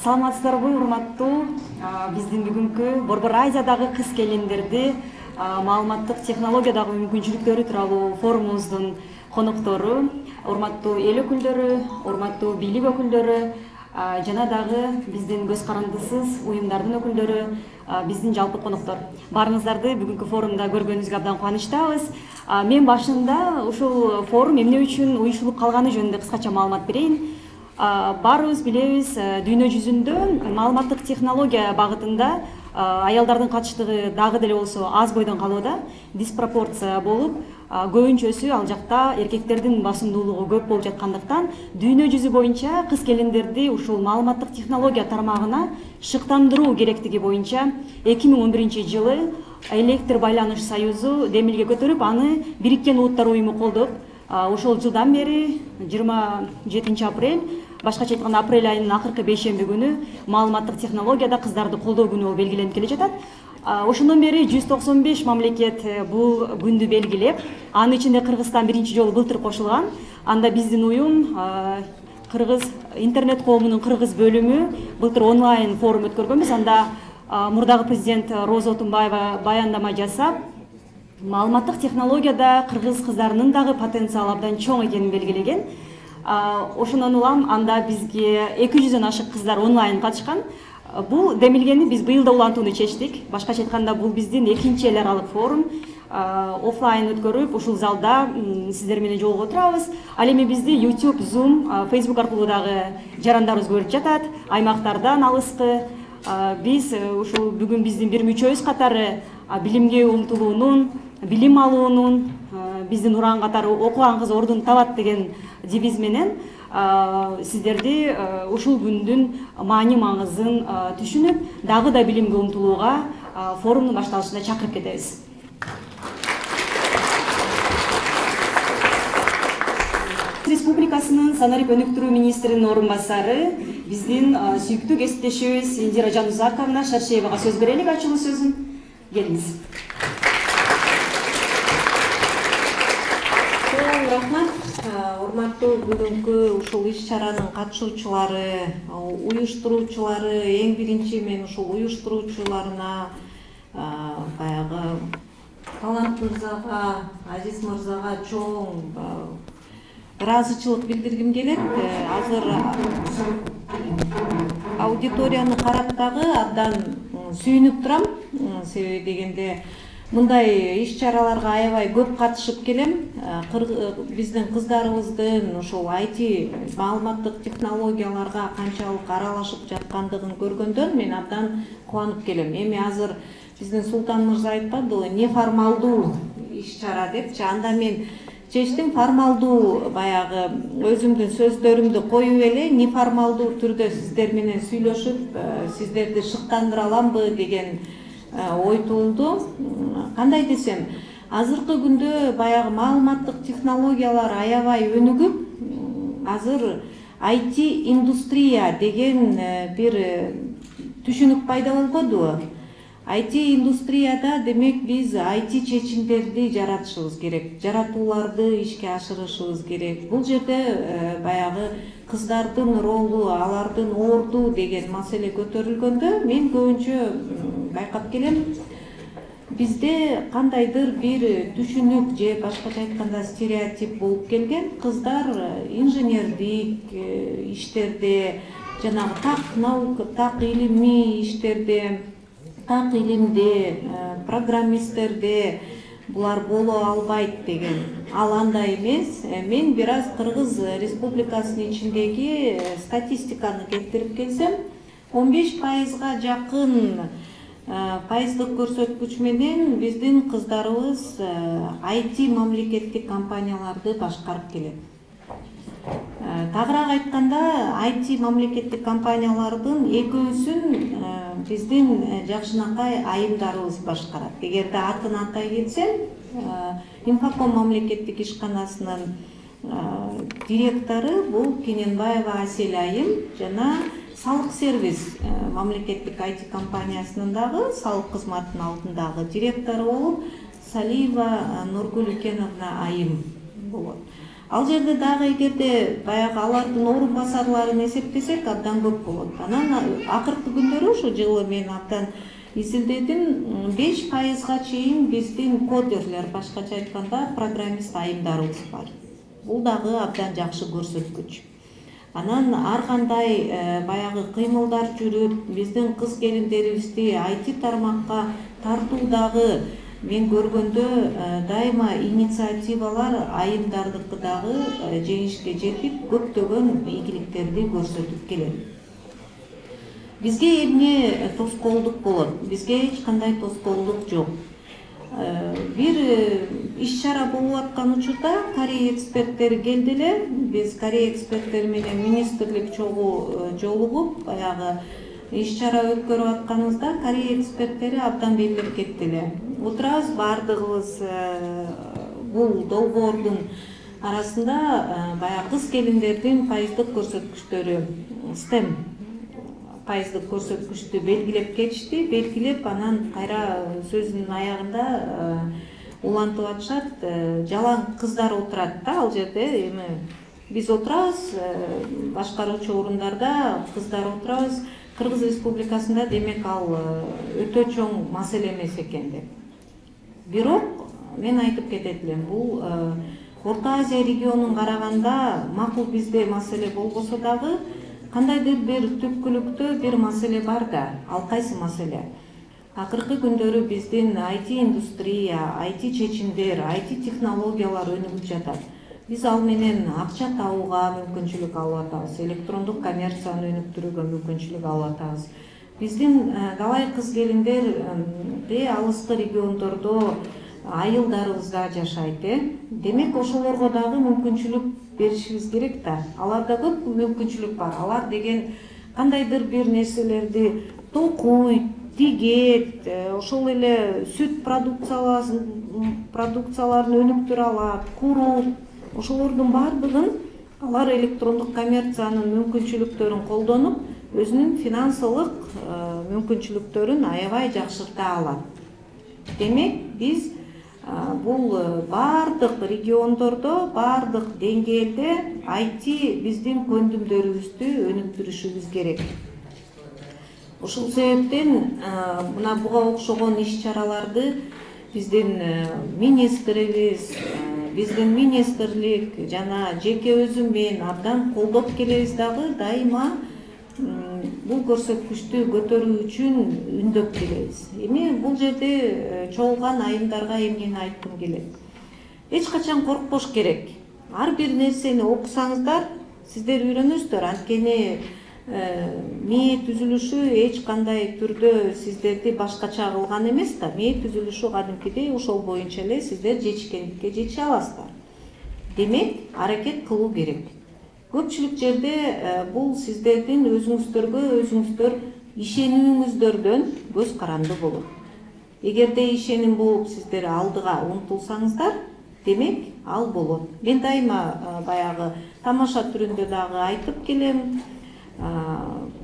Саламатсыздарбы, урматтуу биздин бүгүнкү Борбор Азиядагы кыз-келиндерди маалыматтык технологиядагы мүмкүнчүлүктөрү тууралуу форумубуздун коноктору, урматтуу эл өкүлдөрү, урматтуу бийлик өкүлдөрү жана дагы биздин көз карандысыз уюмдардын өкүлдөрү, биздин жалпы коноктор. Баарыңыздарды бүгүнкү форумда көргөнүбүзгө абдан кубанычтабыз. Мен башында ушул форум эмне үчүн уюштурулуп калганы жөнүндө кыскача маалымат берейин. Баарыбыз билебиз, дүйнө жүзүндө маалыматтык технология багытында аялдардын катыштыгы дагы деле болсо аз бойдон калууда, диспропорция болуп, көбүнчөсү ал жакта эркектердин басымдуулугу көп болуп жаткандыктан, дүйнө жүзү боюнча кыз-келиндерди ушул маалыматтык технология тармагына шыктандыруу керектиги боюнча 2011-жылы Электр байланыш союзу демилге көтөрүп, аны Бириккен Улуттар уюму колдоп, ошол жылдан бери 27 апрель, башкача айтканда апрель айынын акыркы бейшемби күнү маалыматтык технологияда кыздарды колдоо күнү болуп белгиленип келе жатат. Ошондон бери 195 мамлекет бул күндү белгилеп, анын ичинде Кыргызстан биринчи жолу былтыр кошулган. Анда биздин уюм Кыргыз интернет коомунун кыргыз бөлүмү былтыр онлайн форум өткөргөнбүз. Анда мурдагы президент Роза Отунбаева баяндама жасап, маалыматтык технологияда кыргыз кыздарынын дагы потенциалы абдан чоң экенин белгилеген. Ошондон улам анда бизге 200дөн ашык кыздар онлайн катышкан. Бул демилгени биз быйыл да улантууну чечтик. Башкача айтканда, бул биздин экинчи эл аралык форум. Офлайн өткөрүп, ушул залда сиздер менен жолугуп отурабыз. Ал эми бизди YouTube, Zoom, Facebook аркылуу дагы жарандарыбыз көрүп жатат. Аймактардан алыскы. Биз ушул бүгүн биздин бир мүчөбүз катары билимге умтулуунун, билим алуунун, биздин уран катары окуган кыз ордун табат деген девиз менен сиздерди ушул күндүн маани маңызын түшүнүп, дагы да билимге умтулууга форумдун башталышында чакырып кетебиз. Республикасынын санарип өнүктүрүү министринин орун басары, биздин сүйүктүү кесиптешибиз Индира Жанузаковна Шаршеевага сөз берелик, ачылуу сөзүн. Келиңиз. Рахмат. Урматтуу бүгүнкү ушул иш-чаранын катышуучулары, уюштуруучулары, эң биринчи мен ушул уюштуруучуларына, баягы Талант мырзага, Азиз мырзага чоң ыраазычылык билдиргим келет. Азыр аудиторияны карап дагы абдан сүйүнүп турам. Себеби дегенде мындай иш-чараларга аябай көп катышып келем. Биздин кыздарыбыздын ушул IT маалыматтык технологияларга канчалык аралашып жаткандыгын көргөндөн мен абдан кубанып келем. Эми азыр биздин Султан мырза айтпадыбы, неформалдуу иш-чара депчи. Анда мен чечтим, формалдуу баягы өзүмдүн сөздөрүмдү коюп эле неформалдуу түрдө сиздер менен сүйлөшүп, сиздерди шыктандыра аламбы деген ой туулду. Кандай десем, азыркы күндө баягы маалыматтык технологиялар аябай өнүгүп, азыр IT индустрия деген бир түшүнүк пайда болгонду. IT индустрияда демек биз IT чечимдерди жаратышыбыз керек, жаратууларды ишке ашырышыбыз керек. Бул жерде баягы кыздардын ролу, алардын орду деген маселе көтөрүлгөндө мен көбүнчө байкап келем, бизде кандайдыр бир түшүнүк же башкача айтканда стереотип болуп келген. Кыздар инженердик иштерде, жанагы так наука, так илимий иштерде, так илимде, программисттерде булар боло албайт деген. Ал андай эмес. Мен бир аз Кыргыз Республикасынын ичиндеги статистиканы келтирип келсем, 15%га жакын пайыздык көрсөткүч менен биздин кыздарыбыз IT мамлекеттик компанияларды башкарып келет. Тагыраак айтканда, IT мамлекеттик компаниялардын 2/3-ün биздин жакшынакай айымдарыбыз башкарат. Эгерде атын атай кетсем, Инфоком мамлекеттик ишканасынын директору бул Кененбаева Асель айым жана Салык сервис мамлекеттик IT компаниясынын дагы салык кызматынын алдындагы директору болуп Салиева Нургулюкеновна айым болот. Ал жерде дагы эгерде баягы алардын орун басарларын эсептесек абдан көп болот. Анан акыркы күндөрү ушу жылы мен абдан изилдедим, 5%га чейин биздин кодерлер, башкача айтканда программист айымдарыбыз бар. Бул дагы абдан жакшы көрсөткүч. Анан ар кандай баягы кыймылдар жүрүп, биздин кыз келиндерибизди IT тармакка тартуудагы мен көргөндө дайыма инициативалар айымдардыкы дагы жеңишке жетип, көптөгөн ийгиликтерди көрсөтүп келет. Бизге эмне тоскоолдук болот? Бизге эч кандай тоскоолдук жок. Бир иш-чара болуп аткан учурда Корея эксперттери келди эле. Биз Корея эксперттери менен министрлик чогуу жолугуп, баягы иш-чара өткөрүп атканыбызда Корея эксперттери абдан белгилеп кетти эле. Отурабыз бардыгыбыз бул долбоордун арасында баягы кыз келиндердин пайыздык көрсөткүчтөрү, STEM пайыздык көрсөткүчтү белгилеп кетишти. Белгилеп, анан кайра сөзүнүн аягында улантып атышат, жалаң кыздар отурат да ал жерде. Эми биз отурабыз, башкаруучу орундарда кыздар отурабыз. Кыргыз Республикасында демек ал өтө чоң маселе эмес экен деп. Бирок мен айтып кетет элем, бул Орто Азия регионун караганда макул бизде маселе болбосо дагы кандайдыр бир түпкүлүктө бир маселе бар да. Ал кайсы маселе? Акыркы күндөрү биздин IT индустрия, IT чечимдер, IT технологиялар өнүгүп жатат. Биз ал менен акча табууга мүмкүнчүлүк алып атабыз, электрондук коммерцияны өнүктүрүүгө мүмкүнчүлүк алып атабыз. Биздин талай кыз келиндер алыскы региондордо айылдарыбыз да жашайт. Демек ошолорго дагы мүмкүнчүлүк беришибиз керек да. Аларда көп мүмкүнчүлүк бар. Алар деген кандайдыр бир нерселерди токуйт, тигет, ошол эле сүт продукцияларын өнүктүрө алат, курут. Ошолордун бардыгын алар электрондук коммерциянын мүмкүнчүлүктөрүн колдонуп, өзүнүн финансылык мүмкүнчүлүктөрүн аябай жакшырта алат. Демек, биз бул бардык региондордо, бардык деңгээлде IT биздин көндүмдөрүбүздү өнүктүрүшүбүз керек. Ошол себептен мына буга окшогон иш-чараларды биздин министрибиз, биздин министрлик жана жеке өзүм мен абдан колдоп келебиз дагы, дайыма бул көрсөткүчтү көтөрүү үчүн үндөп келебиз. Эми бул жерде чогулган айымдарга эмнени айткым келет? Эч качан коркпош керек. Ар бир нерсени окусаңыздар, сиздер үйрөнөсүздөр. Анткени МИИ түзүлүшү эч кандай түрдө сиздерди башкача кылган эмес да. МИИ түзүлүшү кадимкидей ошол боюнча эле сиздер жетишкендикке жете аласыздар. Демек, аракет кылуу керек. Көпчүлүк жерде бул сиздердин өзүңүздөр ишенүүңүздөрдөн көз каранды болот. Эгерде ишеним болуп сиздер алдыга умтулсаңыздар, демек ал болот. Мен дайыма баягы тамаша түрүндө дагы айтып келем.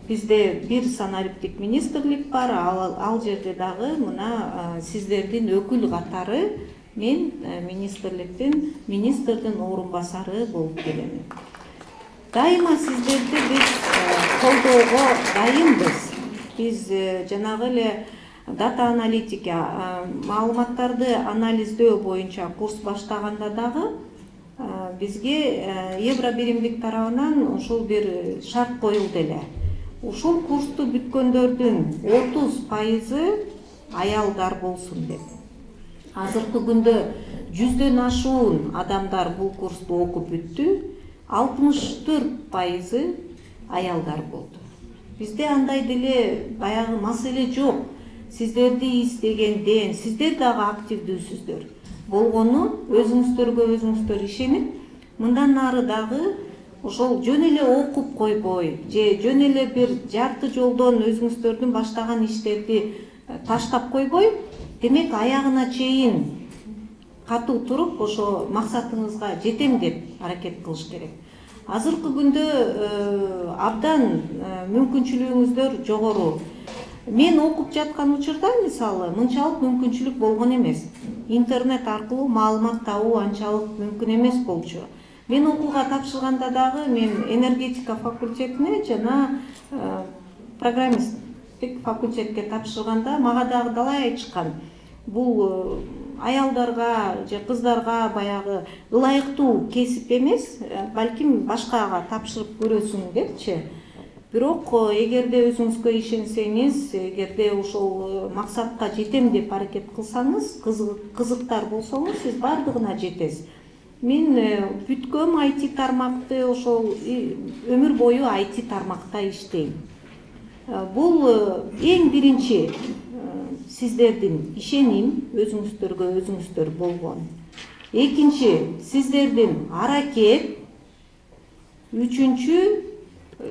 Бизде бир санариптик министрлик бар, ал жерде дагы мына сиздердин өкүл катары мен министрдин орун басары болуп келем. Дайыма сиздерди биз колдоого дайынбыз. Биз жанагы эле дата аналитика, маалыматтарды анализдөө боюнча курс баштаганда дагы бизге Евро биримдик тарабынан ошол бир шарт коюлду эле. Ушул курсту бүткөндөрдүн 30% аялдар болсун деп. Азыркы күндө 100дөн ашуун адамдар бул курсту окуп бүттү, 64% аялдар болду. Бизде андай деле баягы маселе жок. Сиздерди издегенден, сиздер дагы активдүүсүздөр. Болгону өзүңүздөр ишенип, мындан нары дагы ошол жөн эле окуп койбой, же жөн эле бир жарты жолдон өзүңүздөрдүн баштаган иштерди таштап койбой, демек аягына чейин катуу туруп, ошо максатыңызга жетем деп аракет кылыш керек. Азыркы күндө абдан мүмкүнчүлүгүңүздөр жогору. Мен окуп жаткан учурда мисалы мынчалык мүмкүнчүлүк болгон эмес. Интернет аркылуу маалымат табуу анчалык мүмкүн эмес болчу. Мен окууга тапшырганда дагы мен энергетика факультетине жана программисттик факультетке тапшырганда мага дагы далай айтышкан. Бул аялдарга же кыздарга баягы ылайыктуу кесип эмес, балким башкага тапшырып көрөсүң депчи. Бирок эгерде өзүңүзгө ишенсеңиз, эгерде ошол максатка жетем деп аракет кылсаңыз, кызыктар болсоңуз, сиз бардыгына жетесиз. Мен бүткөм IT тармакты, ошол өмүр бою IT тармакта иштейм. Бул эң биринчи сиздердин ишеним өзүңүздөргө өзүңүздөр болгон. Экинчи сиздердин аракет. Үчүнчү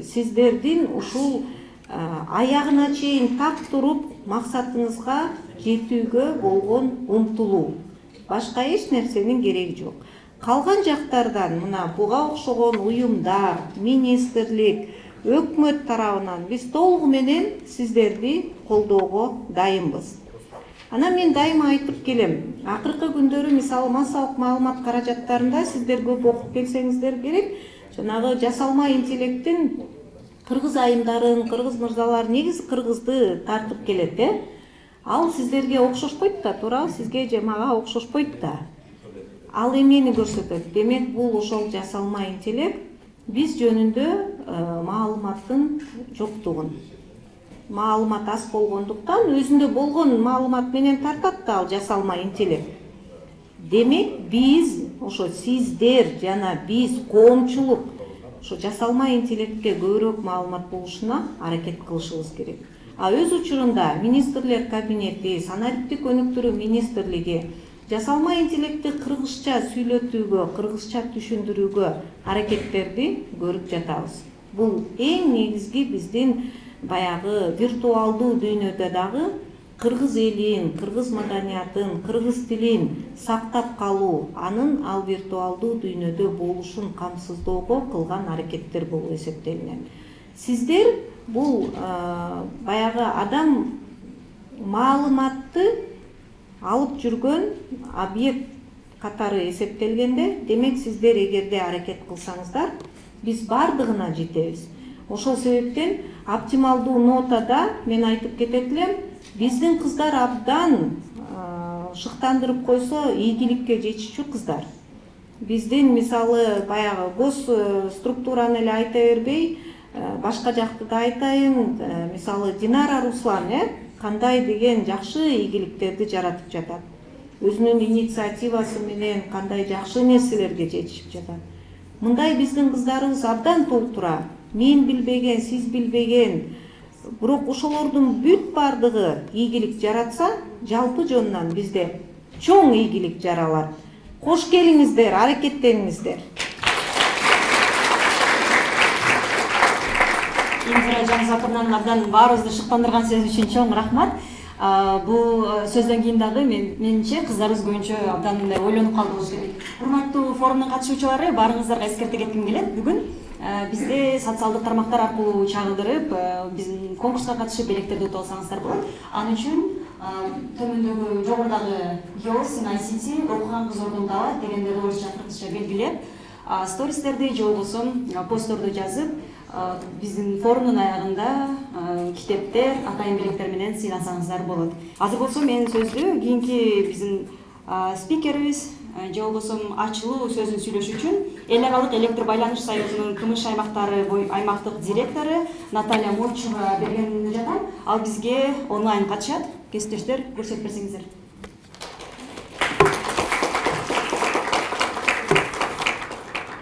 сиздердин ушул аягына чейин так туруп максатыңызга жетүүгө болгон умтулуу. Башка эч нерсенин кереги жок. Калган жактардан мына буга окшогон уюмдар, министрлик, өкмөт тарабынан биз толугу менен сиздерди колдоого дайынбыз. Анан мен дайыма айтып келем, акыркы күндөрү мисалы массалык маалымат каражаттарында сиздер көп окуп келсеңиздер керек, жанагы жасалма интеллекттин кыргыз айымдарын, кыргыз мырзалар негизи кыргызды тартып келет, Ал сиздерге окшошпойт да, туура, сизге же мага окшошпойт да. Ал эмнени көрсөтөт? Демек, бул ошол жасалма интеллект биз жөнүндө маалыматтын жоктугун. Маалымат аз болгондуктан өзүндө болгон маалымат менен тартат да ал жасалма интеллект. Демек, биз ошо сиздер жана биз коомчулук ошо жасалма интеллектке көбүрөөк маалымат болушуна аракет кылышыбыз керек. А өз учурунда министрлер кабинети, санариптик өнүктүрүү министрлиги жасалма интеллектти кыргызча сүйлөтүүгө, кыргызча түшүндүрүүгө аракеттерди көрүп жатабыз. Бул эң негизги биздин баягы виртуалдуу дүйнөдө дагы кыргыз элин, кыргыз маданиятын, кыргыз тилин сактап калуу, анын ал виртуалдуу дүйнөдө болушун камсыздоого кылган аракеттер болуп эсептелинет. Сиздер бул баягы адам маалыматты алып жүргөн объект катары эсептелгенде, демек сиздер эгерде аракет кылсаңыздар, биз бардыгына жетебиз. Ошол себептен оптималдуу нотада мен айтып кетет элем, биздин кыздар абдан шыктандырып койсо ийгиликке жетишчү кыздар. Биздин мисалы баягы гос структураны эле айта бербей, башка жакты да айтайын, мисалы Динара Руслан, кандай деген жакшы ийгиликтерди жаратып жатат. Өзүнүн инициативасы менен кандай жакшы нерселерге жетишип жатат. Мындай биздин кыздарыбыз абдан толтура. Мен билбеген, сиз билбеген, бирок ошолордун бүт бардыгы ийгилик жаратса, жалпы жонунан бизде чоң ийгилик жаралат. Кош келиңиздер, аракеттениңиздер. Индира Жансапырнан абдан баарыбызды шыктандырган сөз үчүн чоң рахмат. Бул сөздөн кийин дагы менимче кыздарыбыз көбүнчө абдан ойлонуп калды болуш керек. Урматтуу форумдун катышуучулары, баарыңыздарга эскерте кетким келет. Бүгүн бизде социалдык тармактар аркылуу чагылдырып, биздин конкурска катышып электерди утуп алсаңыздар болот. Ал үчүн төмөндөгү жогорудагы Girls in ICT окуган кыз ордун табат дегенде орусча кыргызча белгилеп, стористерди же болбосо постторду жазып, биздин форумдун аягында китептер, атайын белектер менен сыйласаңыздар болот. Азыр болсо мен сөздү кийинки биздин спикерибиз же болбосо ачылуу сөзүн сүйлөш үчүн Эл аралык электр байланыш союзунун КМШ аймактары аймактык директору Наталья Мурчева берген жатам. Ал бизге онлайн катышат. Кесиптештер, көрсөтүп берсеңиздер.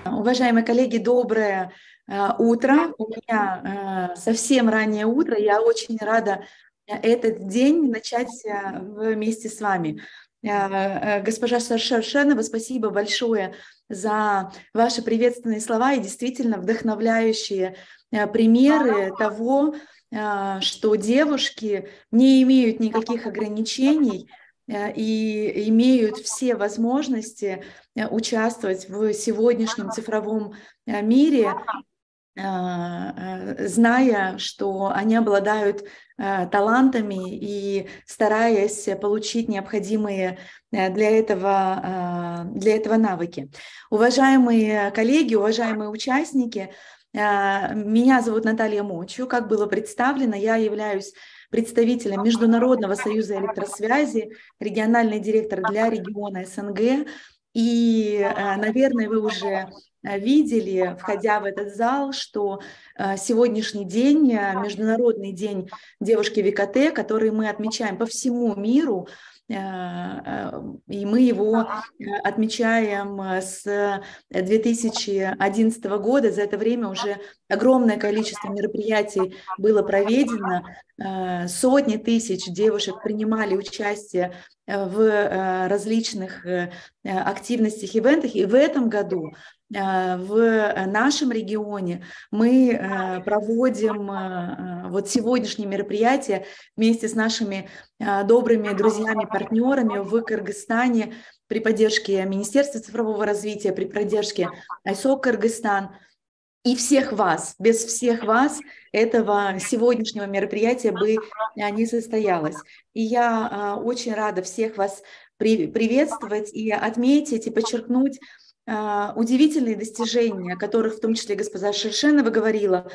Уважаемые коллеги, доброе утро. У меня совсем раннее утро. Я очень рада этот день начать вместе с вами. Госпожа Шершенова, спасибо большое за ваши приветственные слова и действительно вдохновляющие примеры того, что девушки не имеют никаких ограничений и имеют все возможности участвовать в сегодняшнем цифровом мире зная, что они обладают талантами и стараясь получить необходимые для этого навыки. Уважаемые коллеги, уважаемые участники, меня зовут Наталья Мочу. Как было представлено, я являюсь представителем Международного союза электросвязи, региональный директор для региона СНГ. И, наверное, вы уже видели, входя в этот зал, что сегодняшний день, Международный день девушки в ИКТ, который мы отмечаем по всему миру, и мы его отмечаем с 2011 года. За это время уже огромное количество мероприятий было проведено. Сотни тысяч девушек принимали участие в различных активностях, ивентах. И в этом году в нашем регионе мы проводим вот сегодняшнее мероприятие вместе с нашими добрыми друзьями, партнерами в Кыргызстане при поддержке Министерства цифрового развития, при поддержке ISOC Кыргызстан. И всех вас, без всех вас этого сегодняшнего мероприятия бы не состоялось. И я очень рада всех вас приветствовать и отметить, и подчеркнуть удивительные достижения, о которых в том числе госпожа Шершенова говорила,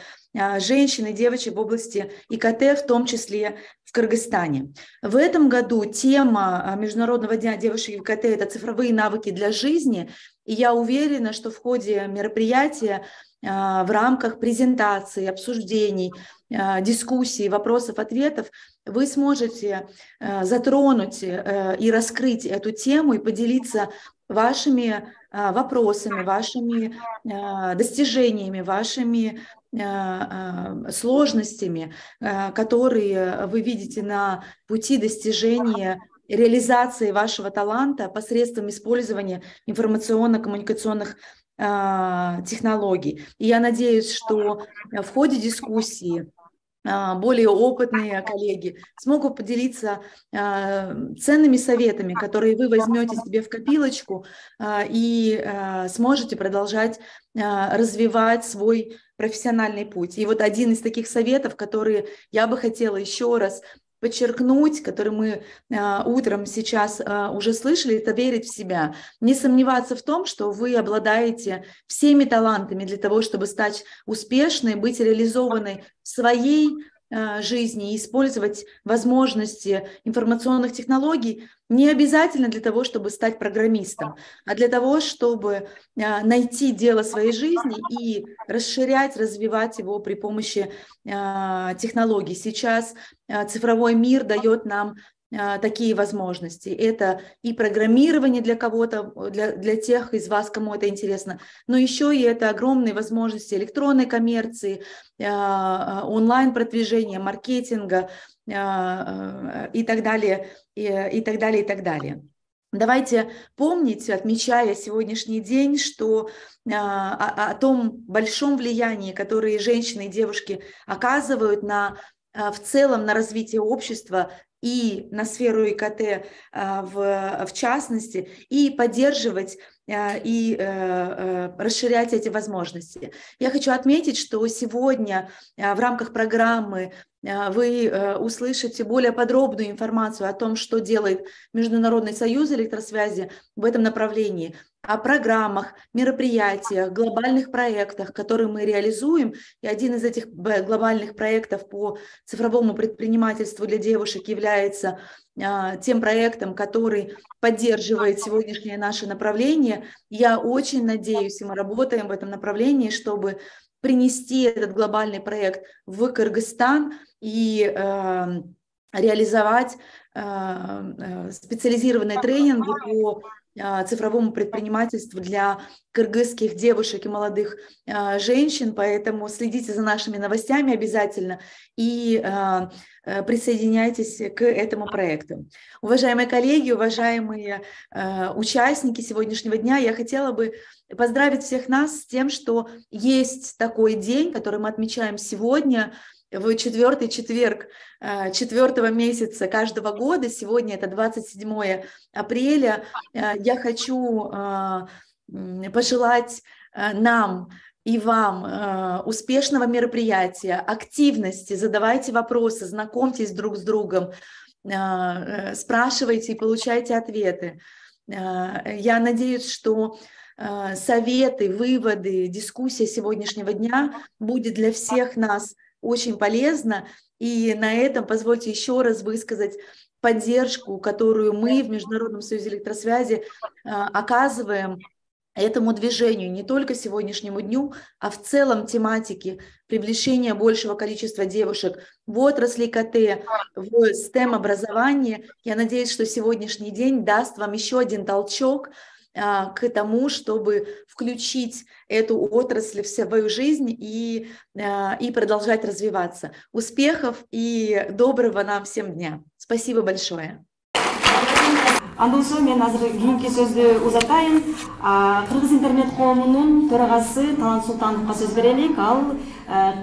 женщин и девочек в области ИКТ, в том числе в Кыргызстане. В этом году тема Международного дня девушек в ИКТ – это цифровые навыки для жизни. И я уверена, что в ходе мероприятия, в рамках презентаций, обсуждений, дискуссий, вопросов-ответов вы сможете затронуть и раскрыть эту тему и поделиться вашими вопросами, вашими достижениями, вашими сложностями, которые вы видите на пути достижения реализации вашего таланта посредством использования информационно-коммуникационных технологий. И я надеюсь, что в ходе дискуссии более опытные коллеги смогут поделиться ценными советами, которые вы возьмете себе в копилочку и сможете продолжать развивать свой профессиональный путь. И вот один из таких советов, которые я бы хотела еще раз подчеркнуть, который мы утром сейчас уже слышали, это верить в себя. Не сомневаться в том, что вы обладаете всеми талантами для того, чтобы стать успешной, быть реализованной в своей жизни и использовать возможности информационных технологий не обязательно для того, чтобы стать программистом, а для того, чтобы найти дело своей жизни и расширять, развивать его при помощи технологий. Сейчас цифровой мир дает нам такие возможности. Это и программирование для кого-то, для тех из вас, кому это интересно, но еще и это огромные возможности электронной коммерции, онлайн-продвижения, маркетинга и так далее, и так далее, и так далее. Давайте помнить, отмечая сегодняшний день, что о том большом влиянии, которое женщины и девушки оказывают в целом на развитие общества и на сферу ИКТ в частности, и поддерживать и расширять эти возможности. Я хочу отметить, что сегодня в рамках программы вы услышите более подробную информацию о том, что делает Международный союз электросвязи в этом направлении, о программах, мероприятиях, глобальных проектах, которые мы реализуем. И один из этих глобальных проектов по цифровому предпринимательству для девушек является тем проектом, который поддерживает сегодняшнее наше направление. Я очень надеюсь, и мы работаем в этом направлении, чтобы принести этот глобальный проект в Кыргызстан и реализовать специализированные тренинги по цифровому предпринимательству для кыргызских девушек и молодых женщин, поэтому следите за нашими новостями обязательно и присоединяйтесь к этому проекту. Уважаемые коллеги, уважаемые участники сегодняшнего дня, я хотела бы поздравить всех нас с тем, что есть такой день, который мы отмечаем сегодня, в 4-й четверг 4-го месяца каждого года. Сегодня это 27 апреля. Я хочу пожелать нам и вам успешного мероприятия, активности, задавайте вопросы, знакомьтесь друг с другом, спрашивайте и получайте ответы. Я надеюсь, что советы, выводы, дискуссия сегодняшнего дня будет для всех нас очень полезна. И на этом позвольте еще раз высказать поддержку, которую мы в Международном союзе электросвязи оказываем этому движению, не только сегодняшнему дню, а в целом тематике привлечения большего количества девушек в отрасли КТ, в STEM-образовании. Я надеюсь, что сегодняшний день даст вам еще один толчок к тому, чтобы включить эту отрасль в свою жизнь и продолжать развиваться. Успехов и доброго нам всем дня. Спасибо большое. Андан соң мен азыр кийинки сөздү узатайын. Кыргыз интернет коомунун төрагасы Талант Султановго сөз берелик. Ал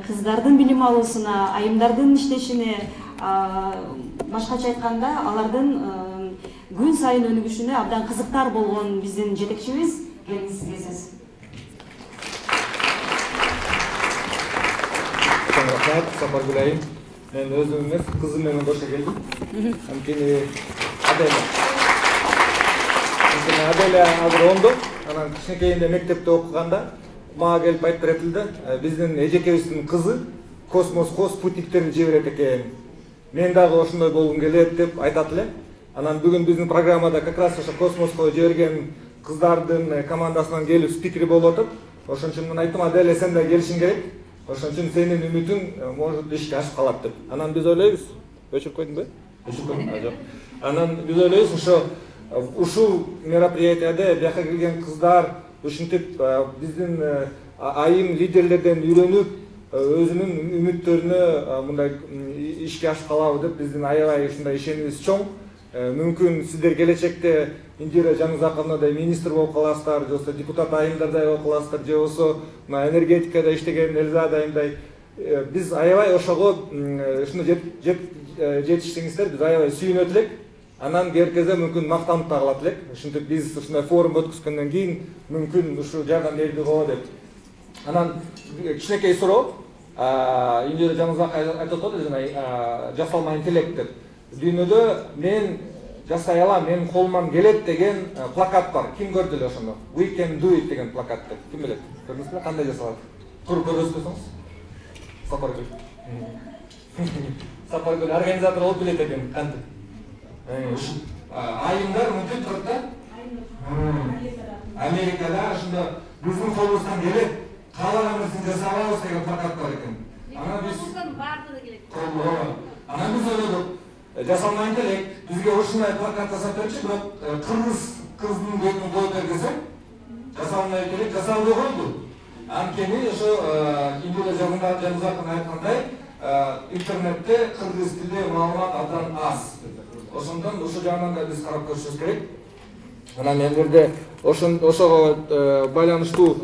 кыздардын билим алуусуна, айымдардын иштешине, башкача айтканда, алардын күн сайын өнүгүшүнө абдан кызыктар болгон биздин жетекчибиз. Келиңиз сизге сөз. Рахмат, Сапаргүл айым. Мен өзүм эмес, кызым менен кошо келдим. Анткени Аделя азыр оңду. Анан кичинекейинде мектепте окуганда мага келип айтып беретилди, биздин эжекебиздин кызы космоско спутниктерин жиберет экен. Мен дагы ошондой болгум келет деп айтат эле. Анан бүгүн биздин программада как раз ошо космоско жиберген кыздардын командасынан келип спикер болуп атат. Ошон үчүн мен айттым, Аделя сен да келишиң керек. Ошон үчүн сенин үмүтүң может ишке ашып калат деп. Анан биз ойлойбуз. Өчүрүп койдуңбу? Өчүрүп койдум. Жок. Анан биз ойлойбуз ошо ушул мероприятияда бияка келген кыздар ушинтип биздин айым лидерлерден үйрөнүп өзүнүн үмүттөрүнө мындай ишке ашып калабы деп биздин аябай ушундай ишенимибиз чоң. Мүмкүн сиздер келечекте Индира Жанузаковнадай министр болуп каласыздар, же болбосо депутат айымдардай болуп каласыздар, же болбосо энергетикада иштеген Элзада айымдай. Биз аябай ошого ушуну жетиштиңиздер, биз аябай сүйүнөт элек. Анан керкезе мүмкүн мактанып да калат элек. Ушинтип биз ушундай форум өткөзгөндөн кийин мүмкүн ушул жардам берди го деп. Анан кичинекей суроо, Индира Жанузакова айтып атат, жасалма интеллект деп. Дүйнөдө мен жасай алам, менин колуман келет деген плакат бар. Ким көрдү эле ошону? We can do it деген плакатты. Ким билет? Көрдүңүзбү? Кандай жасалат? Туруп көрсөтсөңүз. Сапаргүл. Сапаргүл организатор болуп билет экен, кантип? Айымдар мүмкүн турат да? Америкада ошондо биздин колубуздан келет, каалаган нерсени жасай алабыз деген плакат бар экен. Анан биз баардыгы келет. Анан биз ойлодук, жасалма интеллект бизге ушундай плакат жасап берчи, бирок кыргыз кыздын бетин коюп бергенсе, жасалма интеллект жасалбай койду. Анткени ошо Индира Жанузакова айткандай, интернетте кыргыз тилде маалымат абдан аз. Ошондон ошол жагынан да биз карап көрүшүбүз керек. Анан мен жерде ошого байланыштуу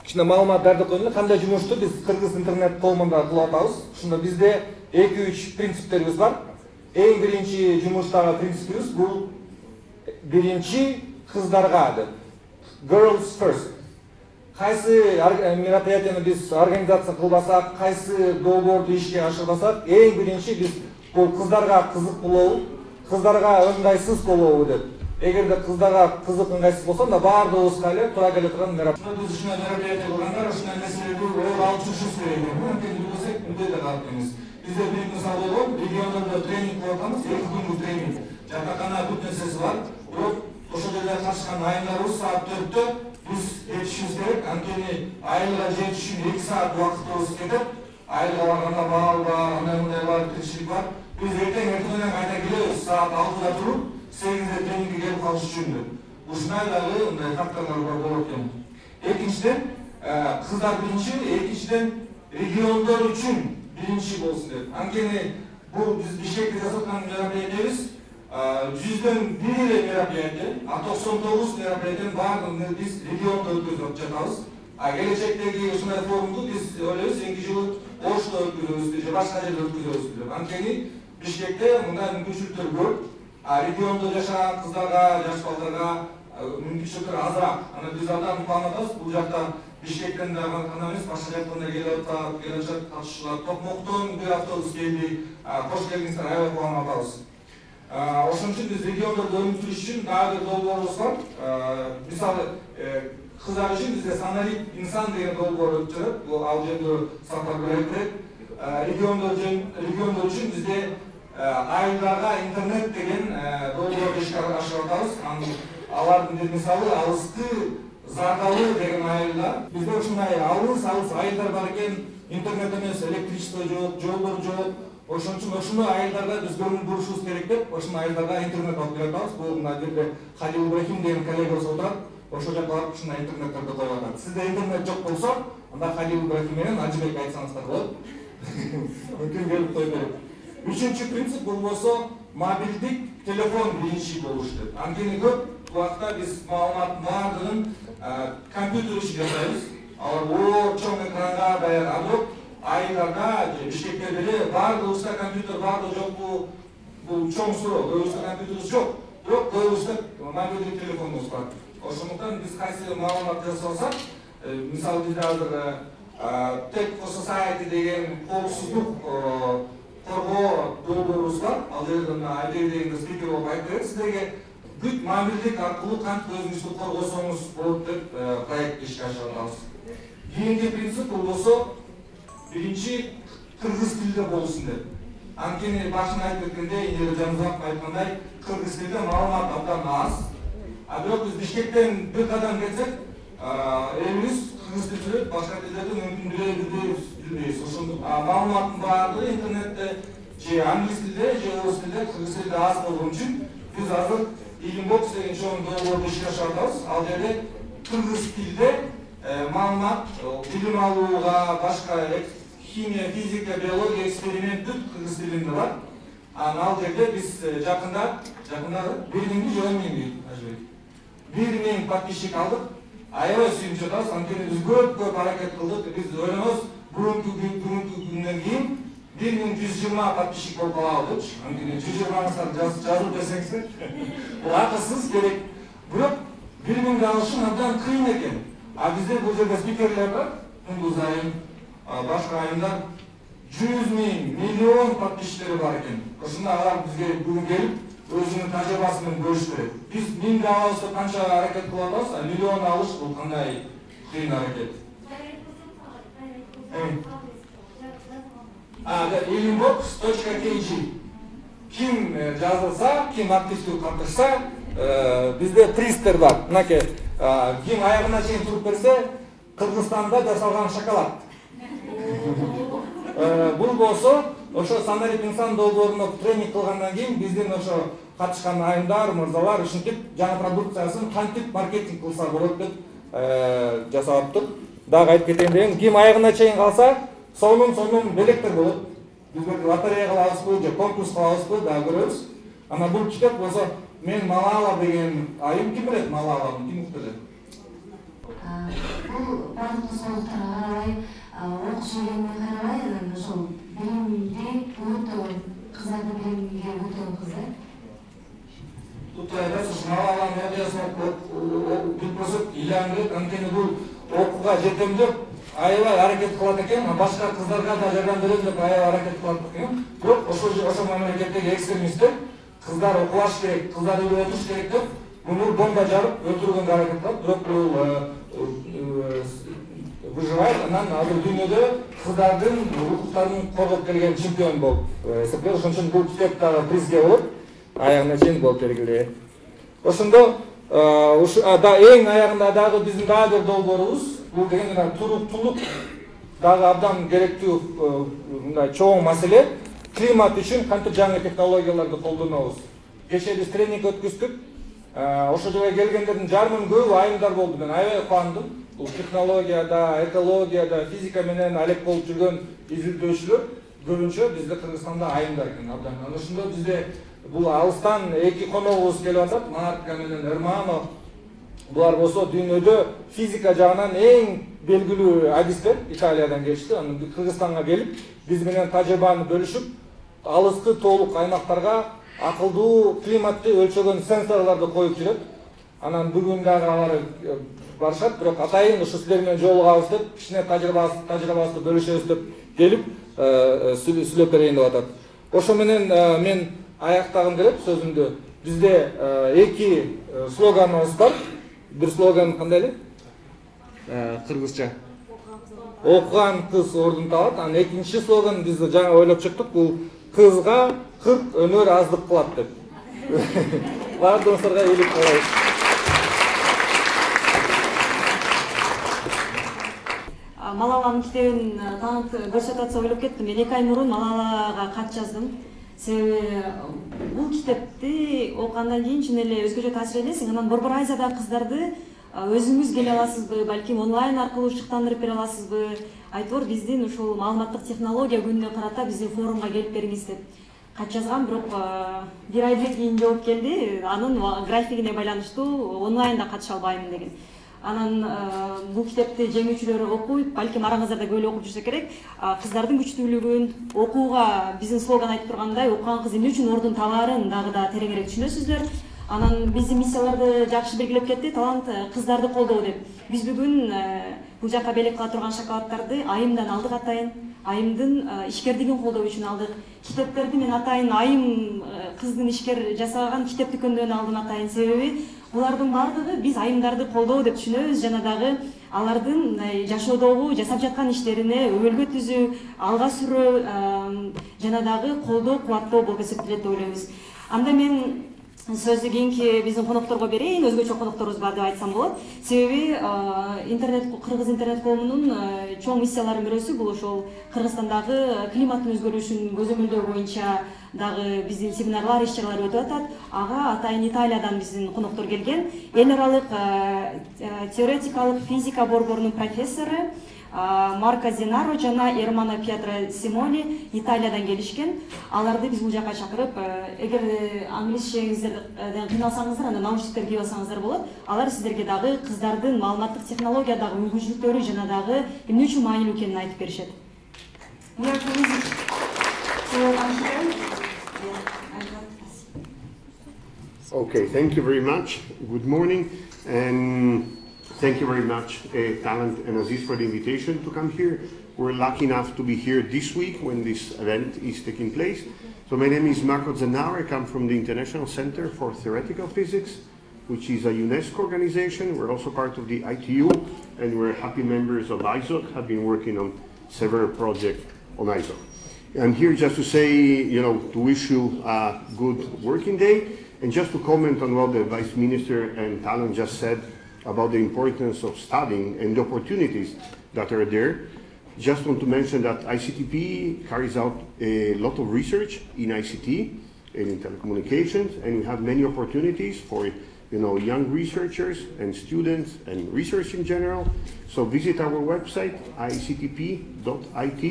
кичине маалыматтарды коюн. Кандай жумушту биз кыргыз интернет коомунда кылып атабыз. Ошондо бизде 2-3 принциптерибиз бар. Эң биринчи жумуштагы принципибиз бул биринчи кыздарга деп. Girls first. Кайсы мероприятияны биз организация кылбасак, кайсы долбоорду ишке ашырбасак, эң биринчи биз бул кыздарга кызык болобу, кыздарга ыңгайсыз болобу деп. Эгерде кыздарга кызык ыңгайсыз болсо, анда баардыгыбызга эле туура келе турган мероприятия. Биз ушундай мероприятия кылганда ушундай нерселерди ой алып жүрүшүбүз керек. Мөмкүн билсек, мындай да калып эмес. Бизде бир мисал болгон, региондордо тренинг кылып атабыз, 2 күндүк тренинг. Жатакана бүт нерсеси бар. Бирок ошол жерде катышкан айымдарыбыз саат 4-тө биз жетишибиз керек. Анткени айылга жетиш үчүн 2 саат убактыбыз кетет. Айылга барганда баал бар, андай бар, тиричилик бар. Биз эртең кайта келебиз, саат 6-да туруп, 8-де тренингге келип калыш үчүн деп. Ушундай дагы мындай факторлор болот экен. Экинчиден, кыздар биринчи, экинчиден региондор үчүн биринчи болсун деп. Анткени бул биз Бишкекте жасап аткан мероприятиябыз 100дөн 1 эле мероприятие, 99 мероприятиянын баардыгын биз региондо өткөзүп жатабыз. Келечектеги ушундай форумду биз ойлойбуз, кийинки жылы Ошто өткөзөбүз, же башка жерде өткөзөбүз деп. Анткени Бишкекте мындай мүмкүнчүлүктөр көп. Региондо жашаган кыздарга, жаш балдарга мүмкүнчүлүктөр азыраак. Аны биз абдан план атабыз. Бул жакта Бишкектен да гана эмес, башка жактан да келип жатат катышуулар. Токмоктон бир автобус келди. Кош келиңиздер, аябай план атабыз. Ошон үчүн биз региондорду өнүктүрүш үчүн дагы бир долбоорубуз бар. Мисалы, кыздар үчүн бизде саналик инсан деген долбоор өтүп жатат. Бул ал жөнүндө Сапар Белекбек. Региондор үчүн бизде айылдарга интернет деген долбоорду ишке ашырып атабыз. Алардын мисалы алыскы Зардалы деген айылда бизде ушундай алыс айылдар бар экен, интернет эмес, электричество жок, жолдор жок. Ошон үчүн ошондой айылдарда биз көңүл бурушубуз керек деп, ошондой айылдарга интернет алып берип атабыз. Бул мына жерде Халил Ибрахим деген коллегабыз отурат. Ошол жака барып ушундай интернеттерди коюп атат. Сизде интернет жок болсо, анда Халил Ибрахим менен Ажыбек айтсаңыздар болот. Мүмкүн келип коюп берет. Үчүнчү принцип бул болсо мобилдик телефон биринчи болуш деп. Анткени көп убакта биз маалыматтын баардыгын компьютер иши жасайбыз. Алар чоң экранга даяр. А бирок айылдарда же Бишкекте деле баардыгыбызда компьютер бардыр жокпу? Бул чоң суроо. Көбүбүздө компьютерибиз жок. Бирок көбүбүздө мобилдик телефонубуз бар. Ошондуктан биз кайсы маалымат жасасак, мисалы бизде азыр Tech for Society деген коопсуздук коргоо долбоорубуз бар. Ал жерден Айбек деген спикер болуп айтып берет сиздерге. Бүт мобилдик аркылуу кантип өзүңүздү коргосоңуз болот деп проект ишке ашырып атабыз. Кийинки принцип бул болсо биринчи кыргыз тилде болсун деп. Анткени башында айтып кеткендей, Инере Жанузаков айткандай, кыргыз тилде маалымат абдан аз. А бирок биз Бишкектен бир кадам кетсек, элибиз кыргыз тил сүйлөйт, башка тилдерди мүмкүн билбейбиз. Ошондук маалыматтын баардыгы интернетте же англис тилде, же орус тилде, кыргыз тилде аз болгон үчүн биз азыр Илимбокс деген чоң долбоорду ишке ашырып атабыз. Ал жерде кыргыз тилде маалымат билим алууга, башка химия, физика, биология эксперимент бүт кыргыз тилинде бар. Ал жерде биз жакында 1000 же 10.000 Ажыбек. 1000 подписчик алдык. Аябай сүйүнүп жатабыз. Анткени биз көп аракет кылдык. Биз ойлонобуз, бүгүнкү күндөн кийин 1120 подписчик болуп калабы депчи. Анткени 120 жазып берсеңиздер. Бул акысыз керек. Бирок 1000 алышын абдан кыйын экен. А бизде бул жерде спикерлер бар. Тундуз айым, башка айымдар 100.000, миллион подписчиктери бар экен. Ошондо алар бизге бүгүн келип өзүнүн тажрыйбасы менен бөлүшүп берет. Биз 1000 алышты канча аракет кылып атабыз, а миллион алыш бул кандай кыйын аракет. Ilimbox.kg ким жазылса, ким активдүү катышса, бизде пристер бар. Мынакей, ким аягына чейин туруп берсе, Кыргызстанда жасалган шоколад. Бул болсо, ошо саналик инсан долбооруна тренинг кылгандан кийин биздин ошо катышкан айымдар, мырзалар ушинтип жаңы продукциясын кантип маркетинг кылса болот деп жасаптык. Дагы айтып кетейин, ким аягына чейин калса, сонун белектер болот. Бизге лотерея кылабызбы же конкурс кылабызбы дагы көрөбүз. Ана бул китеп болсо, мен Малала деген айым ким билет Малаланы, ким укту деп. Бул бардык соолуктарга карабай, окуш ийгенине карабай, ошол билимди өтө кыздардын билимиге өтө кызык. Тут айдасыз Малаланын идеясын билбесек илангет, анткени бул окууга жетем деп аябай аракет кылат экен, башка кыздарга да жардам берем деп аябай аракет кылат экен. Бирок ошол мамлекеттеги экстремисттер кыздар окубаш керек, кыздар үйлөнүп отуруш керек деп муну бомба жарып өлтүргөнгө аракет кылат. Бирок бул выживает, анан азыр дүйнөдө кыздардын укуктарын коргоп келген чемпион болуп эсептелет. Ошон үчүн бул китеп дагы призге болот. Аягына чейин болуп бергиле. Ошондо эң аягында дагы биздин дагы бир долбоорубуз, бул деген туруктуулук дагы абдан керектүү мындай чоң маселе. Климат үчүн кантип жаңы технологияларды колдонобуз. Кечээ биз тренинг өткөздүк. Ошол жерге келгендердин жарымын көбү айымдар болду. Мен аябай кубандым. Бул технологияда, экологияда, физика менен алек болуп жүргөн изилдөөчүлөр көбүнчө бизде Кыргызстанда айымдар экен абдан. Анан ошондо бизде бул алыстан эки коногубуз келип атат, Марка менен Эрмано. Булар болсо дүйнөдө физика жагынан эң белгилүү адистер, Италиядан келишти. Анан Кыргызстанга келип, биз менен тажрыйбаны бөлүшүп, алыскы тоолук аймактарга акылдуу климатты өлчөгөн сенсорлорду коюп жүрөт. Анан бүгүн дагы алар барышат, бирок атайын ушу силер менен жолугабыз деп, кичине тажрыйбабызды бөлүшөбүз деп келип сүйлөп берейин деп атат. Ошо менен мен аяктагым келет сөзүмдү. Бизде 2 слоганыбыз бар. Бир слоган кандай эле? Кыргызча. Окуган кыз ордун табат. Анан экинчи слоган биз жаңы ойлоп чыктык. Бул кызга 40 өнөр аздык кылат деп. Бардыгыңыздарга ийгилик каалайбыз. Малаланын китебин таанып көрсөтүп атса ойлоп кеттим. Мен 2 ай мурун Малалага кат жаздым. Себеби бул китепти окугандан кийин чын эле өзгөчө таасир элесиң. Анан Борбор Азиядагы кыздарды өзүңүз келе аласызбы, балким онлайн аркылуу шыктандырып бере аласызбы? Айтор биздин ушул маалыматтык технология күнүнө карата биздин форумга келип бериңиз деп кат жазгам, бирок 1 айдан кийин жооп келди. Анын графигине байланыштуу онлайнда катыша албайм деген. Анан бул китепти жеңүүчүлөр окуйт, балким араңыздарда көп эле окуп жүрсө керек. Кыздардын күчтүүлүгүн, окууга биздин слоган айтып тургандай, окуган кыз эмне үчүн ордун табаарын дагы да тереңирээк түшүнөсүздөр. Анан биздин миссияларды жакшы белгилеп кетти, талант кыздарды колдоо деп. Биз бүгүн бул жака белек кыла турган шоколаддарды Айымдан алдык атайын. Айымдын ишкердигин колдоо үчүн алдык. Китептерди мен атайын Айым кыздын ишкер жасаган китеп дүкөндөрүнөн алдым атайын. Себеби булардын бардыгы биз айымдарды колдоо деп түшүнөбүз, жана дагы алардын жашоодогу жасап жаткан иштерине өбөлгө түзүү, алга сүрүү жана дагы колдоо, кубаттоо болуп эсептелет деп ойлойбуз. Анда мен сөздү кийинки биздин конокторго берейин, өзгөчө конокторубуз бар деп айтсам болот. Себеби Кыргыз интернет коомунун чоң миссияларынын бирөөсү бул ошол Кыргызстандагы климаттын өзгөрүшүн көзөмөлдөө боюнча дагы биздин семинарлар, иш-чаралар өтүп атат. Ага атайын Италиядан биздин коноктор келген. Эл аралык теоретикалык физика борборунун профессору Марко Зенаро жана Эрмано Пьетро Симони Италиядан келишкен. Аларды биз бул жака чакырып, эгер англисчеңизден кыйналсаңыздар, анда наушниктер кийип алсаңыздар болот. Алар сиздерге дагы кыздардын маалыматтык технологиядагы мүмкүнчүлүктөрү жана дагы эмне үчүн маанилүү экенин айтып беришет. Okay, thank you very much. Good morning, and thank you very much, Talent and Aziz, for the invitation to come here. We're lucky enough to be here this week when this event is taking place. So my name is Marco Zennauer. I come from the International Center for Theoretical Physics, which is a UNESCO organization. We're also part of the ITU, and we're happy members of ISOC, have been working on several projects on ISOC. I'm here just to say, to wish you a good working day, and just to comment on what the Vice Minister and Talent just said about the importance of studying and the opportunities that are there. Just want to mention that ICTP carries out a lot of research in ICT and in telecommunications, and we have many opportunities for young researchers and students and research in general. So visit our website, ictp.it,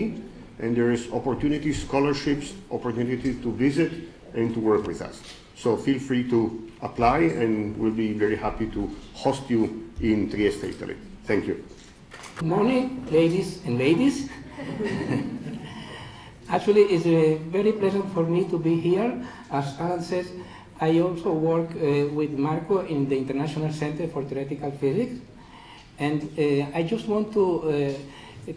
and there is opportunities, scholarships, opportunities to visit and to work with us. So feel free to apply, and we'll be very happy to host you in Trieste, Italy. Thank you. Good morning, ladies and ladies. Actually, it's very pleasant for me to be here. As Alan says, I also work with Marco in the International Center for Theoretical Physics. And I just want to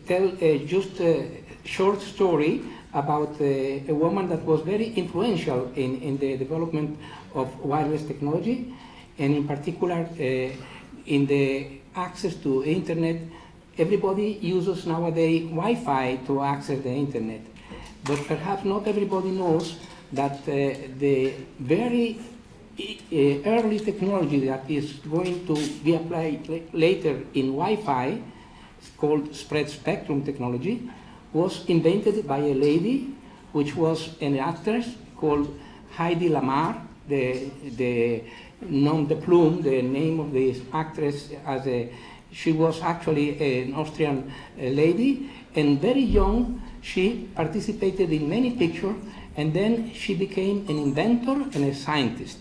tell just a short story about a woman that was very influential in the development of wireless technology, and in particular in the access to internet. Everybody uses nowadays Wi-Fi to access the internet, but perhaps not everybody knows that the very early technology that is going to be applied later in Wi-Fi, called spread spectrum technology, was invented by a lady, which was an actress called Heidi Lamar. The nom de plume, the name of this actress, she was actually an Austrian lady, and very young she participated in many pictures, and then she became an inventor and a scientist.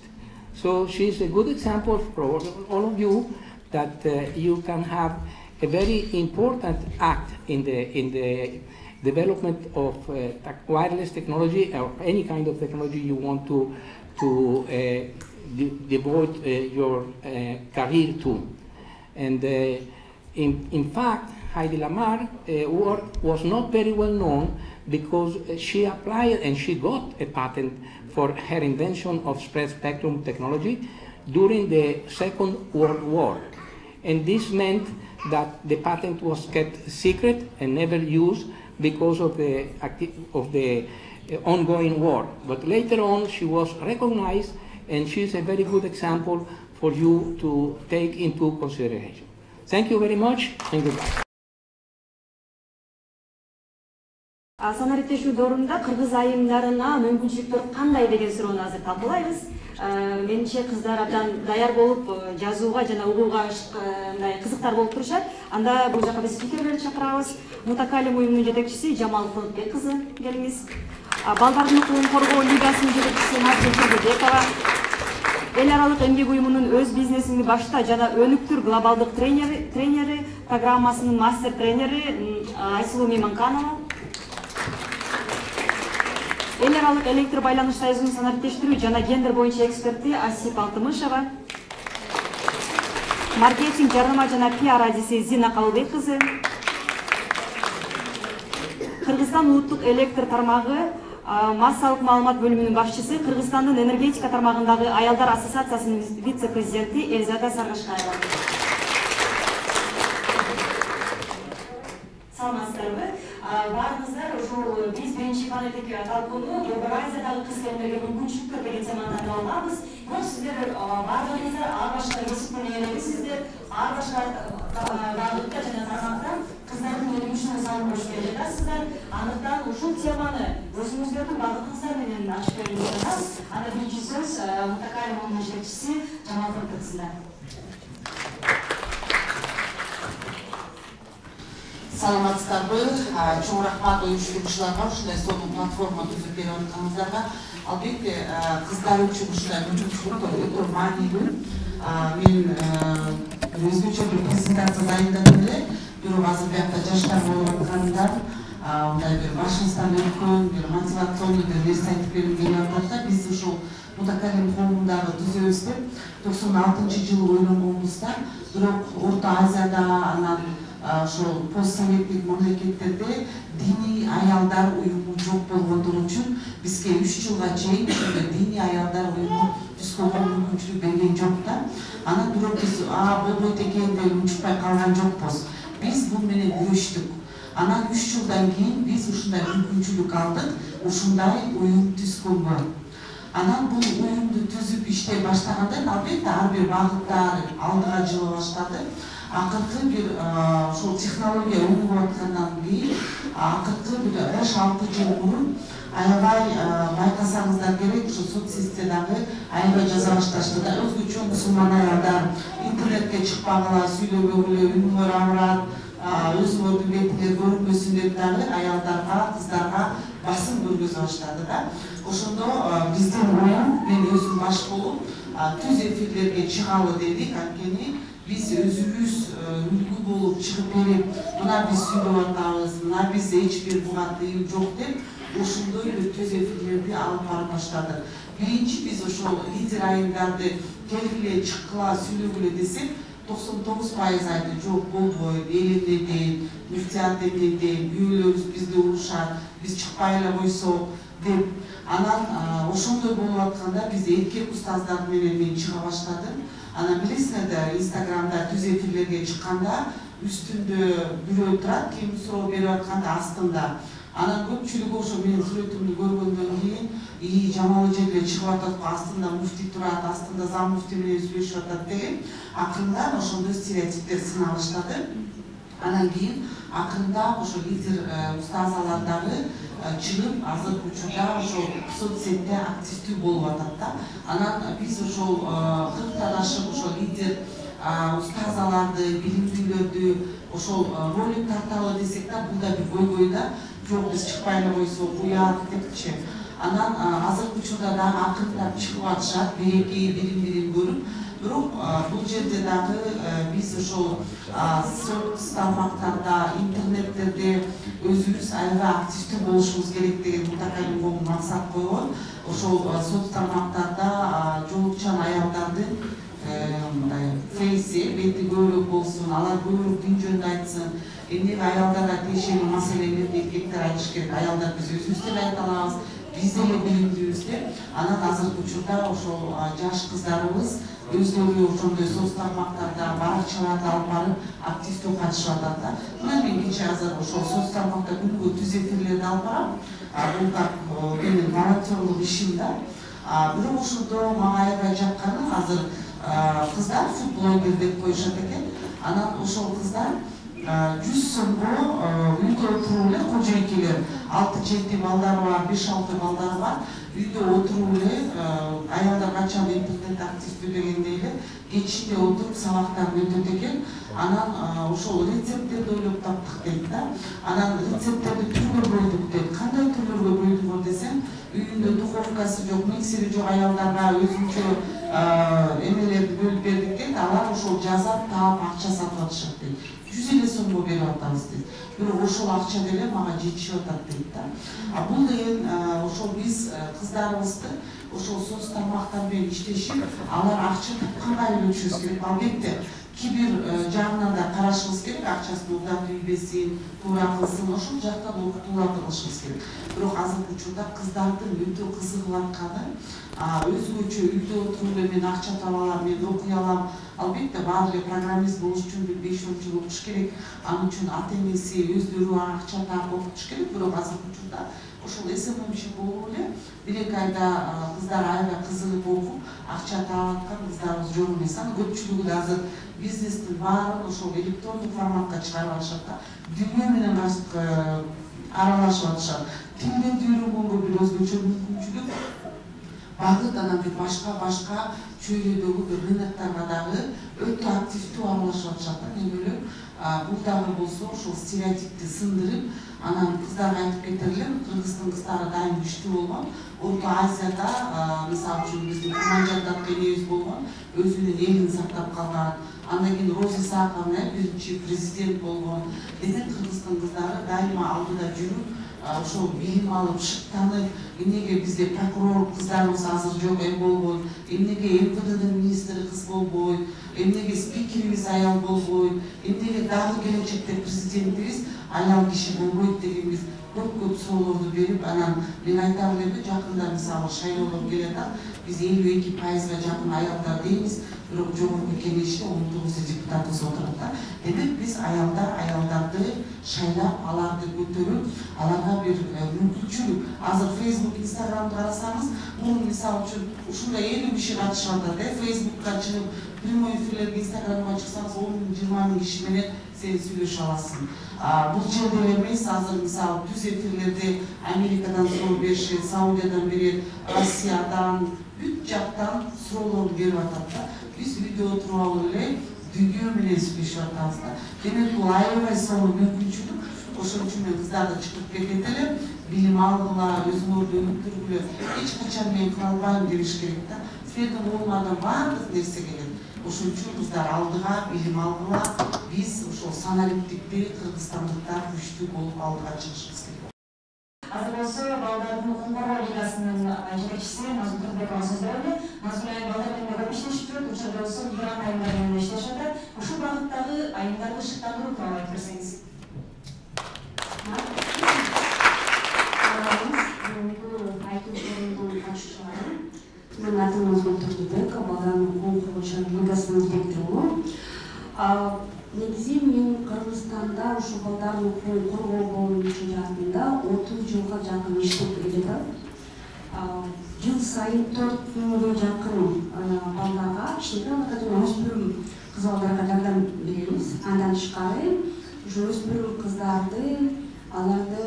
So she's a good example for all of you that you can have a very important act in the development of wireless technology or any kind of technology you want to devote your career to. And in fact, Heidi Lamar work was not very well known because she applied and she got a patent for her invention of spread spectrum technology during the Second World War. And this meant that the patent was kept secret and never used because of the ongoing war. But later on, she was recognized, and she's a very good example for you to take into consideration. Thank you very much, and goodbye. Санариптешүү доорунда кыргыз айымдарына мүмкүнчүлүктөр кандай деген суроону азыр талкуулайбыз. Менимче кыздар абдан даяр болуп жазууга жана угууга мындай кызыктар болуп турушат. Анда бул жака биз спикерлерди чакырабыз. Мутакалим уюмунун жетекчиси Жамал Фылыкбек кызы келиңиз. Балдардын укугун коргоо лигасынын жетекчиси Назгүл Тургубекова. Эл аралык эмгек уюмунун өз бизнесиңди башта жана өнүктүр глобалдык тренери программасынын мастер тренери Айсулуу Мейманканова. Эл аралык электр байланыш союзунун санариптештирүү жана гендер боюнча эксперти Асип Алтымышева. Маркетинг, жарнама жана пиар адиси Зина Калыбек кызы. Кыргызстан улуттук электр тармагы массалык маалымат бөлүмүнүн башчысы, Кыргызстандын энергетика тармагындагы аялдар ассоциациясынын вице-президенти Элзада Саргашкаева. Саламатсыздарбы? Баарыңыздар ушул биз биринчи панелдеги талкууну Борбор Азиядагы кыз келиндерге мүмкүнчүлүктөр деген теманы талкуу алабыз. Бул сиздер баардыгыңыздар ар башка кесиптен ээлебизсиздер, ар башка багытта жана тармактан кыздардын өнүгүшүнө салым берип келе жатасыздар. Андыктан ушул теманы өзүңүздөрдүн багытыңыздар менен ачып берүүгө жатабыз. Анда биринчи сөз Мутакалим уюмунун жетекчиси Жамал Фылыкбек. Саламатсыздарбы, чоң рахмат уюштуруучуларга ушундай сонун платформа түзүп берип атканыңыздарга. Албетте кыздар үчүн ушундай мүмкүнчүлүктөр өтө маанилүү. Мен өзгөчө бир презентация дайындадым эле, бирок азыр биякта жаштар болуп аткандар мындай бир башыңыздан өткөн бир мотивационный бир нерсе айтып бергим келип атат да. Биз ушул Мутакалим коомундагы түзөбүз деп 96-жылы ойлонгонбузда, бирок Орто Азияда анан ошол постсоветтик мамлекеттерде диний аялдар уюму жок болгондугу үчүн бизге 3 жылга чейин ушундай диний аялдар уюму түзгөнгө мүмкүнчүлүк берген жок да. Анан бирок биз болбойт экен деп унчукпай калган жокпуз. Биз бул менен күрөштүк. Анан 3 жылдан кийин биз ушундай мүмкүнчүлүк алдык, ушундай уюм түзгөнгө. Анан бул уюмду түзүп иштей баштагандан албетте ар бир багыттар алдыга жыла баштады. Акыркы бир ошол технология өнүгүп аткандан кийин акыркы бир 5-6 жыл мурун аябай байкасаңыздар керек, ошо соцсеттердеги аябай жаза башташты да. Өзгөчө мусулман аялдар интернетке чыкпагыла, сүйлөбөгүлө, үнүңөр ауырат, өзүңөрдүн бетиңер көрүнбөсүн деп дагы аялдарга, кыздарга басым көргөзө баштады да. Ошондо биздин уюм, мен өзүм баш болуп, түз эфирлерге чыгалы дедик, анткени биз өзүбүз үлгү болуп чыгып берип, мына биз сүйлөп атабыз, мына биз эч бир буга тыюу жок деп, ошондой бир түз эфирлерди алып барып баштадык. Биринчи биз ошол лидер айымдарды келгиле, чыккыла, сүйлөгүлө десек, 99% айтты, жок болбойт, эл эмнеден, мүфтият эмнеден, күйөөлөрүбүз бизди урушат, биз чыкпай эле койсок деп. Анан ошондой болуп атканда биз эркек устаздар менен мен чыга баштадым. Анан билесиңер да, Инстаграмда түз эфирлерге чыкканда үстүндө бирөө турат, ким суроо берип атканда астында. Анан көпчүлүгү ошо менин сүрөтүмдү көргөндөн кийин, Жамал эже эле чыгып атат, астында муфти турат, астында зам муфти менен сүйлөшүп атат деген. Акырында ошондой стереотиптер сына баштады. Анан кийин акырында ошо лидер устазалар дагы чыгып, азыркы учурда ошол соцсетте активдүү болуп атат да. Анан биз ошол 40тан ашык ошол лидер устазаларды, билимдүүлөрдү ошол ролик тарталы десек да, бул да бир көйгөй да. Жок, биз чыкпай эле койсок, уят депчи. Анан азыркы учурда дагы акырындап чыгып атышат, береки, бирин-бирин көрүп. Бирок бул жерде дагы биз ошол соц тармактарда, интернеттерде өзүбүз аябай активдүү болушубуз керек деген мутакалим коом максат койгон. Ошол соц тармактарда жоолукчан аялдардын мындай фейси, бети көбүрөөк болсун, алар көбүрөөк дин жөнүндө айтсын. Эмнеге аялдарга тиешелүү маселелерди эркектер айтыш керек, аялдар биз өзүбүз деле айта алабыз, биз деле билимдүүбүз деп. Анан азыркы учурда ошол жаш кыздарыбыз өздөрү ошондой соц тармактарда баракчаларды алып барып активдүү катышып атат да. Мына мен кечээ азыр ошол соц тармакта күнүгө түз эфирлерди алып барам. Бул как менин волонтерлук ишим да. Бирок ошондо мага аябай жакканы азыр кыздар футблогер деп коюшат экен. Анан ошол кыздар 100 сомго үйдө отуруп эле кожойкелер 6-7 балдары бар, 5-6 балдары бар. Үйдө отуруп эле аялдар качан интернет активдүү дегендей эле кечинде отуруп сабактарын өтөт экен. Анан ошол рецепттерди ойлоп таптык дейт да. Анан рецепттерди түргө бөлдүк дейт. Кандай түрлөргө бөлдүк десем, үйүндө духовкасы жок, миксери жок аялдарга өзүнчө эмелерди бөлүп бердик дейт. Алар ошол жазат, таап, акча сатып атышат дейт. 100 сомго берип атабыз дейт. Бирок ошол акча деле мага жетишип атат дейт да. Бул деген ошол биз кыздарыбызды ошол соц тармактар менен иштешип, алар акча тапканга үйлөтүшүбүз керек. Албетте кибир жагынан да карашыбыз керек, акчасын угдап ийбесин, туура кылсын, ошол жактан окутууларды кылышыбыз керек. Бирок азыркы учурда кыздардын өтө кызыгып атканы өзгөчө үйдө отуруп эле мен акча таба алам, мен окуй алам. Албетте баары эле программист болуш үчүн 5-10 жыл окуш керек. Анын үчүн ата энеси өздөрү акча таап окутуш керек. Бирок азыркы учурда ошол СММчи болуп эле 1-2 айда кыздар аябай кызыгып окуп акча таап аткан кыздарыбыз жок эмес. Анын көпчүлүгү да азыр бизнестин баарын ошол электрондук форматка чыгарып атышат да. Дүйнө менен аралашып атышат. Тилдерди үйрөнгөнгө бир өзгөчө мүмкүнчүлүк. Багыт анан бир башка чөйрөдөгү бир рыноктарга дагы өтө активдүү аралашып атышат да. Эмеле бул дагы болсо ошол стереотипти сындырып, анан кыздарга айтып кетерлер, Кыргыздын кыздары дайым күчтүү болгон. Орто Азияда, мисалы үчүн биздин Куманжандат энебиз болгон, өзүнүн элин сактап калган. Андан кийин Роза Исаковна биринчи президент болгон. Демек Кыргыздын кыздары дайыма алдыда жүрүп, ошол билим алып, шыктанып, эмнеге бизде прокурор кыздарыбыз азыр жок болгон, эмнеге МВДдин министри кыз болбойт, эмнеге спикерибиз аял болбойт, эмнеге дагы келечекте президентибиз аял киши болбойт деген биз көп суроолорду берип, анан мен айтам эле, жакында мисалы шайлоолор келатат, биз 52%га жакын аялдар дейбиз, бирок жогорку кеңеште 19 депутатыбыз отурат да. Демек биз аялдарды шайлап, аларды көтөрүп, аларга бир мүмкүнчүлүк. Азыр Facebook, Instagramды карасаңыз, мурун мисалы үчүн ушундай 50 киши катышып атат, Facebookка чыгып, прямой эфирлерге Instagramга чыксаңыз 10-20 миң киши менен сен сүйлөшө аласың. Бул жерде эмес, азыр мисалы түз эфирлерде Америкадан суроо беришет, Саудиядан берет, Россиядан, бүт жактан суроолорду берип атат да. Биз үйдө отуруп алып эле дүйнө менен сүйлөшүп атабыз да. Демек бул аябай сонун мүмкүнчүлүк. Ошон үчүн мен кыздарды чыгып кетет эле, билим алгыла, өзүңөрдү өнүктүргүлө, эч качан мен кыла албайм дебиш керек да. Силердин колуңардан баардык нерсе келет. Ошон үчүн кыздар алдыга, билим алгыла, биз ошол саналиктикти кыргызстандыктар күчтүү болуп алдыга чыгышыбыз керек. Азыр болсо балдардын укук коргоо лигасынын жетекчиси Назгүл Турбекова сөз берди. Назгүл айым балдар менен көп иштешип жүрөт, учурда болсо мигрант айымдар менен иштешип атат. Ушул багыттагы айымдарды шыктандыруу тууралуу айтып берсеңиз. Менин атым Назгүл Турбекова, балдардын укук коргоочу лигасынын директорумун. Негизи мен Кыргызстанда ушу балдардын укугун коргоо боюнча жаатында 30 жылга жакын иштеп келатам. Жыл сайын 4000ге жакын балдарга, кичинекей жана өспүрүм кыз балдарга жардам беребиз. Андан тышкары, ушу өспүрүм кыздарды, аларды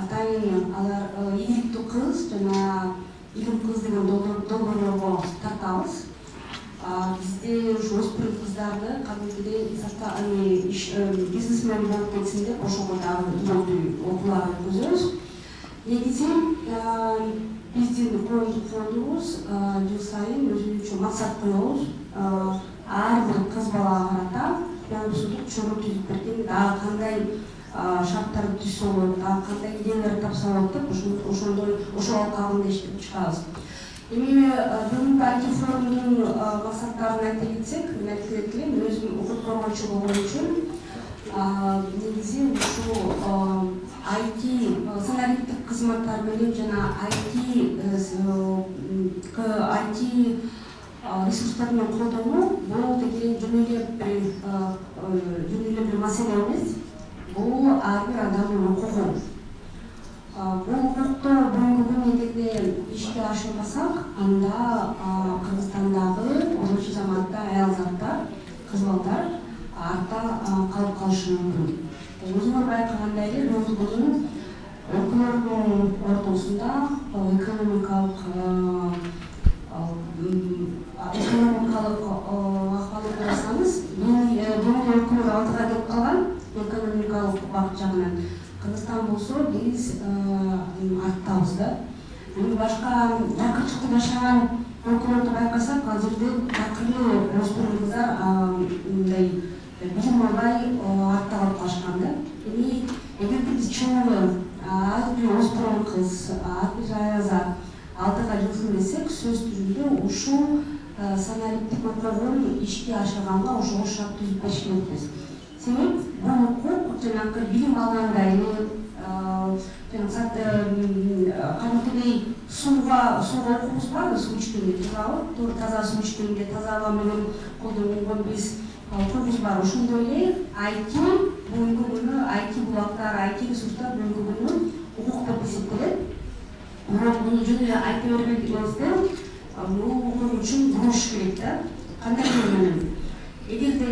атайын алар ийгиликтүү кыз жана игим кыз деген долбоорлорго тартабыз. Бизде ушу өспүрүм кыздарды кадимгидей бизнесмен болуп кетсин деп ошого дагы түбөлдүү окуулар өткөзөбүз. Негизи биздин коомдук фондубуз жыл сайын өзүнчө максат коебуз. ар бир кыз балага карата коопсуздук чогуу түзүп берген, дагы кандай шарттарды түзсө болот, дагы кандай идеялар тапса болот деп ошол алкагында иштеп чыгабыз. Эми бүгүнкү IT форумдун максаттарын айта кетсек, мен айтып элем, өзүм укук коргоочу болгон үчүн негизи ушул IT санариптик кызматтар менен жана IT ресурстар менен колдонуу бул деген жөн эле бир маселе эмес. Бул ар бир адамдын укугу. Бул укукту бүгүнкү күнү эгерде ишке ашырбасак, анда Кыргызстандагы болчу заматта аялзаттар, кыз балдар артта калып калышы мүмкүн. Өзүңөр байкагандай эле бүгүнкү күнү өлкөлөрдүн ортосунда экономикалык акыбалды карасаңыз, бүгүнкү өлкөлөр алдыга кетип калган экономикалык бак жагынан. Кыргызстан болсо биз арттабыз да. Башка жакынчыкта жашаган өлкөлөрдү байкасак, азырда такыры өспүрүм кыздар мындай билим албай артта калып калышкан да. Эми эгерде биз чоң ар бир өспүрүм кыз, ар бир аязат алдыга жылжын десек, сөз түрүндө ушул санариптик укугун ишке ашырганга ошого шарт түзүп бериш керекпиз. Себеп бул укук жанагы билим алгандай кадимкидей сууга укугубуз барбы, суу ичкенде, туура таза суу ичкенде, таза аба менен колдонгон биз укугубуз бар. Ошондой эле IT бүгүнкү күнү IT булактар, IT ресурстар бүгүнкү күнү укук деп эсептелет. Бирок муну жөн эле айта бербей эместен, бул укук үчүн буруш керек да. Кандай менен? Эгерде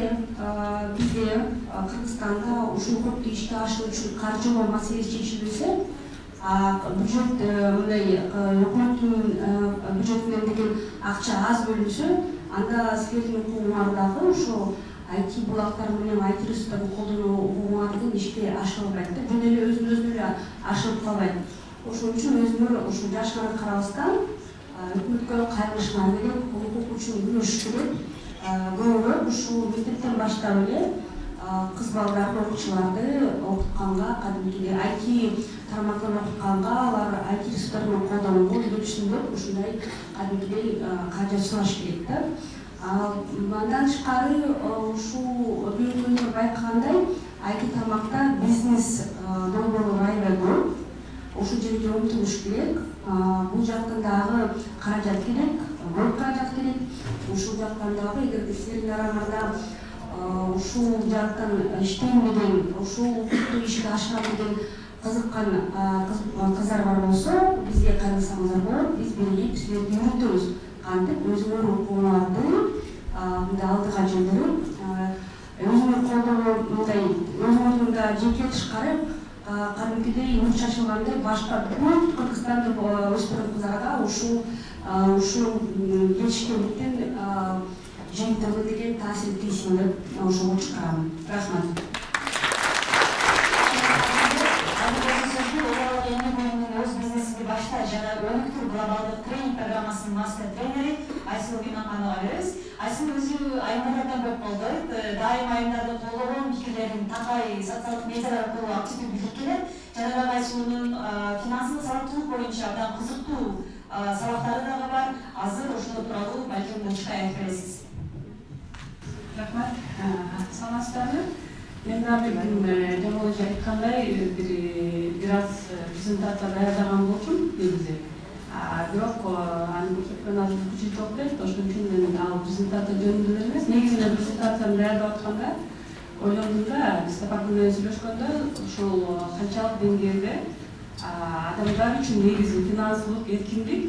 бизде Кыргызстанда ушул укукту ишке ашыруу үчүн каржылоо маселеси чечилбесе, бюджет мындай өкмөттүн бюджетинен деген акча аз бөлүнсө, анда силердин укугуңар дагы ошол IT булактар менен IT ресурстарды колдонуу укугуңар деген ишке ашырылбайт да, жөн эле өзүнөн эле ашырып калбайт. Ошон үчүн өзүңөр ушул жашына карабастан өкмөткө кайрылышыңар керек, укук үчүн күрөшүш керек. Көбүрөөк ушул мектептен баштап эле кыз балдарды, окуучуларды окутканга, кадимкидей IT тармактан окутканга, алар IT ресурстар менен колдонууга үйрөтүшүндөп, ушундай кадимкидей каражат сураш керек да. Андан тышкары ушул бүгүнкү күндө байкагандай IT тармакта бизнес долбоорлор аябай көп. Ушул жерге умтулуш керек. Бул жактан дагы каражат керек, көп каражат керек. Ушул жактан дагы эгерде силердин араңарда ушул жактан иштейм деген, ушул укукту ишке ашырам деген кызыккан кыздар бар болсо, бизге кайрылсаңыздар болот. Биз биригип силерди үйрөтөбүз. Кантип өзүңөр укугуңарды мындай алдыга жылдырып, өзүңөр колдонуу мындай өзүңөрдүн да жеке тышкары кадимкидей нур чачылгандай башка бүт Кыргызстандык өспүрүм кыздарга ушул жетишкендиктен жыйынтыгы деген таасир тийсин деп ошого чыгарам. Рахмат. Өз бизнесинди башта жана өнүктүр глобалдык тренинг программасынын мастер тренери Айсулуу Иманхановго беребиз. Айсулуу өзү айымдардан көп колдойт, дайыма айымдарды колдогон пикирлерин такай социалдык медиалар аркылуу активдүү билдирип келет. Жана дагы Айсулуунун финансылык сабактуулук боюнча абдан кызыктуу сабактары дагы бар. Азыр ошол тууралуу балким Мунчукай айтып бересиз. Рахмат. Саламатсыздарбы? Мен дагы жана өзү айткандай бир аз презентация даярдаган болчумун негизи. Бирок аны көрсөткөн азыр күчү токтойт, ошон үчүн мен ал презентация жөнүндө эле эмес, негизи мен презентацияны даярдап атканда ойлондум да, биз Сапар менен сүйлөшкөндө ушул канчалык деңгээлде адамдар үчүн негизи финансылык эркиндик,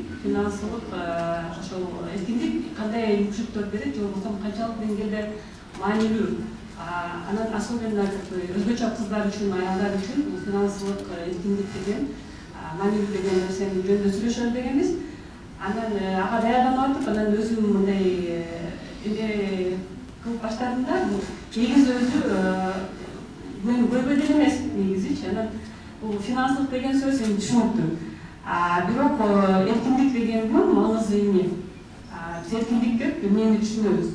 ошол эркиндик кандай мүмкүнчүлүктөр берет, же болбосо канчалык деңгээлде маанилүү. Анан особенно өзгөчө кыздар үчүн, аялдар үчүн бул финансылык эркиндик деген маанилүү деген нерсени жөнүндө сүйлөшөлү дегенбиз. Анан ага даярданып атып, анан өзүм мындай эмне кылып баштадым да, негизи өзү мен көйгөй деле эмес негизичи. Анан бул финансылык деген сөз эми түшүнүктүү. Бирок эркиндик дегендин маңызы эмне? Биз эркиндик деп эмнени түшүнөбүз?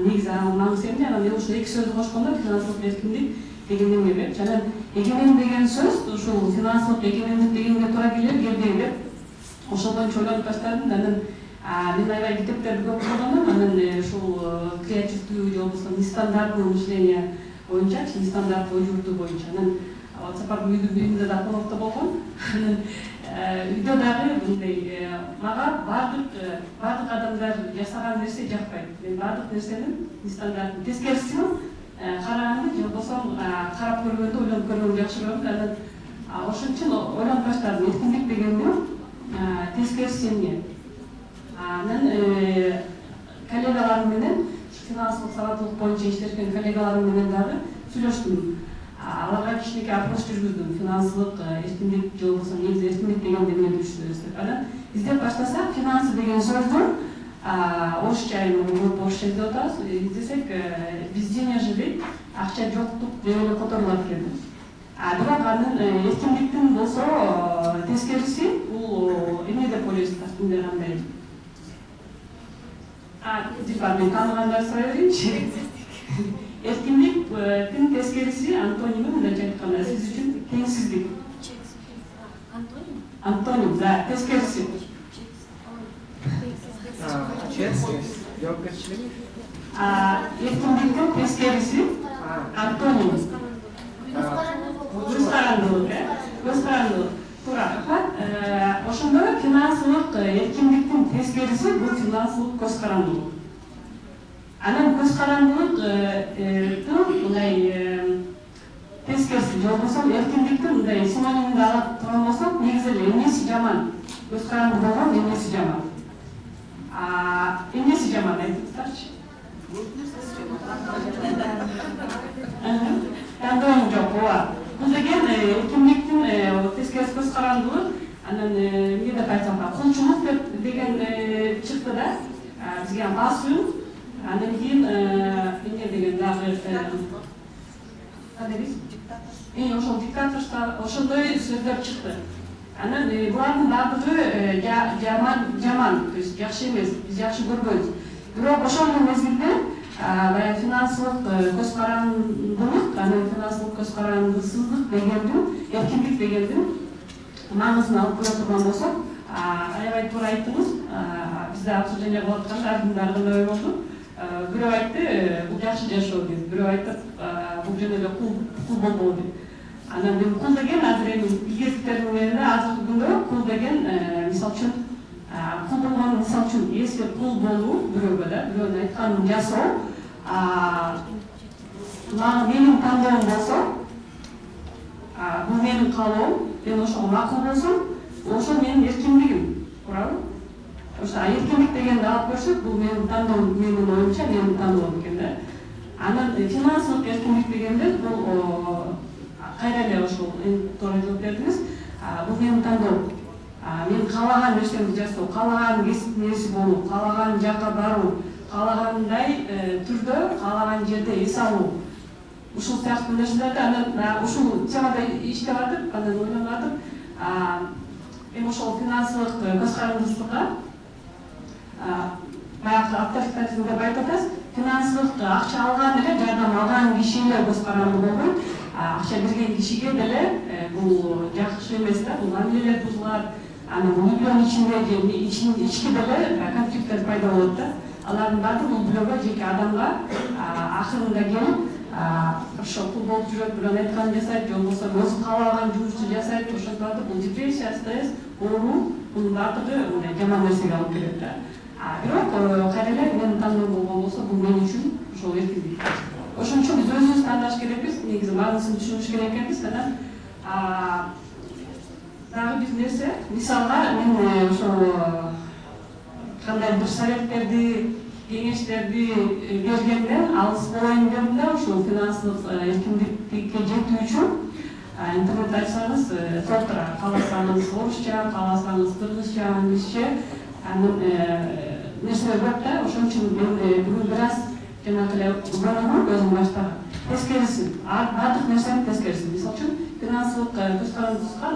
негизи анын маңызы эмне? Анан мен ушул эки сөздү кошкондо финансылык эркиндик деген эмне деп. Жана эгемен деген сөз ушул финансылык эгемендик дегенге туура келбейби деп ошол боюнча ойлонуп баштадым. Анан мен аябай китептерди көп окудум. Анан ушул креативдүү же болбосо нестандартный мышление боюнча, нестандартный ой журту боюнча. Анан сапардын үйдүн да конокто болгон. Үйдө дагы мындай мага бардык адамдар жасаган нерсе жакпайт. Мен бардык нерсенин нестандартный тескерисин караганды же болбосо карап көргөндө ойлонуп көргөндү жакшы көрөм. Анан ошон үчүн ойлонуп баштадым. Эркиндик дегенди тескериси эмне? Анан коллегаларым менен финансылык сабаттуулук боюнча иштешкен коллегаларым менен дагы сүйлөштүм. Аларга кичинекей опрос жүргүздүм. Финансылык эркиндик же болбосо негизи эркиндик дегенде эмне түшүнөбүз деп. Анан издеп баштасак, финансы деген сөздүн орусча орусча издеп атабыз. Издесек без денежье дейт, акча жоктук деп эле которулат экен. Бирок анын эркиндиктин болсо тескериси бул эмне деп ойлойсуздар? Сиздер кандай? Мен тааныгандар сурай берейинчи. Эркиндиктин тескериси антоними мындайча айтканда сиз үчүн теңсиздик. Антоним, да, тескериси. Честность, жоопкерчилик. Эркиндиктин тескериси антоним. Көз карандылык, көз карандылык. Туура. Ошондо финансылык эркиндиктин тескериси бул финансылык көз карандылык. Анан көз карандылык мындай тескериси же болбосо эркиндиктин мындай синонимин ала турган болсок, негизи эле эмнеси жаман? Көз каранды болгон эмнеси жаман? Эмнеси жаман айтыңыздарчы? Тандооң жок, ооба. Бул деген эркиндиктин тескерис көз карандылык, анан эмне деп айтсам, кулчулук деген чыкты да. Бизге басуу, анан кийин эмне деген дагы ошол диктаторство, ошондой сөздөр чыкты. Анан булардын баардыгы жаман, то есть жакшы эмес, биз жакшы көрбөйбүз. Бирок ошол мезгилде баягы финансылык көз карандылык, анан финансылык көз карандысыздык дегендин, эркиндик дегендин маңызын алып көрө турган болсок, аябай туура айттыңыз. Бизде обсуждение кылып атканда ар кандай ой болду. Бирөө айтты, бул жакшы жашоо деп, бирөө айтты, бул жөн эле кул болбоо деп. Анан мен кул деген азыр эми илгертиктердин менен азыркы күндө кул деген мисалы үчүн кул болгон мисалы үчүн если кул болуу бирөөгө да, бирөөнүн айтканын жасоо менин тандоом болсо, бул менин каалоом, мен ошого макул болсом, ошол менин эркиндигим, туурабы? Ошо эркиндик дегенди алып көрсөк, бул менин тандоом, менин оюмча менин тандоом экен да. Анан финансылык эркиндик дегенде бул кайра эле ошол туура жооп бердиңиз. Бул менин тандоом. Мен каалаган нерсемди жасоо, каалаган кесип нерси болуу, каалаган жакка баруу, каалагандай түрдө, каалаган жерде эс алуу. Ушул сыяктуу нерселерди анан ушул темада иштеп атып, анан ойлонуп атып, эми ошол финансылык көз карандысыздыкка баягы авторитаризм деп айтып атасыз. Финансылык акча алган эле, жардам алган киши эле көз каранды болбойт. Акча берген кишиге деле бул жакшы эмес да, бул мамилелер бузулат. Анан үйлөн ичинде же ички деле конфликттер пайда болот да. Алардын баардыгы бул бирөөгө, жеке адамга акырында келип ошо кул болуп жүрөт, бирөөнүн айтканын жасайт, же болбосо өзү каалаган жумушту жасайт, ошентип атып бул депрессия, стресс, оору, бунун баардыгы мындай жаман нерсеге алып келет да. Бирок кайра эле менин тандоом болгон болсо, бул мен үчүн ошол эркиндик. Ошон үчүн биз өзүбүз тандаш керекпиз, негизи маңызын түшүнүш керек экенбиз. Анан дагы бир нерсе, мисалга мен ошо кандай бир советтерди, кеңештерди бергенде алыс болоюн дедим да, ошол финансылык эркиндикке жетүү үчүн интернет ачсаңыз, соттура кааласаңыз орусча, кааласаңыз кыргызча, англисче, анын нерселер көп да. Ошон үчүн мен бүгүн бир аз жанагы эле уйланам, өзүм баштагы тескериси, баардык нерсенин тескериси. Мисалы үчүн финансылык көз карандысызга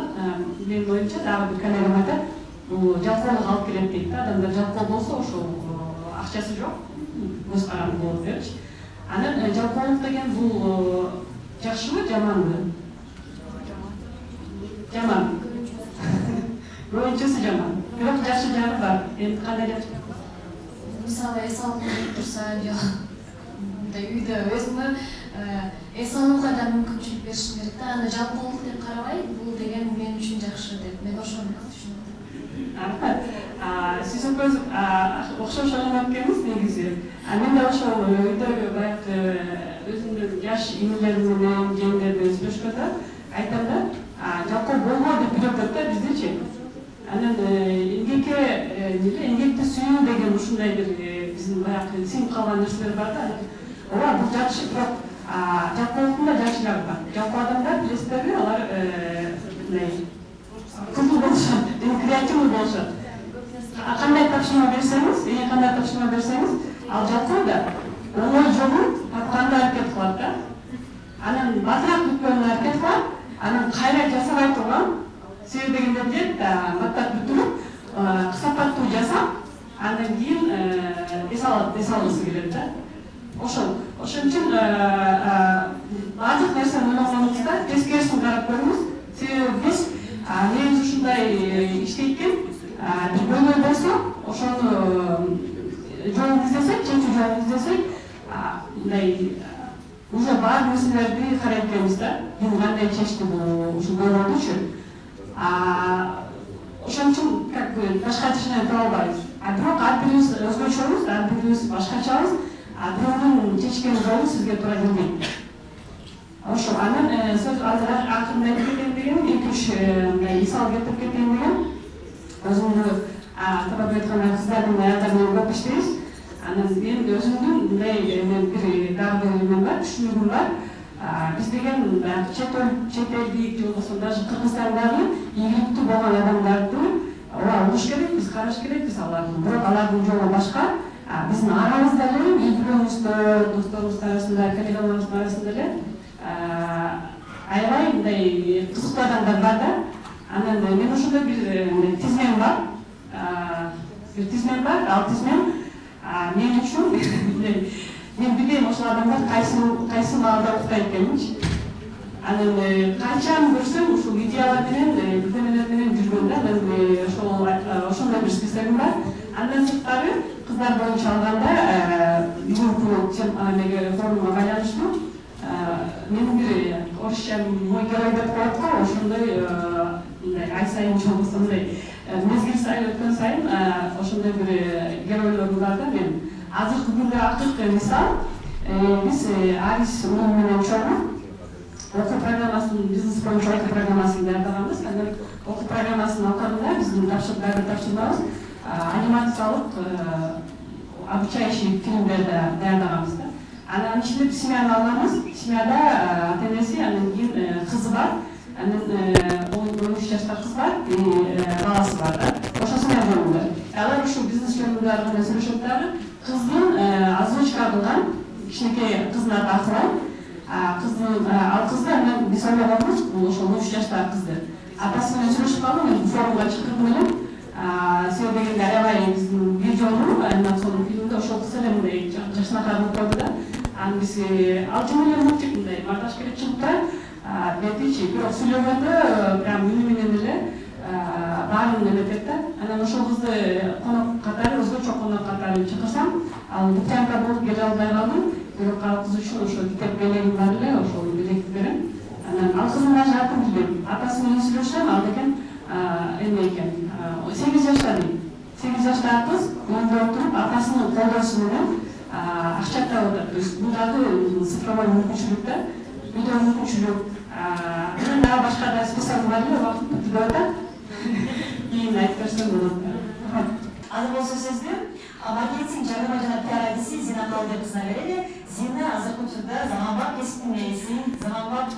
менин оюмча дагы бир коллегам айтат, бул жалкоолук алып келет дейт да. Адамдар жалкоо болсо, ошол акчасы жок, көз каранды болуп берчи. Анан жалпылык деген бул жакшыбы, жаманбы? Жаман. Көбүнчөсү жаман. Бирок жакшы жагы бар. Эми кандай деп? Мисалы эс алып турса, үйдө өзүмө эс алууга да мүмкүнчүлүк бериш керек да. Аны жалпылык деп карабай, бул деген мен үчүн жакшы деп мен ошону түшүнөм. Рахмат. Сиз экөөбүз окшош ойлонуп келебиз негизи. Мен да ошол үйдөгү баягы өзүмдүн жаш инелерим менен жеңдер менен сүйлөшкөндө айтам да, жалпы болбойт деп үйрөтөт да биздичи. Анан эмгекти сүйүү деген ушундай бир биздин баягы сиңип калган нерселер бар да. Ооба, бул жакшы, бирок жалпылыктын да жакшы жагы бар. Жалпы адамдар билесиздерби, алар мындай көпү болушат, креативдүү болушат. Кандай тапшырма берсеңиз, ал жалпы да оңой жолун тапканга аракет кылат да. Анан батыраак бүткөнгө аракет кылат, анан кайра жасабай турган себеп дегенде билет, баттап бүтүрүп, сапаттуу жасап, андан кийин эс алгысы келет да. Ошон үчүн баардык нерсени ойлогонубузда тескерисин карап көрүңүз. Себеби биз негизи ушундай иштейт экен, бир көйгөй болсо, ошону жолун издесек, чечүү жолун издесек, мындай уже бар нерселерди карайт экенбиз да. Бул кандай чечти бул ушул көйгөйдүчү. Ошон үчүн как бы башка решение таба албайбыз. Бирок ар бирибиз өзгөчөбүз, ар бирибиз башкачабыз. Бирөөнүн чечкен жолу сизге туура келбейт. Ошо анан сөз азыр акырында айтып кетейин деген, 2-3 мисал келтирип кетейин деген. Өзүмдү тапап айтканда кыздардын аялдар менен көп иштейбиз. Анан мен өзүмдүн мындай бир дагы эме бар, түшүнүгүм бар. Биз деген чет элдик же болбосо даже Кыргызстандагы ийгиликтүү болгон адамдарды угуш керекпиз, караш керекпиз аларды. Бирок алардын жолу башка. Биздин арабызда эле, үй-бүлөбүздө, досторубуздун арасында, коллегаларыбыздын арасында эле аябай мындай кызыктуу адамдар бар да. Анан мен ошондой бир тизмем бар. Ал тизмем мен үчүн мен билем ошол адамдар кайсы маалда уктайт экенинчи. Анан канчаны көрсөм ушул идеялар менен, билдемелер менен жүргөн да. Мен ошондой бир списогум бар. Андан сырткары кыздар боюнча алганда бүгүнкү форумга байланыштуу менин бир орусча мой герой деп коет го, ошондой мындай ай сайын же болбосо мындай мезгил сайын өткөн сайын ошондой бир геройлорум бар да менин. Азыркы күндө акыркы мисал биз Арис уулум менен чогуу окуу программасын, бизнес боюнча окуу программасын даярдаганбыз. Анан окуу программасынын алкагында биздин тапшырмабыз анимациялык обучающий фильмдерди даярдаганбыз да. Анан ичинде семьяны алганбыз. Семьяда ата-энеси, анан кийин кызы бар. Анан 13 жашта кыз бар, баласы бар да. Ошо семья жөнүндө. Алар ушул бизнес жөнүндө аркылуу сүйлөшөт дагы. Кыздын озвучка кылган кичинекей кыздын аты Акылай. Ал кызды анан биз ойлогонбуз, бул ошол 13 жаштагы кызды. Атасы менен сүйлөшүп калдым, мен форумга чакырдым элем. Себеби дегенде аябай биздин бир жолу анимацион фильмде ошол кыз эле мындай жашынакай болуп койду да. Анан биз ал жөн эле мультик мындай монтаж керек чыгып турат. Бетичи, бирок сүйлөгөндө прям үнү менен эле баарын эметет да. Анан ошол кызды конок катары, өзгөчө конок катары чакырсам, ал Лукьянка болуп келе албай калдым. Бирок ал кыз үчүн ошол китеп белегим бар эле, ошол белекти берем. Анан ал кыздын даже атын билбейм. Атасы менен сүйлөшсөм, ал деген эме экен. 8 жашта дейм. 8 жаштагы кыз үйдө отуруп, атасынын колдоосу менен акча таап атат. То есть бул дагы цифровой мүмкүнчүлүк да. Үйдө мүмкүнчүлүк. Анан дагы башка да список бар эле, убакыт бүтүп атат. Кийин айтып берсем болот. Азыр болсо сөздү маркетинг жарнама жана пиар адиси Зина Калыбек кызына берели. Зина азыркы учурда заманбап кесиптин ээси, заманбап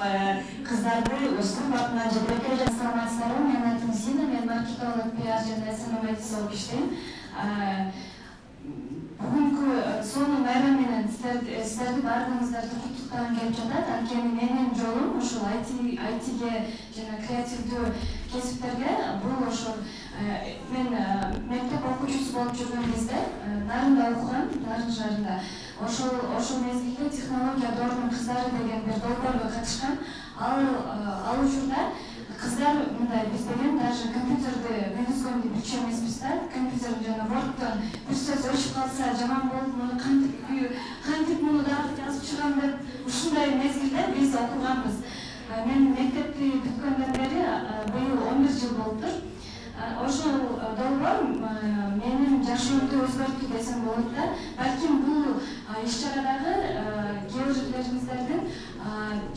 кыздарды өстүрүп атынан жетелеп келе жатат. Саламатсыздарбы, менин атым Зина, мен маркетинг, пиар жана СММ адиси болуп иштейм. Бүгүнкү сонун байрам менен сиздерди баардыгыңыздарды куттуктагым келип жатат. Анткени менин жолум ушул айтиге жана креативдүү кесиптерге бул ошол мен мектеп окуучусу болуп жүргөн кезде Нарында окугам, Нарын шаарында. Ошол мезгилде технология доорунун кыздары деген бир долбоорго катышкан. Ал учурда кыздар мындай биз деген даже компьютерди менгизгенди билчү эмеспиз да. Компьютер жана Word'дон бир сөз өчүп калса жаман болуп, муну кантип муну дагы жазып чыгам деп ушундай мезгилде биз окуганбыз. Мен мектепти бүткөндөн бери быйыл 11 жыл болуптур. Ошол долбоор менин жашоомду өзгөрттү десем болот да. Балким бул иш-чарадагы кээ бир жерлериңиздердин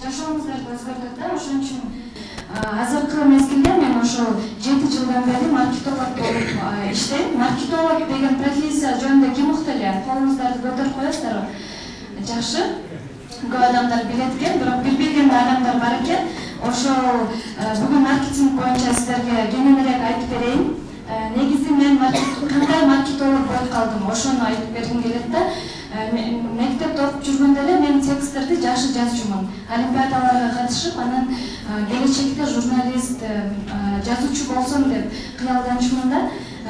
жашооңуздарды өзгөртөт да. Ошон үчүн азыркы мезгилде мен ошол 7 жылдан бери маркетолог болуп иштейм. Маркетолог деген профессия жөнүндө ким укты эле? Колуңуздарды көтөрүп коесуздарбы? Жакшы. Көп адамдар билет экен, бирок билбеген адамдар бар экен. Ошол бүгүн маркетинг боюнча сиздерге кеңирээк айтып берейин. Негизи мен кандай маркетолог болуп калдым, ошону айтып бергим келет да. Мектепте окуп жүргөндө эле мен тексттерди жакшы жазчумун. Олимпиадаларга катышып, анан келечекте журналист, жазуучу болсом деп кыялданчумун да.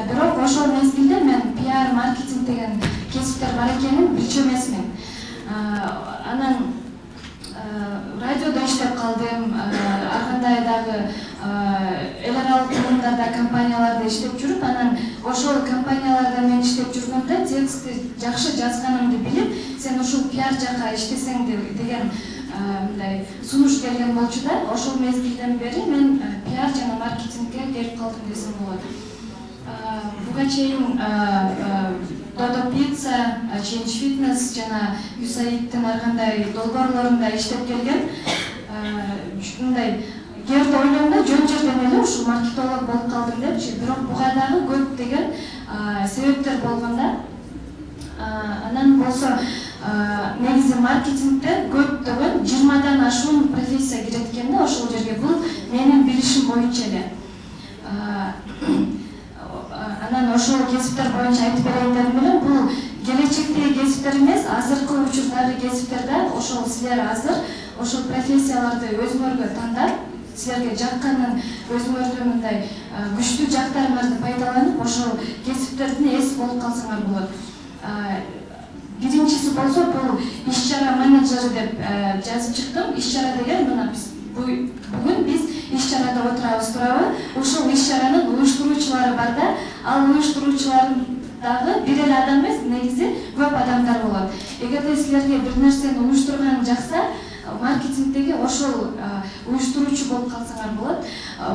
Бирок ошол мезгилде мен пиар, маркетинг деген кесиптер бар экенин билчү эмесмин. Анан радиодо иштеп калдым, ар кандай дагы эл аралык уюмдарда, компанияларда иштеп жүрүп, анан ошол компанияларда мен иштеп жүргөндө текстти жакшы жазганымды билип, сен ушул пиар жака иштесең деген мындай сунуш келген болчу да. Ошол мезгилден бери мен пиар жана маркетингге келип калдым десем болот. Буга чейин Dodo Pizza, Change Fitness жана USAID-тин ар кандай долбоорлорунда иштеп келген. Ушундай жерде ойлонгондо жөн жерден эле ушул маркетолог болуп калдым депчи. Бирок буга дагы көп деген себептер болгон да. Анан болсо негизи маркетингде көптөгөн 20дан ашуун профессия кирет экен да ошол жерге. Бул менин билишим боюнча эле. Анан ошол кесиптер боюнча айтып берейин дедим эле. Бул келечектеги кесиптер эмес, азыркы учурдагы кесиптерде ошол силер азыр ошол профессияларды өзүңөргө тандап, силерге жакканын өзүңөрдүн мындай күчтүү жактарыңарды пайдаланып, ошол кесиптердин ээси болуп калсаңар болот. Биринчиси болсо бул иш-чара менеджери деп жазып чыктым. Иш-чара деген мына биз бүгүн биз иш-чарада отурабыз туурабы? Ушул иш-чаранын уюштуруучулары бар да, ал уюштуруучулардын дагы бир эле адам эмес, негизи көп адамдар болот. Эгерде силерге бир нерсени уюштурган жакса, маркетингдеги ошол уюштуруучу болуп калсаңар болот.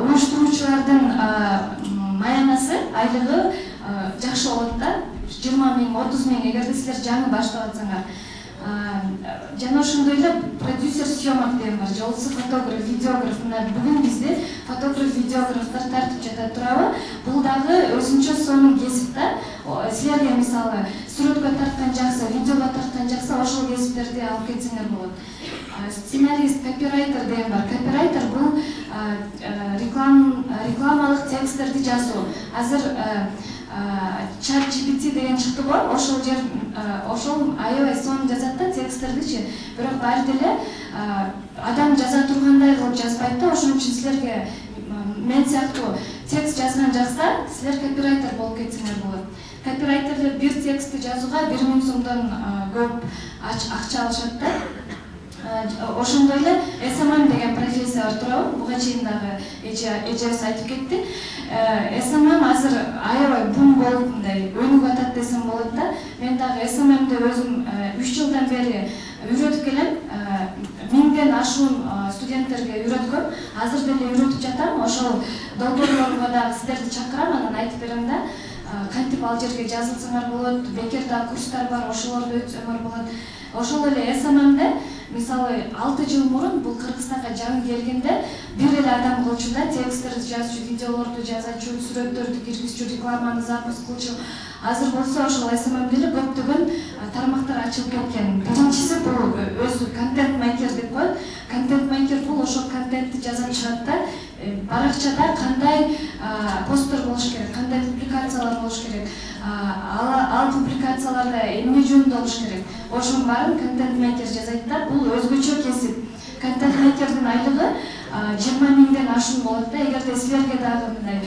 Уюштуруучулардын маянасы, айлыгы жакшы болот да. 20 миң, 30 миң эгерде силер жаңы баштап атсаңар. Жана ошондой эле продюсер съемок деген бар, же болбосо фотограф, видеограф. Мына бүгүн бизде фотограф, видеографтар тартып жатат туурабы? Бул дагы өзүнчө сонун кесип да. Силерге мисалы сүрөткө тарткан жакса, видеого тарткан жакса, ошол кесиптерди алып кетсеңер болот. Сценарист, копирайтер деген бар. Копирайтер бул рекламалык тексттерди жазуу. Азыр ChatGPT деген чыкты го, ошол аябай сонун жазат да тексттердичи. Бирок баары деле адам жаза тургандай кылып жазбайт да. Ошон үчүн силерге мен сыяктуу текст жазган жакса, силер копирайтер болуп кетсеңер болот. Копирайтерлер бир текстти жазууга 1000 сомдон көп акча алышат да. Ошондой эле SMM деген профессия бар туурабы? Буга чейин дагы эжебиз айтып кетти. SMM азыр аябай бум болуп мындай өнүгүп атат десем болот да. Мен дагы SMM'де өзүм 3 жылдан бери үйрөтүп келем. 1000ден ашуун студенттерге үйрөткөм. Азыр деле үйрөтүп жатам. Ошол долбоорлорго дагы сиздерди чакырам, анан айтып берем да. Кантип ал жерге жазылсаңар болот, бекерда курстар бар, ошолорду өтсөңөр болот. Ошол эле SMM'де мисалы 6 жыл мурун бул Кыргызстанга жаңы келгенде бир эле адам кылчу да, тексттерди жазчу, видеолорду жазачу, сүрөттөрдү киргизчү, рекламаны запуск кылчу. Азыр болсо ошол SMM'де эле көптөгөн тармактар ачылып кеткен. Биринчиси бул өзү контент мейкер деп коет. Контент мейкер бул ошол контентти жазып чыгат да. Баракчада кандай посттер болуш керек, кандай публикациялар болуш керек, ал публикацияларда эмне жөнүндө болуш керек. Ошонун баарын контент мейкер жазайт да. Бул өзгөчө кесип. Контент мейкердин айлыгы 20 миңден ашуун болот да. Эгерде силерге дагы мындай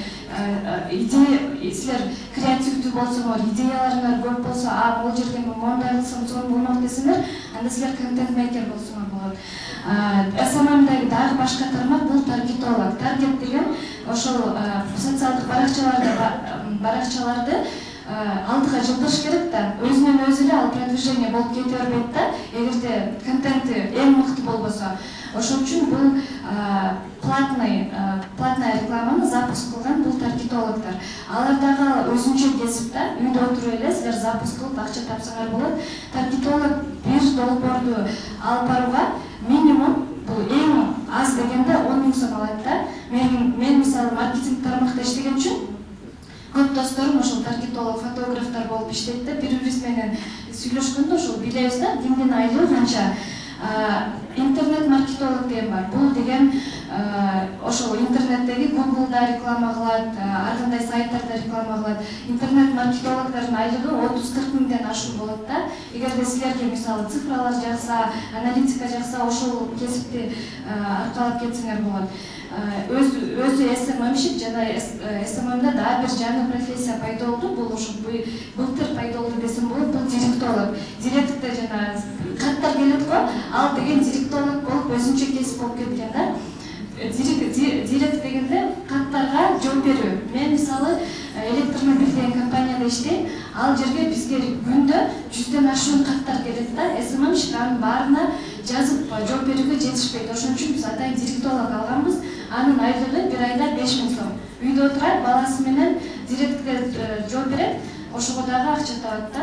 идея, силер креативдүү болсоңор, идеяларыңар көп болсо, бул жерге мондай кылсам сонун болмок десеңер, анда силер контент мейкер болсоңор болот. SMM-дagi дагы башка тармак бул таргетолог. Таргет деген ошол социалдык баракчаларды алдыга жылдырыш керек да. Өзүнөн өзү эле ал продвижение болуп кете бербейт да. Эгерде контенти эң мыкты болбосо. Ошон үчүн бул платная рекламаны запуск кылган бул таргетологдор. Алар дагы өзүнчө кесип да, үйдө отуруп эле силер запуск кылып акча тапсаңар болот. Таргетолог бир долбоорду алып барууга минимум бул эң аз дегенде 10 миң сом алат да. Мен мисалы маркетинг тармакта иштеген үчүн көп досторум ошол таргетолог, фотографтар болуп иштейт да. Бири-бирибиз менен сүйлөшкөндө ошол билебиз да, кимдин айлыгы канча. Интернет маркетолог деген бар. Бул деген ошол интернеттеги Google'да реклама кылат, ар кандай сайттарда реклама кылат. Интернет маркетологдордун айлыгы 30-40 миңден ашуун болот да. Эгерде силерге мисалы цифралар жакса, аналитика жакса, ошол кесипти аркалап кетсеңер болот. Өзү SMM-шик жана SMM-да дагы бир жаңы профессия пайда болду. Бул ошо былтыр пайда болду десем болот. Бул директолог. Директор жана каттар келет го, ал деген директолог болуп өзүнчө кесип болуп кеткен да. Директ дегенде каттарга жооп берүү. Мен мисалы электромобиль деген компанияда иштейм. Ал жерге бизге күндө 100ден ашуун каттар келет да. SMM-шик анын баарына жазып жооп берүүгө жетишпейт. Ошон үчүн биз атайын директолог алганбыз. Анын айлыгы бир айда 5 миң сом. Үйдө отурат, баласы менен директке жооп берет. Ошого дагы акча табат да.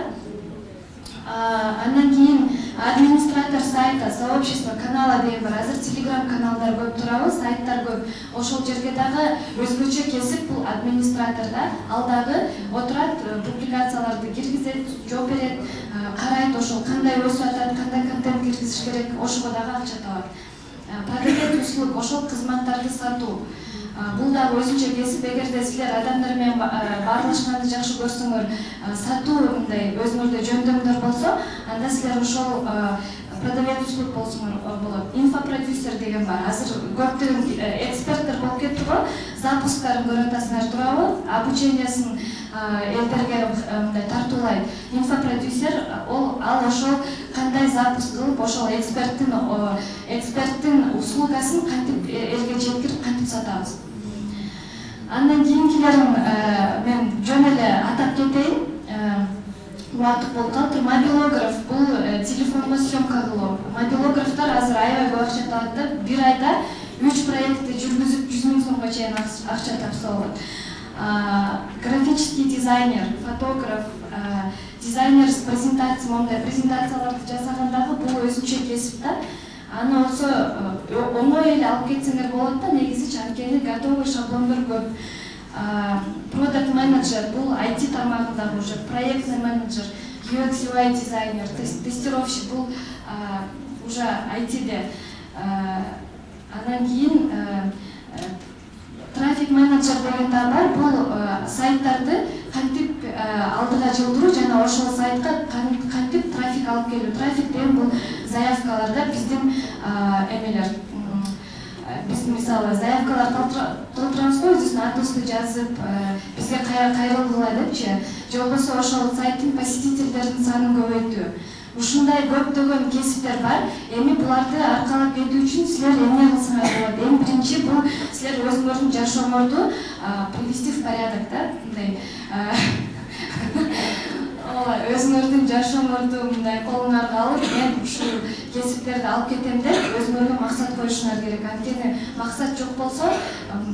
Андан кийин администратор сайта, сообщество, канала деген бар. Азыр телеграм каналдар көп турабы, сайттар көп. Ошол жерге дагы өзгөчө кесип бул администратор да. Ал дагы отурат, публикацияларды киргизет, жооп берет, карайт ошол кандай өсүп атат, кандай контент киргизиш керек, ошого дагы акча табат. Продавец услуг, ошол кызматтарды сатуу. Бул дагы өзүнчө кесип. Эгерде силер адамдар менен баарлашканды жакшы көрсөңөр, сатуу мындай өзүңөрдө жөндөмдөр болсо, анда силер ошол продавец услуг болсоңор болот. Инфопродюсер деген бар. Азыр көптөгөн эксперттер болуп кетти го. Запусктарын көрүп атасыңар турабы? Обучениясын элдерге мындай тартуулайт. Инфопродюсер ал ошол кандай запуск кылып, ошол эксперттин услугасын кантип элге жеткирип, кантип сатабыз. Андан кийинкилерин мен жөн эле атап кетейин. Убакыт болуп калыптыр. Мобилограф бул телефонго съемка кылуу. Мобилографтар азыр аябай көп акча табат да. Бир айда 3 проектти жүргүзүп 100 миң сомго чейин акча тапса болот. Графический дизайнер, фотограф, дизайнер с презентациялары, мондай презентацияларды жасагандагы бул өзүнчө кесип да. Аны болсо оңой эле алып кетсеңер болот да, негизи анткени готовый шаблондор көп. Продакт менеджер бул IT тармагындагы уже проектный менеджер, UX UI дизайнер, тестировщик бул уже IT-де. Андан кийин трафик менеджер деген да бар. Бул сайттарды кантип алдыга жылдыруу жана ошол сайтка кантип трафик алып келүү. Трафик деген бул заявкаларда биздин эмелер. Биз мисалы заявкалар толтурабыз го, өзүбүздүн атыбызды жазып, бизге кайрылгыла депчи. Же болбосо ошол сайттын посетительдердин санын көбөйтүү. Ушундай көптөгөн кесиптер бар. Эми буларды аркалап кетүү үчүн силер эмне кылсаңар болот? Эң биринчи бул силер өзүңөрдүн жашооңорду привести в порядок да, мындай өзүңөрдүн жашооңорду мындай колуңарга алып, мен ушул кесиптерди алып кетем деп өзүңөргө максат коюшуңар керек. Анткени максат жок болсо,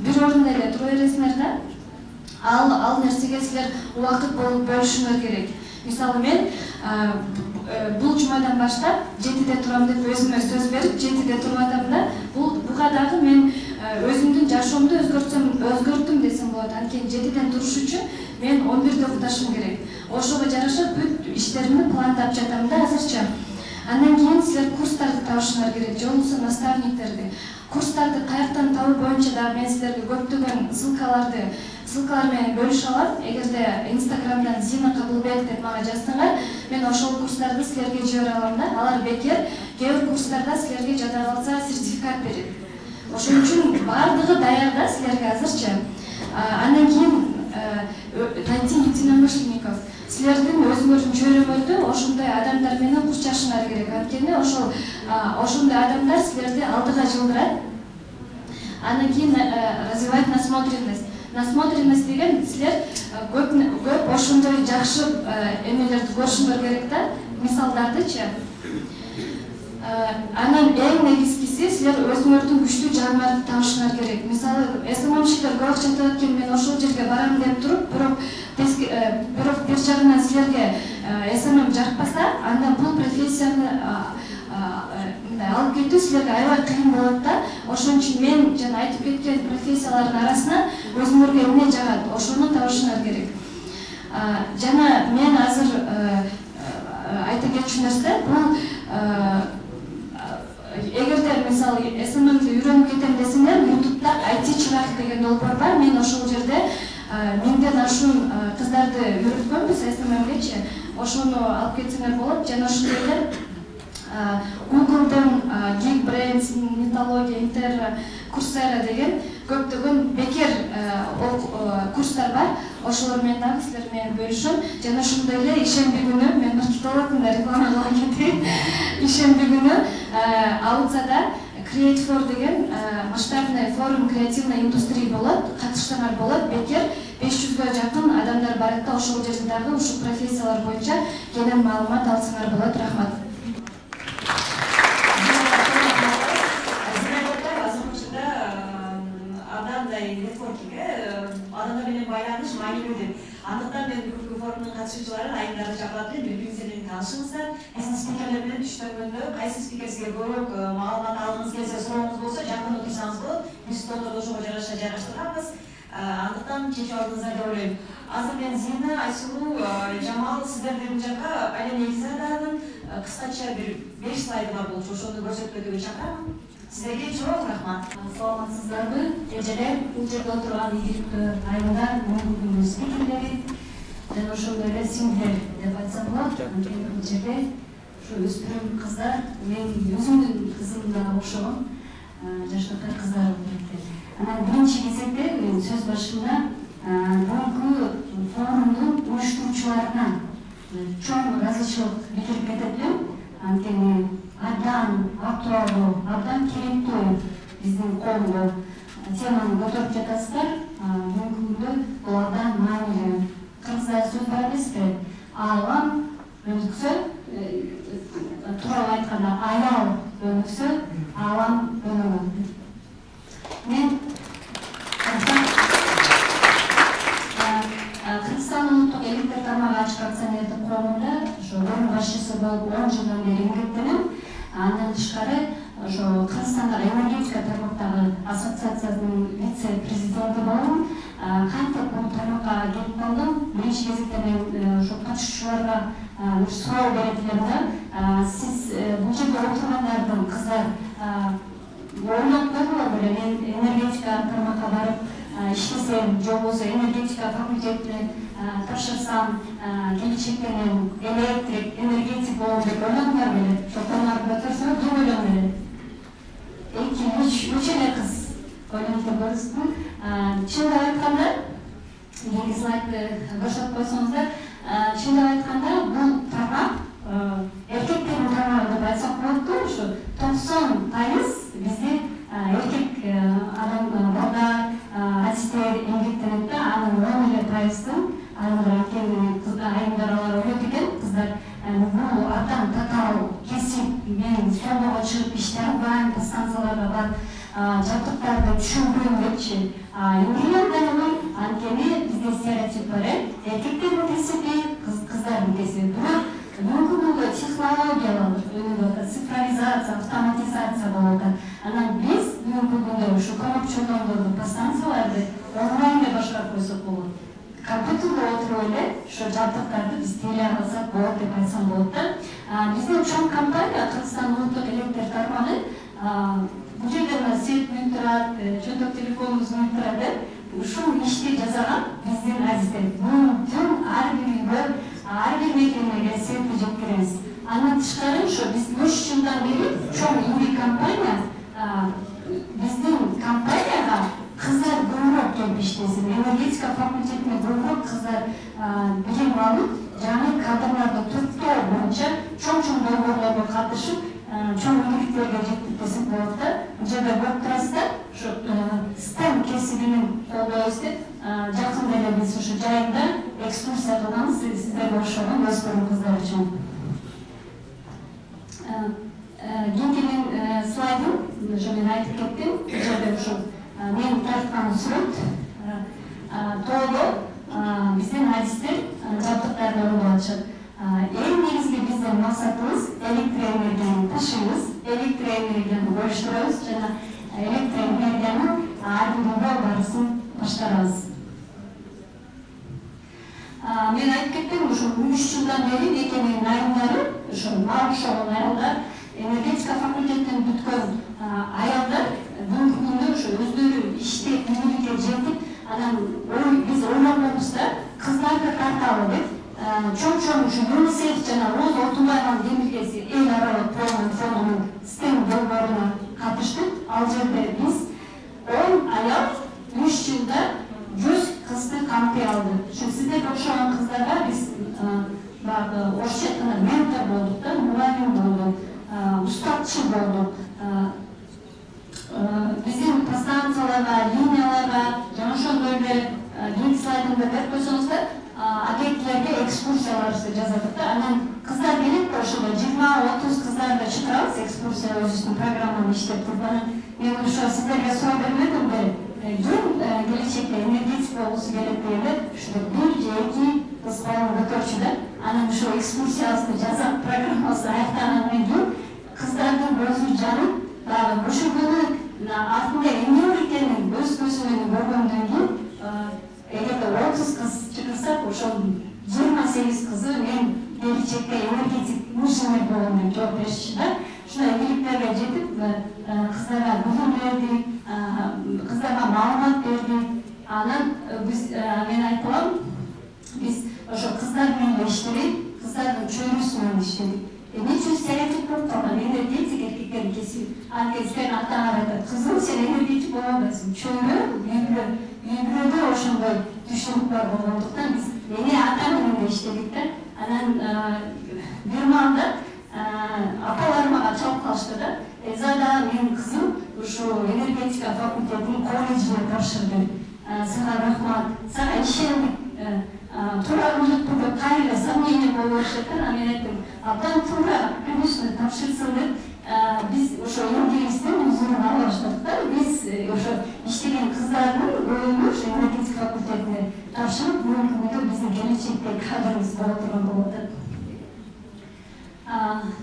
бир орунда эле тура бересиңер да. Ал нерсеге силер убакыт болуп бөлүшүңөр керек. Мисалы мен бул жумадан баштап 7-де турам деп өзүмө сөз берип 7-де туруп атам да. Буга дагы мен өзүмдүн жашоомду өзгөрттүм десем болот. Анткени 7-ден туруш үчүн мен 11-де укташым керек. Ошого жараша бүт иштеримди пландап жатам да азырча. Андан кийин силер курстарды табышыңар керек, же болбосо наставниктерди. Курстарды каяктан табуу боюнча дагы мен силерге көптөгөн ссылкалар менен бөлүшө алам. Эгерде Инстаграмдан Зина Кабылбек деп мага жазсаңар, мен ошол курстарды силерге жибере алам да. Алар бекер. Кээ бир курстарда силерге жада калса сертификат берет. Ошон үчүн баардыгы даяр да силерге азырчы. Андан кийин найти единомышленников. Силердин өзүңөрдүн чөйрөңөрдө ошондой адамдар менен курчашыңар керек. Анткени ошондой адамдар силерди алдыга жылдырат. Андан кийин развивать насмотренность. Насмотренность деген силер көп ошондой жакшы эмелерди көрүшүңөр керек да, мисалдардычы. Анан эң негизгиси силер өзүңөрдүн күчтүү жаныңарды таашыңар керек. Мисалы, эсмамчылар көп акча табат экен, мен ошол жерге барам деп туруп, бирок бир жагынан силерге эсмам жакпаса, анда бул профессияны алып кетүү силерге аябай кыйын болот да. Ошон үчүн мен жана айтып кеткен профессиялардын арасынан өзүңөргө эмне жагат, ошону табышыңар керек. Жана мен азыр айта кетчү нерсе, бул эгерде мисалы СММди үйрөнүп кетем десеңер, YouTube'да IT чырак деген долбоор бар. Мен ошол жерде 1000ден ашуун кыздарды үйрөткөнбүз СММгечи. Ошону алып кетсеңер болот. Жана ошондой эле Google'дын Geekbrains, Nitology, Inter, Coursera деген көптөгөн бекер курстар бар. Ошолор менен дагы силер менен бөлүшөм. Жана ошондой эле ишемби күнү мен маркетологмун да, рекламалап кетейин. Ишемби күнү Ауцада Create for деген масштабный форум креативной индустрии болот. Катышсаңар болот. Бекер 500гө жакын адамдар барат да, ошол жерде дагы ушул профессиялар боюнча кенен маалымат алсаңар болот. Рахмат. Адамдар менен байланыш маанилүү деп. Андыктан мен бүгүнкү форумдун катышуучуларын айымдарды чакырып атып, бири-бириңиз менен таанышыңыздар. Эсен спикерлер менен түштөнгөндө кайсы спикер сизге көбүрөөк маалымат алгыңыз келсе, сурооңуз болсо жакын отурсаңыз болот. Биз столдорду ошого жараша жайгаштырганбыз. Андыктан чечип алдыңыздар деп ойлойм. Азыр мен Зина, Айсулуу, Жамал сиздерди бул жака Айлен Элизаданын кыскача бир 5 слайды бар болчу, ошону көрсөткөнгө чакырам. Сіздерге чоң рахмат. Саламатсыздарбы? Эжелер, бул жерде отурган ийгиликтүү айымдар, бүгүнкү спикерлери жана ошондой эле сиңдилер деп айтсам болот. Анткени бул жерде ушу өспүрүм кыздар, мен өзүмдүн кызым да окшогон жаштагы кыздар болот. Анан биринчи кезекте мен сөз башында бүгүнкү форумдун уюштуруучуларына чоң ыраазычылык билдирип кетет. Анткени абдан актуалдуу, абдан керектүү биздин коомго теманы көтөрүп жатасыздар. Бүгүнкү күндө бул абдан маанилүү. Кыргызда сөз бар эмеспи? Алам өнүксө, тууралуу айтканда аял өнүксө, алам өнүгөт. Мен Кыргызстан улуттук электр тармагы ачык акционердик коомунда ошо орун башчысы болуп 10 жылдан бери эмгектенем. Андан тышкары ошо Кыргызстандагы энергетика тармактагы ассоциациясынын вице-президенти болдум. Кантип бул тармакка келип калдым? Биринчи кезекте мен ошо катышуучуларга суроо берет элем да. Сиз бул жерде отургандардын кыздар ойлоп көрдүңөрбү беле? Мен энергетика тармакка барып иштесем, же болбосо энергетика факультетине тапшырсам, келечекте мен электрик, энергетик болом деп ойлодуңар беле? Шоколарды көтөрсөң, ким ойлон беле? 2-3 эле кыз ойлонуп көрсүңүз. Чындап айтканда, эки слайдты бошотуп койсоңуздар, чындап айтканда бул тармак эркектердин тармагы деп айтсак болот. Ушу 90% бизде эркек адамдар, адистер эмгектенет да, анын 10% анткени айымдар алар ойлойт экен, кыздар бул абдан татаал кесип, мен соолдого чыгып иште албайм, станцияларга барып жабдыктарды түшүнбөйм депчи. Эмгектенем, анткени бизде стереотип бар, эркектердин кесиби, кыздардын кесиби. Бирок бүгүнкү күндө технологиялар өнүгүп атат, цифровизация, автоматизация болуп атат. Анан биз бүгүнкү күндө ушу көмөк чоңдордорду, станцияларды онлайн деп башкарып койсок болот. Компьютерде отуруп эле ошо жабдыктарды биз тейлей алсак болот деп айтсам болот да. Биздин чоң компания Кыргызстан улуттук электр тармагы бул жерде мына свет мүнүп турат, чөнтөк телефонубуз мүнүп турат. Ушул ишти жасаган биздин азиздер. Бүт ар бир үйгө, ар бир мекемеге светти жеткиребиз. Андан тышкары ошо биз 3 жылдан бери чоң ири компания биздин компанияга кыздар көбүрөөк келип иштесин, энергетика факультетине көбүрөөк кыздар билим алып, жаңы кадрларды түрттөө боюнча чоң долбоорлорго катышып, чоң ийгиликтерге жетип десек болот да. Бул жерде көрүп турасыздар, ушу STEM кесибинин колдойбуз деп, жакында эле биз ушу жайында экскурсия кылганбыз, сиздерге окшогон өспүрүм кыздар үчүн. Кийинки слайдым, уже мен айтып кеттим, бул жерде ушу мен тарткан сүрөт тоодо биздин адистер жабдыктарды ойлоп атышат. Эң негизги биздин максатыбыз электроэнергияны ташыйбыз, электроэнергияны бөлүштүрөбүз жана электроэнергияны ар бир барысын башкарабыз. Мен айтып кеттим, ушу 3 жылдан бери мекеменин айымдары, ушу мага окшогон аялдар, энергетика факультетин бүткөн аялдар бүгүнкү күндө ушу өздөрү иштеп, ийгиликке жетип, анан биз ойлонобуз да, кыздарды тарталы деп, чоң ушу ЮНИСЕФ жана Роза Отунбаеванын демилгеси эл аралык форумунун STEM долбооруна катыштык. Ал жерде биз 10 аял 3 жылда 100 кызды камтый алды. Ушу сиздерге окшогон кыздарга биз баягы орусча айтканда ментор болдук да, мугалим болдук, устатчы болдук. Биздин подстанцияларга, линияларга, жана ошондой эле кийинки слайдымда берип койсоңуздар, агенттиктерге экскурсиялар жазат да. Анан кыздар келип, ошол 20-30 кыздарды чакырабыз экскурсия өзүбүздүн программаны иштеп туруп. Анан мен ошо сиздерге суроо бермедим бе, ким келечекте энергетик болгусу келет дегенде, ушул 1 же 2 кыз баланы көтөрчү да. Анан ошо экскурсиябызды жазап, программабызды аяктагандан кийин кыздардын көзү жанып, дагы ошол күнү артында эмне бар экенин өз көзү менен көргөндөн кийин, эгерде 30 кыз чакырсак, ошол 28 кызы мен келечекте энергетик инженер болом деп жооп беришчи да. Ушундай ийгиликтерге жетип, кыздарга билим бердик, кыздарга маалымат бердик. Анан биз мен айткам, биз ошо кыздар менен иштедик, кыздардын чөйрөсү менен иштедик. Эмне үчүн стереотип болуп калган энергетик эркектердин кесиби? Сен ата-ана айтат, кызым сен энергетик боло албайсың. Чөйрө, үйгүрөдө ошондой түшүнүк бар болгондуктан биз эне ата менен да иштедик да. Анан бир маалда апаларым мага чалып калышты да. Зада менин кызым ушу энергетика факультетинин колледжине тапшырды. Сага рахмат, сага ишендик. Туура ылдыктуу деп кайра сомнение болуп атышат. Анан мен айттым, абдан туура, конечно, тапшырсын деп. Биз ошо эмгегибиздин узунун ала баштадык да. Биз ошо иштеген кыздардын көбүнө ошо энергетика факультетине тапшырып, бүгүнкү күндө биздин келечектеги кадрыбыз боло турган болуп атат.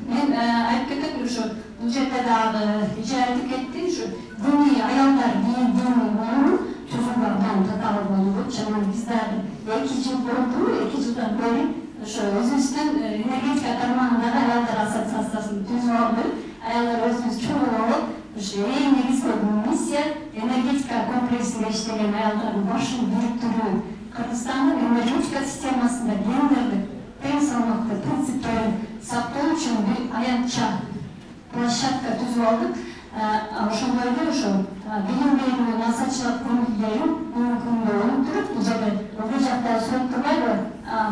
Мен айтып кетет, ошо бул жерде дагы эже айтып кетти, ушу диний аялдар диний уюму түзүлгөндөн татаал болуп, жана биз дагы 2 жыл болду, 2 жылдан бери ошо өзүбүздүн энергетика тармагындагы аялдар ассоциациясын түзүп алдык. Аялдар өзүбүз чоңойлоп, ушу эң негизги миссия энергетика комплексинде иштеген аялдардын башын бириктирүү, Кыргызстандын энергетика системасында гендердик тең салмактуу принциптерин сактоо үчүн бир аянтча площадка түзүп алдык. Ошондой эле ошо билим берүү насаатчылык көңүлдөрүн бүгүнкү күндө өнүктүрүп, бул жерде бул жакта сүрөт турбайбы?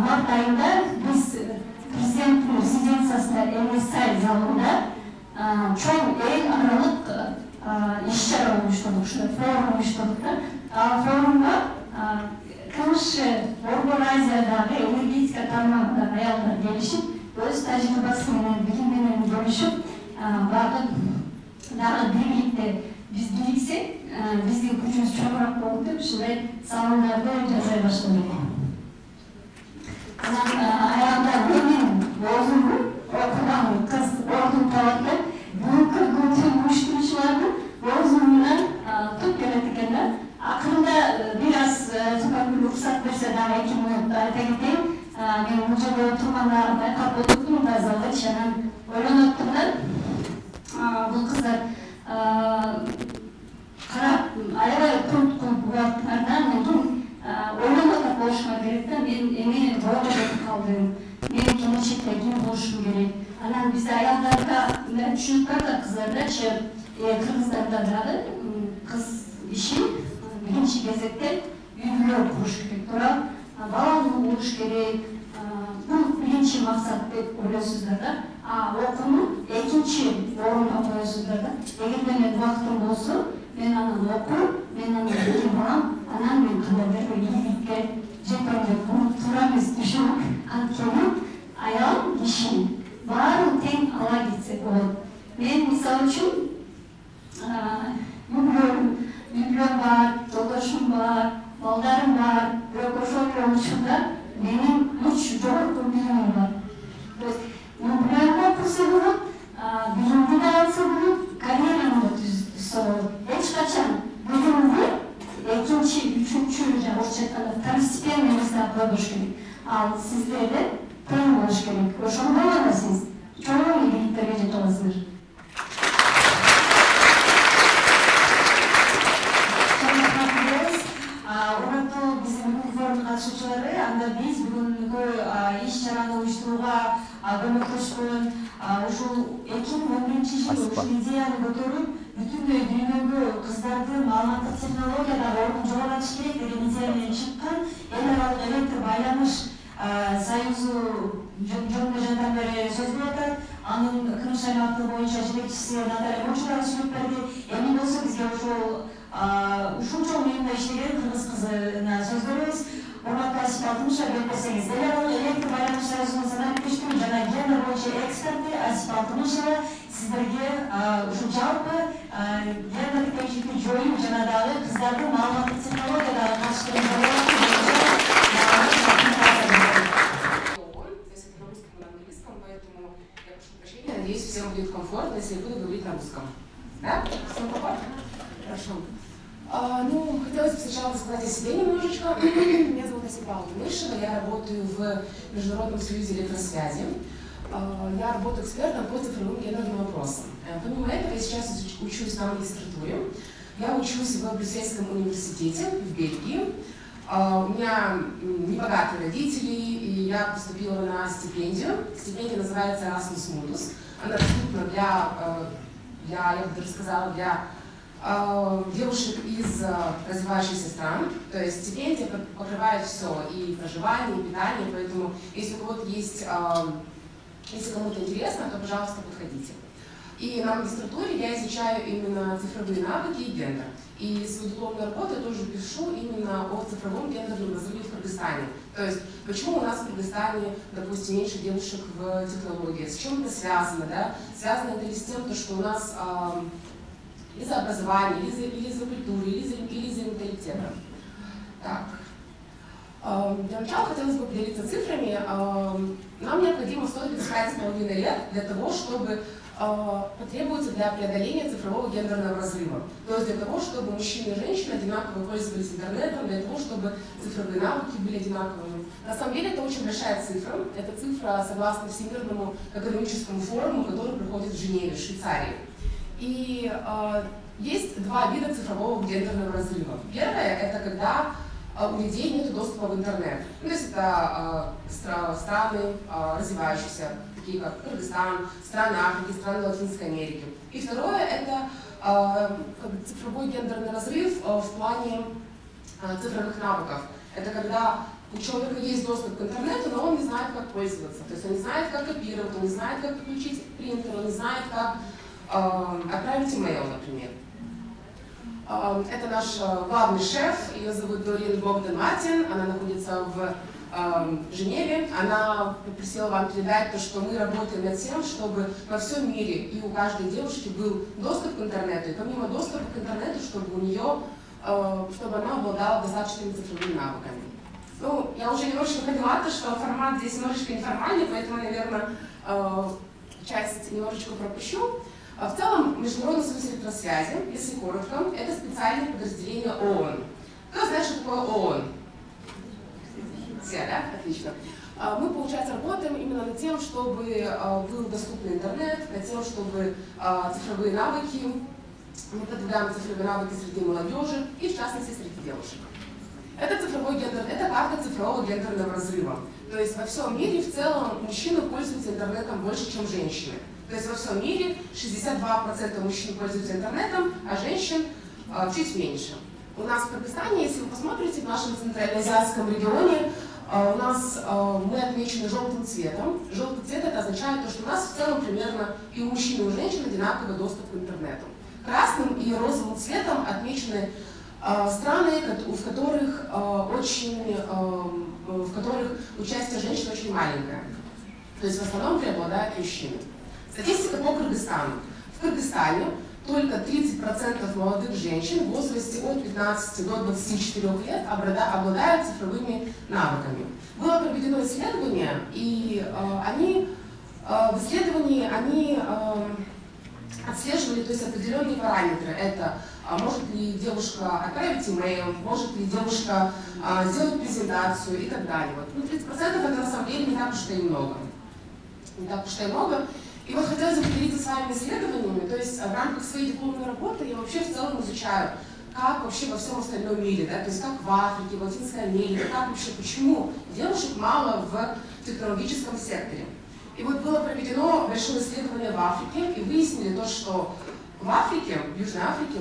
Март айында биз президенттин резиденциясында МСА залында чоң эл аралык иш-чара уюштурдук, ушундай форум уюштурдук да. Ал форумга КНШ Борбор Азиядагы энергетика тармагындагы аялдар келишип, өз тажрыйбасы менен, билим менен бөлүшүп, багы дагы бийликте биз бийликсек, биздин күчүбүз чоңураак болот деп ушундай салымдарды жасай баштадык. Анан аялдар менин өзүмдүн окуган кыз ордун табат деп, бүгүнкү күндүн уюштуруучулардын өзүмүнөн туп келет экен да. Акырында бир аз уруксат берсе дагы 2 мүнөт айта кетейин. Мен бул жерде отурганда байкап отурдум, тазалык, анан ойлонуп оттум да. Бул кыздар карап, аябай курунткул болот. Андан кийин ойлонуп болушума керек да. Мен эме боло кетип калдым. Мен келечекте ким болушум керек. Анан бизде аялдарга түшүнүк бар да, кыздарда, кыргыздарда дагы кыз иши биринчи кезекте үйлөр куруш керек турат, балалуу болуш керек. Бул биринчи максат деп ойлойсуздар да. Окууну экинчи орунга коесуздар да. Эгер менин убактым болсо, мен анан окуп, мен анан эки балам, анан мен кандайдыр бир ийгиликке жетем деп тура эмес түшүнүп, анткени аял киши баарын тең ала кетсе болот. Мен мисалы үчүн үйлөрүм бар, жолдошум бар, балдарым бар, бирок ошол эле учурда менин үч жогорку билимим бар. Мүмкүн окуса болот, билимди да алса болот, карьераны да түзсө болот. Эч качан билимди экинчи, үчүнчү, орусча айтканда второстепенный местага койбош керек. Ал сиздерде тең болуш керек. Ошондо гана сиз чоң ийгиликтерге жете аласыздар. Урматтуу биздин форум катышуучулары, анда биз бүгүнкү иш-чараны уюштурууга көмөктөшкөн ушул 2011-жылы ушул идеяны көтөрүп, бүтүн дүйнөгө кыздарды маалыматтык технологиядагы ордун жогорулатыш керек деген идея менен чыккан эл аралык электр байланыш союзу жөнүндө жандан бери сөз болуп атат. Анын КНШ аймактык боюнча жетекчиси Наталья Мочурова сүйлөп берди. Эми болсо бизге ушунча уюмда иштеген кыргыз кызына сөз беребиз. Урматтуу Асип Алтымышева, келип берсеңиз. Эл аралык электр байланыш союзунун санаттештүү жана гендер боюнча эксперти Асип Алтымышева сиздерге ушул жалпы гендер теңшиликти жоюу жана дагы кыздардын маалыматтык технологиядагы катышкан Надеюсь, всем будет комфортно, если я буду говорить на русском. Да? Всем комфортно? Хорошо. Хотелось бы сначала рассказать о себе немножечко. Меня зовут Асипа Алтымышева, я работаю в Международном союзе электросвязи. Я работаю экспертом по цифровым гендерным вопросам. Помимо этого, я сейчас учусь на магистратуре. Я учусь в Брюссельском университете в Бельгии. У меня небогатые родители, и я поступила на стипендию. Стипендия называется Erasmus Mundus. Она доступна я бы даже сказала, для девушек из развивающихся стран. То есть стипендия покрывает все, и проживание, и питание, поэтому если у кого-то есть, если кому-то интересно, то, пожалуйста, подходите. И на магистратуре я изучаю именно цифровые навыки и гендер. И свою дипломную работу я тоже пишу именно о цифровом гендерном разрыве в Кыргызстане. То есть, почему у нас в Кыргызстане, допустим, меньше девушек в технологии, с чем это связано, да? Связано это ли с тем, что у нас из-за образования, или из-за культуры, или из-за менталитета. Так. Для начала хотелось бы поделиться цифрами. Нам необходимо 135,5 лет для того, чтобы потребуется для преодоления цифрового гендерного разрыва. То есть для того, чтобы мужчины и женщины одинаково пользовались интернетом, для того, чтобы цифровые навыки были одинаковыми. На самом деле это очень большая цифра. Это цифра согласно Всемирному экономическому форуму, который проходит в Женеве, в Швейцарии. И есть два вида цифрового гендерного разрыва. Первое – это когда у людей нет доступа в интернет. То есть это страны развивающиеся, такие как Кыргызстан, страны Африки, страны Латинской Америки. И второе – это цифровой гендерный разрыв в плане цифровых навыков. Это когда у человека есть доступ к интернету, но он не знает, как пользоваться. То есть он не знает, как копировать, он не знает, как подключить принтер, он не знает, как отправить имейл, например. Это наш главный шеф, ее зовут Дорин Богдан Мартин, она находится в Женеве. Она попросила вам передать то, что мы работаем над тем, чтобы во всем мире и у каждой девушки был доступ к интернету, и помимо доступа к интернету, чтобы у нее, чтобы она обладала достаточными цифровыми навыками. Ну, я уже немножечко поняла, что формат здесь немножечко неформальный, поэтому, наверное, часть немножечко пропущу. В целом, Международный союз электросвязи, если коротко, это специальное подразделение ООН. Кто знает, что такое ООН? Все, да? Отлично. Мы, получается, работаем именно над тем, чтобы был доступный интернет, над тем, чтобы цифровые навыки, мы продвигаем цифровые навыки среди молодежи и, в частности, среди девушек. Это цифровой гендер, это карта цифрового гендерного разрыва. То есть во всем мире в целом мужчины пользуются интернетом больше, чем женщины. То есть во всем мире 62% мужчин пользуются интернетом, а женщин чуть меньше. У нас в Кыргызстане, если вы посмотрите, в нашем центральноазиатском регионе, у нас мы отмечены желтым цветом. Желтый цвет это означает, что у нас в целом примерно и у мужчин, и у женщин одинаковый доступ к интернету. Красным и розовым цветом отмечены страны, в которых участие женщин очень маленькое. То есть в основном преобладают мужчины. Статистика по Кыргызстану. В Кыргызстане только 30% молодых женщин в возрасте от 15 до 24 лет обладают цифровыми навыками. Было проведено исследование, и в исследовании они отслеживали, то есть определенные параметры. Это может ли девушка отправить имейл, может ли девушка сделать презентацию и так далее. Вот. 30% это на самом деле не так уж и много. Не так уж и много. И вот хотелось бы поделиться с вами исследованиями, то есть в рамках своей дипломной работы я вообще в целом изучаю, как вообще во всем остальном мире, да, то есть как в Африке, в Латинской Америке, как вообще, почему девушек мало в технологическом секторе. И вот было проведено большое исследование в Африке, и выяснили то, что в Африке, в Южной Африке,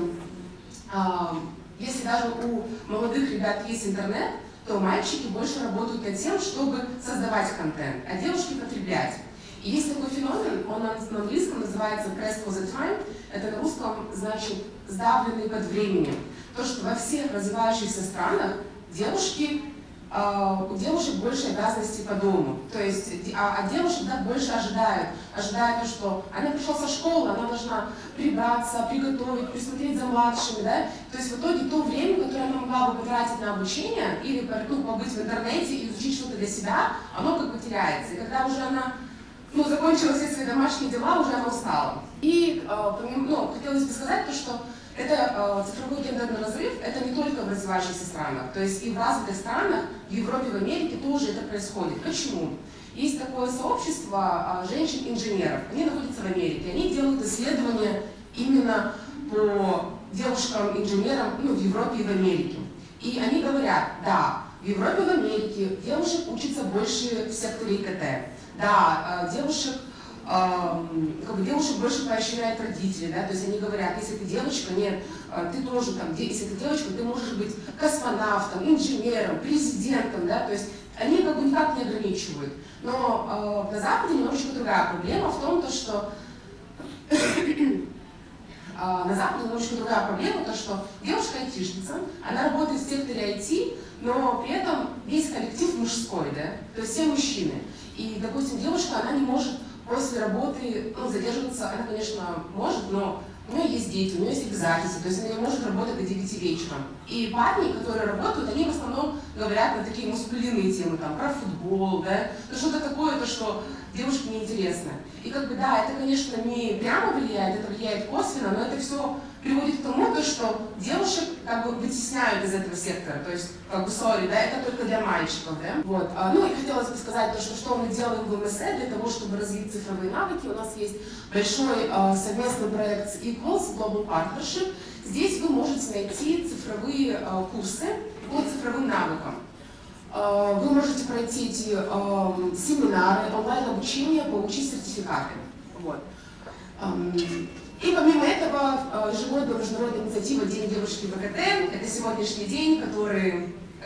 если даже у молодых ребят есть интернет, то мальчики больше работают над тем, чтобы создавать контент, а девушки потреблять. И есть такой феномен, он на английском называется pressed for the time, это на русском значит сдавленный под временем. То, что во всех развивающихся странах у девушек больше обязанностей по дому. То есть, от девушек больше ожидают то, что она пришла со школы, она должна прибраться, приготовить, присмотреть за младшими, да? То есть в итоге то время, которое она могла бы потратить на обучение или побыть в интернете и изучить что-то для себя, оно как бы теряется. И когда уже она закончила все свои домашние дела, уже она устала. И хотелось бы сказать то, что это цифровой гендерный разрыв, это не только в развивающихся странах, то есть и в развитых странах, в Европе, в Америке тоже это происходит. Почему? Есть такое сообщество женщин-инженеров, они находятся в Америке, они делают исследования именно по девушкам-инженерам в Европе и в Америке. И они говорят, да, в Европе и в Америке девушек учатся больше в секторе ИКТ. Да, девушек больше поощряют родители, да, то есть они говорят, если ты девочка, нет, ты тоже там, если ты девочка, ты можешь быть космонавтом, инженером, президентом, да, то есть они как бы никак не ограничивают. Но на Западе немножечко другая проблема в том, что на Западе немножечко другая проблема, то что девушка-айтишница, она работает в секторе IT, но при этом весь коллектив мужской, да, то есть все мужчины. И, допустим, девушка, она не может после работы задерживаться, она, конечно, может, но у нее есть дети, у нее есть обязательства, то есть она не может работать до 9 вечера. И парни, которые работают, они в основном говорят на такие мускулинные темы, там, про футбол, да, что-то такое, то, что девушке неинтересно. И как бы, да, это, конечно, не прямо влияет, это влияет косвенно, но это все приводит к тому, что девушек как бы вытесняют из этого сектора, то есть, как бы, sorry, да, это только для мальчиков, да. Вот. И хотелось бы сказать, что мы делаем в МСЭ для того, чтобы развить цифровые навыки. У нас есть большой совместный проект с Equals, Global Partnership. Здесь вы можете найти цифровые курсы по цифровым навыкам. Вы можете пройти эти семинары, онлайн-обучение, получить сертификаты. Вот. И помимо этого, ежегодная международная инициатива День девушки в ИКТ, это сегодняшний день,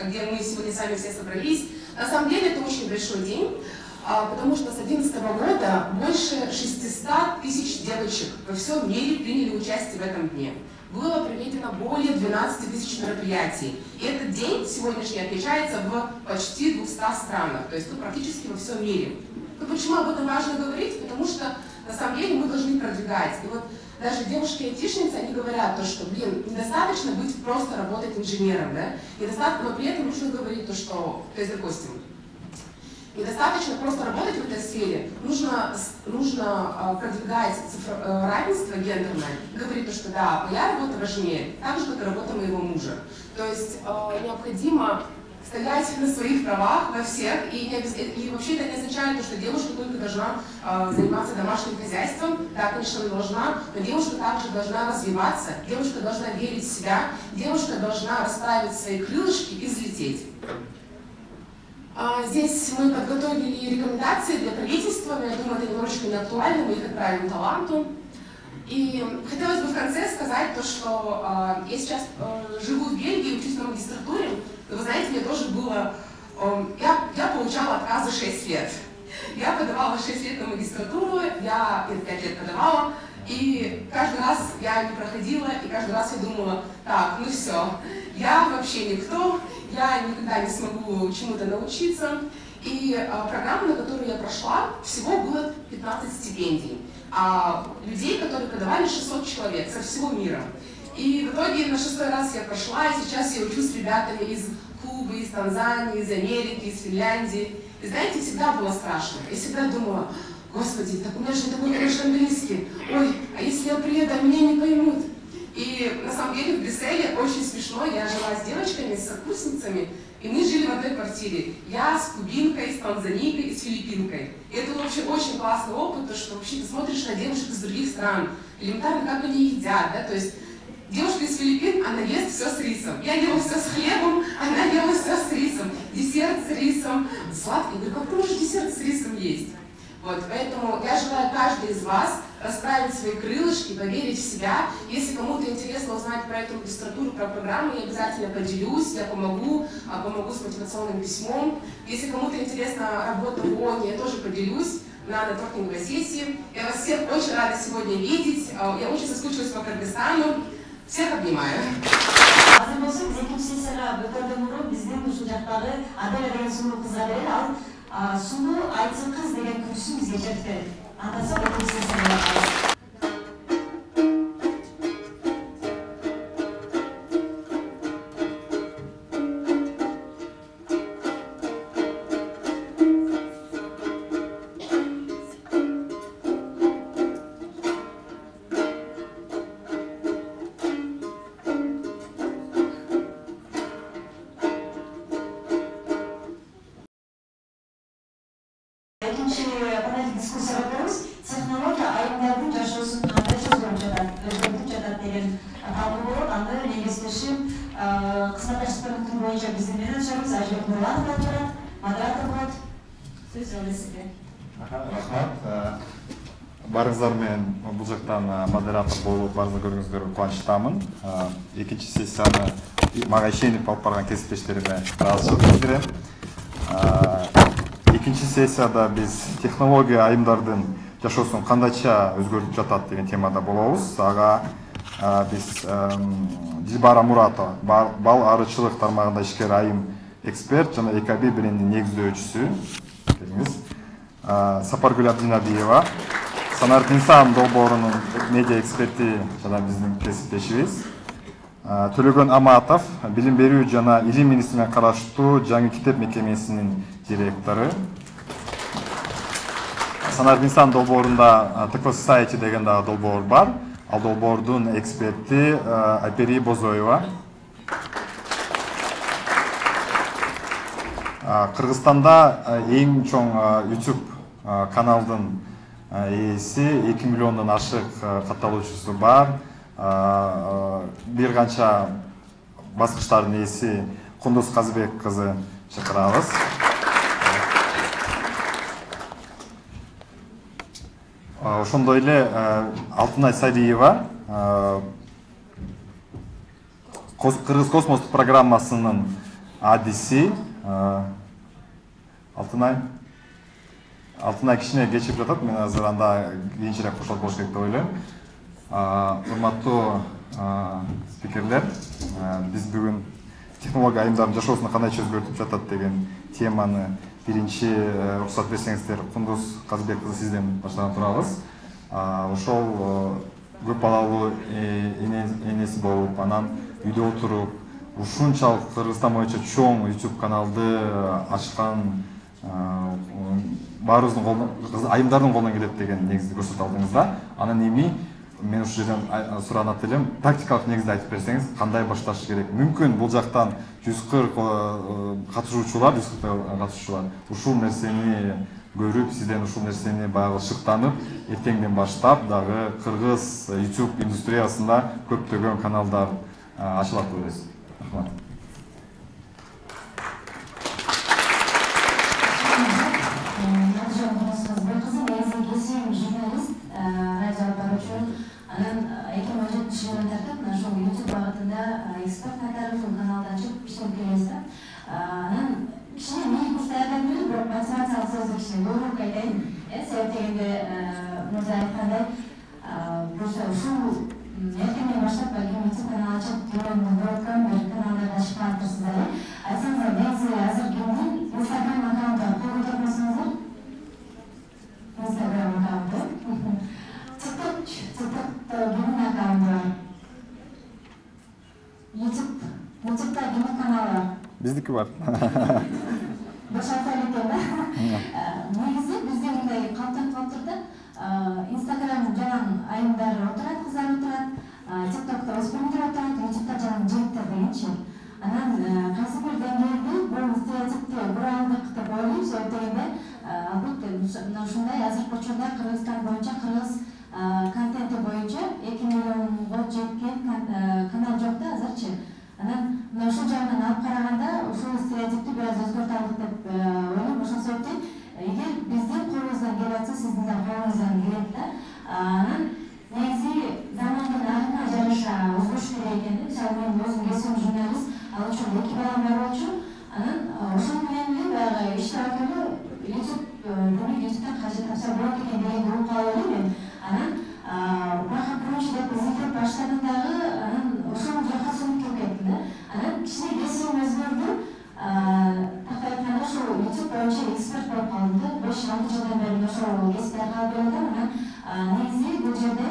где мы сегодня сами все собрались. На самом деле это очень большой день, потому что с 2011 года больше 600 тысяч девочек во всем мире приняли участие в этом дне. Было проведено более 12 тысяч мероприятий. И этот день сегодняшний отмечается в почти 200 странах, то есть практически во всем мире. Но почему об этом важно говорить? Потому что на самом деле мы должны продвигать. И вот даже девушки-айтишницы, они говорят, что, недостаточно быть просто работать инженером, да? Недостаточно, но при этом нужно говорить то есть, допустим, недостаточно просто работать в этой сфере, нужно продвигать равенство гендерное, говорить что да, моя работа важнее, так же, как и работа моего мужа. То есть необходимо стоять на своих правах во всех, и вообще это не означает, что девушка только должна заниматься домашним хозяйством, да, конечно, она должна, но девушка также должна развиваться, девушка должна верить в себя, девушка должна расправить свои крылышки и взлететь. Здесь мы подготовили рекомендации для правительства, но я думаю, это немножечко не актуально, мы их отправим таланту. И хотелось бы в конце сказать то, что я сейчас живу в Бельгии, учусь на магистратуре. Вы знаете, мне тоже было... Я получала отказы 6 лет. Я подавала 6 лет на магистратуру, я 5 лет подавала, и каждый раз я не проходила, и каждый раз я думала, так, ну все, я вообще никто, я никогда не смогу чему-то научиться. И программа, на которую я прошла, всего было 15 стипендий. А людей, которые подавали, 600 человек со всего мира. И в итоге на 6-й раз я прошла, и сейчас я учусь с ребятами из Кубы, из Танзании, из Америки, из Финляндии. И знаете, всегда было страшно. Я всегда думала, господи, так у меня же такой хороший английский. Ой, а если я приеду, а меня не поймут? И на самом деле в Брюсселе очень смешно. Я жила с девочками, с сокурсницами, и мы жили в одной квартире. Я с кубинкой, с танзанийкой и с филиппинкой. И это вообще очень классный опыт, то, что вообще ты смотришь на девушек из других стран, элементарно, как они едят, да, то есть девушка из Филиппин, она ест все с рисом. Я ела все с хлебом, она ела все с рисом. Десерт с рисом, сладкий. Я говорю, как ты можешь десерт с рисом есть? Вот, поэтому я желаю каждой из вас расправить свои крылышки, поверить в себя. Если кому-то интересно узнать про эту магистратуру, про программу, я обязательно поделюсь, я помогу с мотивационным письмом. Если кому-то интересна работа в ООН, я тоже поделюсь на нетворкинговой сессии. Я вас всех очень рада сегодня видеть. Я очень соскучилась по Кыргызстану. Всех обнимаю. Азыр болсо биз экинчи сессияга өтөрдөн мурун биздин ушул жактагы Аделя деген сулуу кызга берели. Ал сулуу айтсын кыз деген күрсүн бизге жетип берет. Андан соң экинчи сессияга барабыз. Экинчи панель дискуссияга өтөбүз. Технология айымдардын жашоосун кандай өзгөртүп жатат деген талкуу болот. Аны негизделишип кызматташтыктын боюнча биздин менеджерибиз Ажбек Нурланов отурат, модератор болот. Сөз сизде. Рахмат. Барыңыздар менен бул жактан модератор болуп барыңызды көргөнүңүздөргө кубанычтамын. Экинчи сессияны мага ишенип алып барган кесиптештериме ыраазычылык билдирем. Экинчи сессияда биз технология айымдардын жашоосун кандайча өзгөртүп жатат деген темада болобуз. Ага биз Дилбара Муратова, бал арычылык тармагында ишкер айым эксперт жана ЭКБ брендинин негиздөөчүсү. Сапаргүл Абдинабиева, Санарбек Инсан долбоорунун медиа эксперти жана биздин кесиптешибиз. Төлөгөн Аматов, билим берүү жана илим министрлигине караштуу жаңы китеп мекемесинин директору. Санарбек Инсан долбоорунда ТК Society деген дагы долбоор бар. Ал долбоордун эксперти Айпери Бозоева. Кыргызстанда эң чоң YouTube каналдын ээси 2 миллиондон ашык катталуучусу бар. Бир канча баскычтардын ээси Кундуз Казыбек кызы чакырабыз. Ошондой эле Алтынай Сабиева Кыргыз космостук программасынын адиси. Алтынай кичине кечип жатат, мен азыр анда кийинчерээк кошулат болуш керек деп ойлойм. Урматтуу спикерлер, биз бүгүн технология айымдардын жашоосун кандайча өзгөртүп жатат деген теманы биринчи уруксат берсеңиздер Кундуз Казыбек кызы сизден баштаган турабыз. Ошол көп балалуу энеси болуп, анан үйдө отуруп, ушунчалык Кыргызстан боюнча чоң YouTube каналды ачкан баарыбыздын колунан, айымдардын колунан келет деген негизди көрсөтүп алдыңыздар. Анан эми мен ушул жерден суранат элем, практикалык негизде айтып берсеңиз, кандай башташ керек? Мүмкүн бул жактан 140 катышуучулар ушул нерсени көрүп, сизден ушул нерсени баягы шыктанып, эртеңден баштап дагы кыргыз YouTube индустриясында көптөгөн каналдар ачылат деп ойлойсуз. Рахмат. сөздүк кичине көбүрөөк айтайын. Себеп дегенде мырза айткандай, ушул эртеңден баштап балким YouTube канал ачып, көрөмүн көрөткөн бир каналдарда ачып калыптырсыздар. Айтсаңыздар, негизи азыр кимдин Instagram аккаунту кол көтөрмөсөңүздөр? Instagram аккаунту. TikTok'та кимдин аккаунту бар? YouTube'да кимдин каналы бар? Биздики бар. Башата экен да. Негизи бизде мындай калыптанып калыптыр да. Instagram жанагы айымдар отурат, кыздар отурат, TikTok'та өспүрүмдөр отурат, YouTube'да жанагы жигиттер дегенчи. Анан кайсы бир деңгээлде бул стереотипти буралдык деп ойлойм, себеп дегенде албетте мына ушундай азыркы учурда Кыргызстан боюнча кыргыз контенти боюнча 2 миллионго жеткен канал жок да азырчы. Анан мына ушул жагынан алып караганда ушул стереотипти бир аз өзгөртө алдык деп ойлойм. Ошол себептен эгер биздин колубуздан келип атса, сиздин да колуңуздан келет да. Анан негизи замандын агымына жараша өзгөрүш керек экен. Мисалы мен өзүм кесибим журналист, ал учурда 2 балам бар болчу. Анан ошол менен эле баягы иштеп эле YouTube демек YouTube'дан кажет тапса болот экен дегенди угуп калып элем мен. Анан бага биринчи деп издеп баштадым дагы, анан ошол жака сүнүп кеттим да. Анан кичине кесибим өзгөрдү. Так айтканда ошол YouTube боюнча эксперт болуп калдым да. 5-6 жылдан бери ошол кесипте калып келатам. Анан негизи бул жерде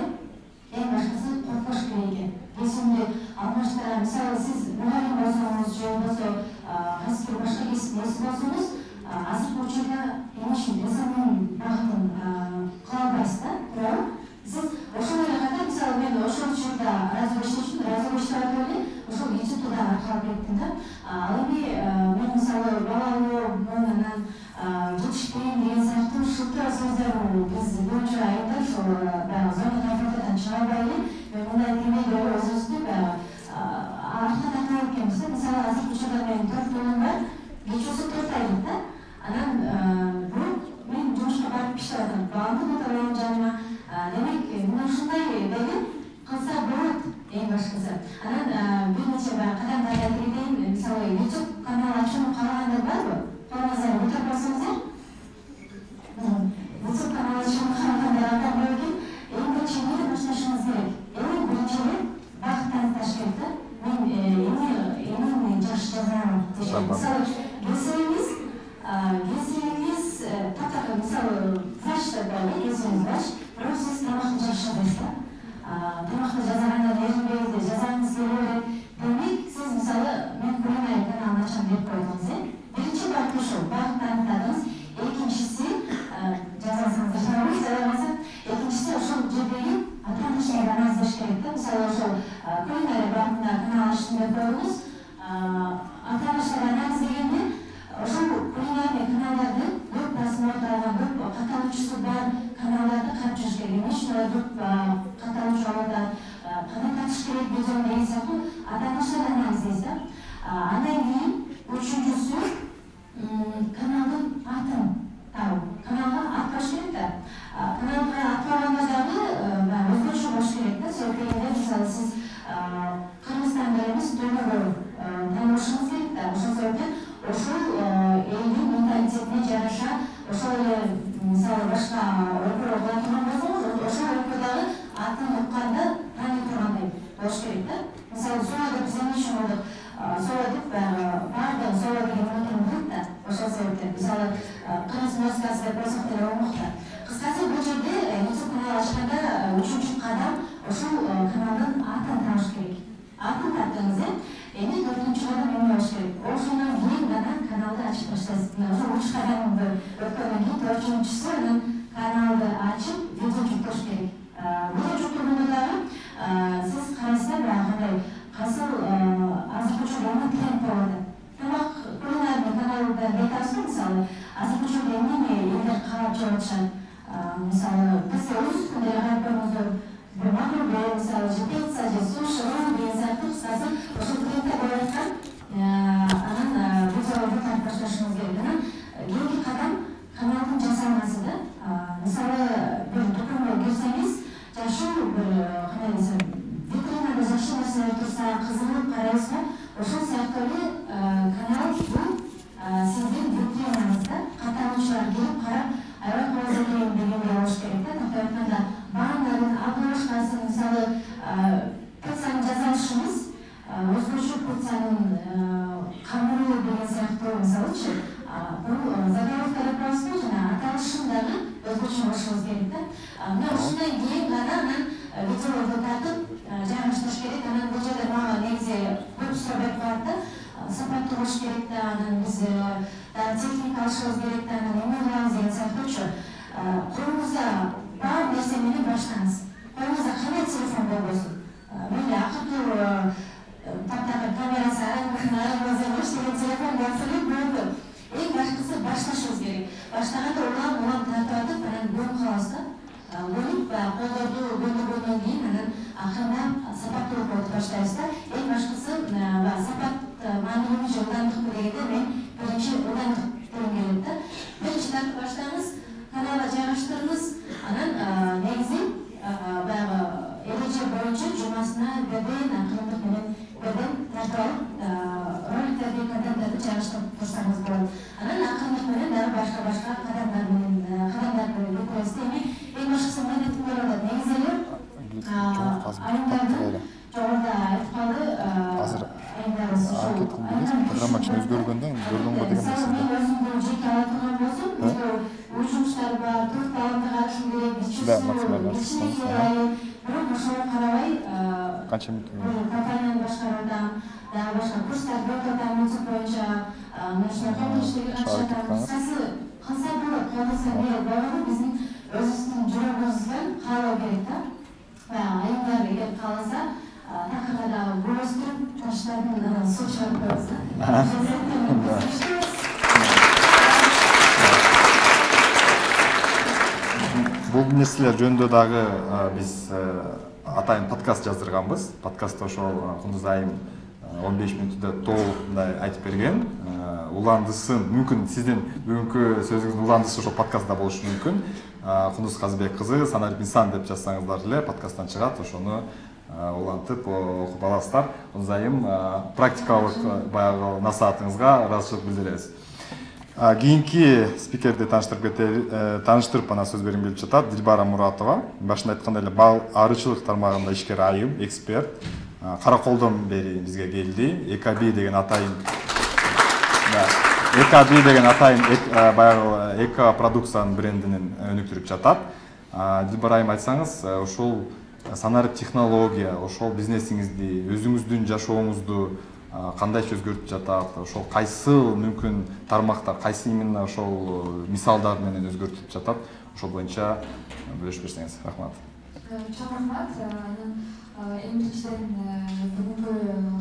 эң башкысы коркпош керек экен. Кесибимди алмаштыра, мисалы сиз мугалим болсоңуз же болбосо кайсы бир башка кесиптин ээси болсоңуз, азыркы учурда эмишин инсандын багытын кыла албайсыз да, туурабы? Сиз ошол эле ката, мисалы мен ошол учурда радио иштеп атып эле ошол YouTube'да да аркалап кеттим да. Ал эми мен мисалы балалуу, анан жетишпейм деген сыяктуу шылтыр сөздөр биз боюнча айында ошол баягы зона комфортадан чыга албай эле мен мындай демейли өзүбүздү баягы артка тартып экенбиз да. Мисалы азыркы учурда менин 4 балам бар, кечүүсү 4 айлык да. Анан мен жумушка барып иштеп атам, баламды отурам жаныма. Демек мына ушундай деле кылса болот эң башкысы. Анан бир нече кадамдар айтып кетейин. Мисалы YouTube канал ачууну каалагандар барбы? Колуңуздан көтөрүп койсоңуздар. YouTube канал ачууну каалагандар анда бар экен. Эң биринчи эмне башташыңыз керек? Эң биринчи багыт таныкташ керек да. Мен жакшы жазам деген. Мисалы кесибиңиз таптакыр, мисалы врач деп коелу, кесибиңиз врач, бирок сиз тамакты жакшы жасайсыз да. Тамакты жазагандан эринбейсиз, жазганыңыз келе берет. Демек сиз мисалы мен кулинарий каналын ачам деп койдуңуз, биринчи багыт ушул, багыт таныктадыңыз. Экинчиси жазасыңыз, жазамасаңыз, экинчиси ошол жердеги ата-аналардан азыш керек да. Мисалы ошол кулинарий багытында канал ачтым деп койдуңуз. Ата-аналардан анализ дегенде ошол кулинарий каналдарды көп просмотр алган, көп катталуучусу бар каналдарды карап жүрүш керек. Эмне үчүн алар көп катталуучу алат, кандай татыш керек видео деген сыяктуу ата-аналардан анализдейсиз да. Андан кийин үчүнчүсү каналдын атын табуу. Каналга ат коюш керек да. Каналга ат койгондо дагы өзгөчө болуш керек да. Себеп дегенде мисалы сиз Кыргызстанда эмес, дүйнөгө таанылышыңыз керек да. Ошол себептен ошол элдин менталитетине жараша, ошол эле мисалы башка өлкөдө кыла турган болсоңуз, ошол өлкөдөгү атын укканда тааный тургандай болуш керек да. Мисалы Сола деп биз эмне үчүн болдук? Сола деп баардыгы Сола деген отун билет да. Ошол себептен мисалы кыргыз музыкасы деп койсок деле болмок да. Кыскасы бул жерде YouTube канал ачканда үчүнчү кадам ошол каналдын атын табыш керек. Атын таптыңыз, эми 4-чү кадам эмне болуш керек? Ошондон кийин гана каналды ачып баштайсыз. Ошол 3 кадамды өткөндөн кийин 4-чүсү анан каналды ачып видео жүктөш керек. Видео жүктөгөндө дагы сиз карайсыздар, кандай кайсыл азыркы учурда эмне тренд болуп атат. Тамак кулинарий каналда айтабызбы, мисалы азыркы учурда эмне элдер карап жеп атышат. Мисалы биз өз күндө карап көрүңүздөр, макулбе, мисалы же пицца, же суши, деген сыяктуу кыскасы ошол трендде болуп аткан анан видеолорду карап башташыңыз керек. Анан кийинки кадам каналдын жасалмасы да. Мисалы бир дуканга кирсеңиз, жакшы бир кандай десем, витринада жакшы нерселер турса, кызыгып карайсызбы? Ошол сыяктуу эле канал бул сиздин витринаңызда катталуучулар келип өзгөчө болушубуз керек да. Мына ушундан кийин гана анан видеолорду тартып жайгаштырыш керек. Анан бул жерде мага негизи көп суроо берип коет да. Сапаттуу болуш керек да, анан биз техника алышыбыз керек да, анан эмне кылабыз деген сыяктуучу. Колуңузда бар нерсе менен баштаңыз. Колуңузда кандай телефон болбосун. Мейли акыркы таптагы камерасы арамызда иштеген телефон болсо эле болду. Эң башкысы башташыбыз керек. Баштаганда улам тартып атып, анан бөлүп калабыз да. Бөлүп колдорду бөлгөндөн кийин анан акырындап сапаттуу болуп баштайбыз да. Эң башкысы сапат маанилүүбү же ылдамдыкпы дегенде мен биринчи ылдамдык дегем келет да. Биринчи тартып баштаңыз, каналга жайгаштырыңыз, анан негизи баягы эреже боюнча жумасына берден акырындык менен тартып алып роликтерди контенттерди жайгаштырып турсаңыз болот. Анан акырындык менен дагы башка кадамдар менен кадамдарды өткөрөбүз. Эң башкысы мен айткым келип атат. Негизи эле айымдардын жогоруда айтканы программа үчүн өзгөргөндөн көрдүңбү деген нерсе. Өзүмдүн жеке ала турган болсом, үй жумуштары бар, төрт баламды карашым керек, бирок ошого карабай канча мүнөт компанияны башкаруудам, дагы башка курстарды өтүп атам музыка боюнча, ушундай коомдук иштерге катышып атам. Кыскасы кылса болот, колдонсо болот. Болгону биздин өзүбүздүн жүрөгүбүздөн каалоо керек да. Баягы айымдар эгер кааласа, такырда дагы гүл өстүрүп, таштардын суу чыгарып коебуз да. Бул нерселер жөнүндө дагы биз атайын подкаст жаздырганбыз. Подкастта ошол Кундуз айым 15 мүнөттө толук мындай айтып берген. Уландысын мүмкүн сиздин бүгүнкү сөзүңүздүн уландысы ошол подкастта болушу мүмкүн. Кундуз Казбек кызы Санарип инсан деп жазсаңыздар эле подкасттан чыгат. Ошону улантып окуп аласыздар. Кундуз айым практикалык баягы насаатыңызга ыраазычылык билдиребиз. Кийинки спикерди тааныштырып анан сөз бергим келип жатат. Дилбара Муратова. Башында айткандай эле бал арычылык тармагында ишкер айым, эксперт. Караколдон бери бизге келди. EKB деген атайын баягы эко продукциянын брендинин өнүктүрүп жатат. Дилбара айым айтсаңыз, ошол Санарип технология, ошол бизнесиңизди, өзүңүздүн жашооңузду кандайча өзгөртүп жатат? Ошол кайсыл мүмкүн тармактар, кайсы именно ошол мисалдар менен өзгөртүп жатат? Ошол боюнча бөлүшүп берсеңиз. Рахмат. Чоң рахмат. Эң биринчиден бүгүнкү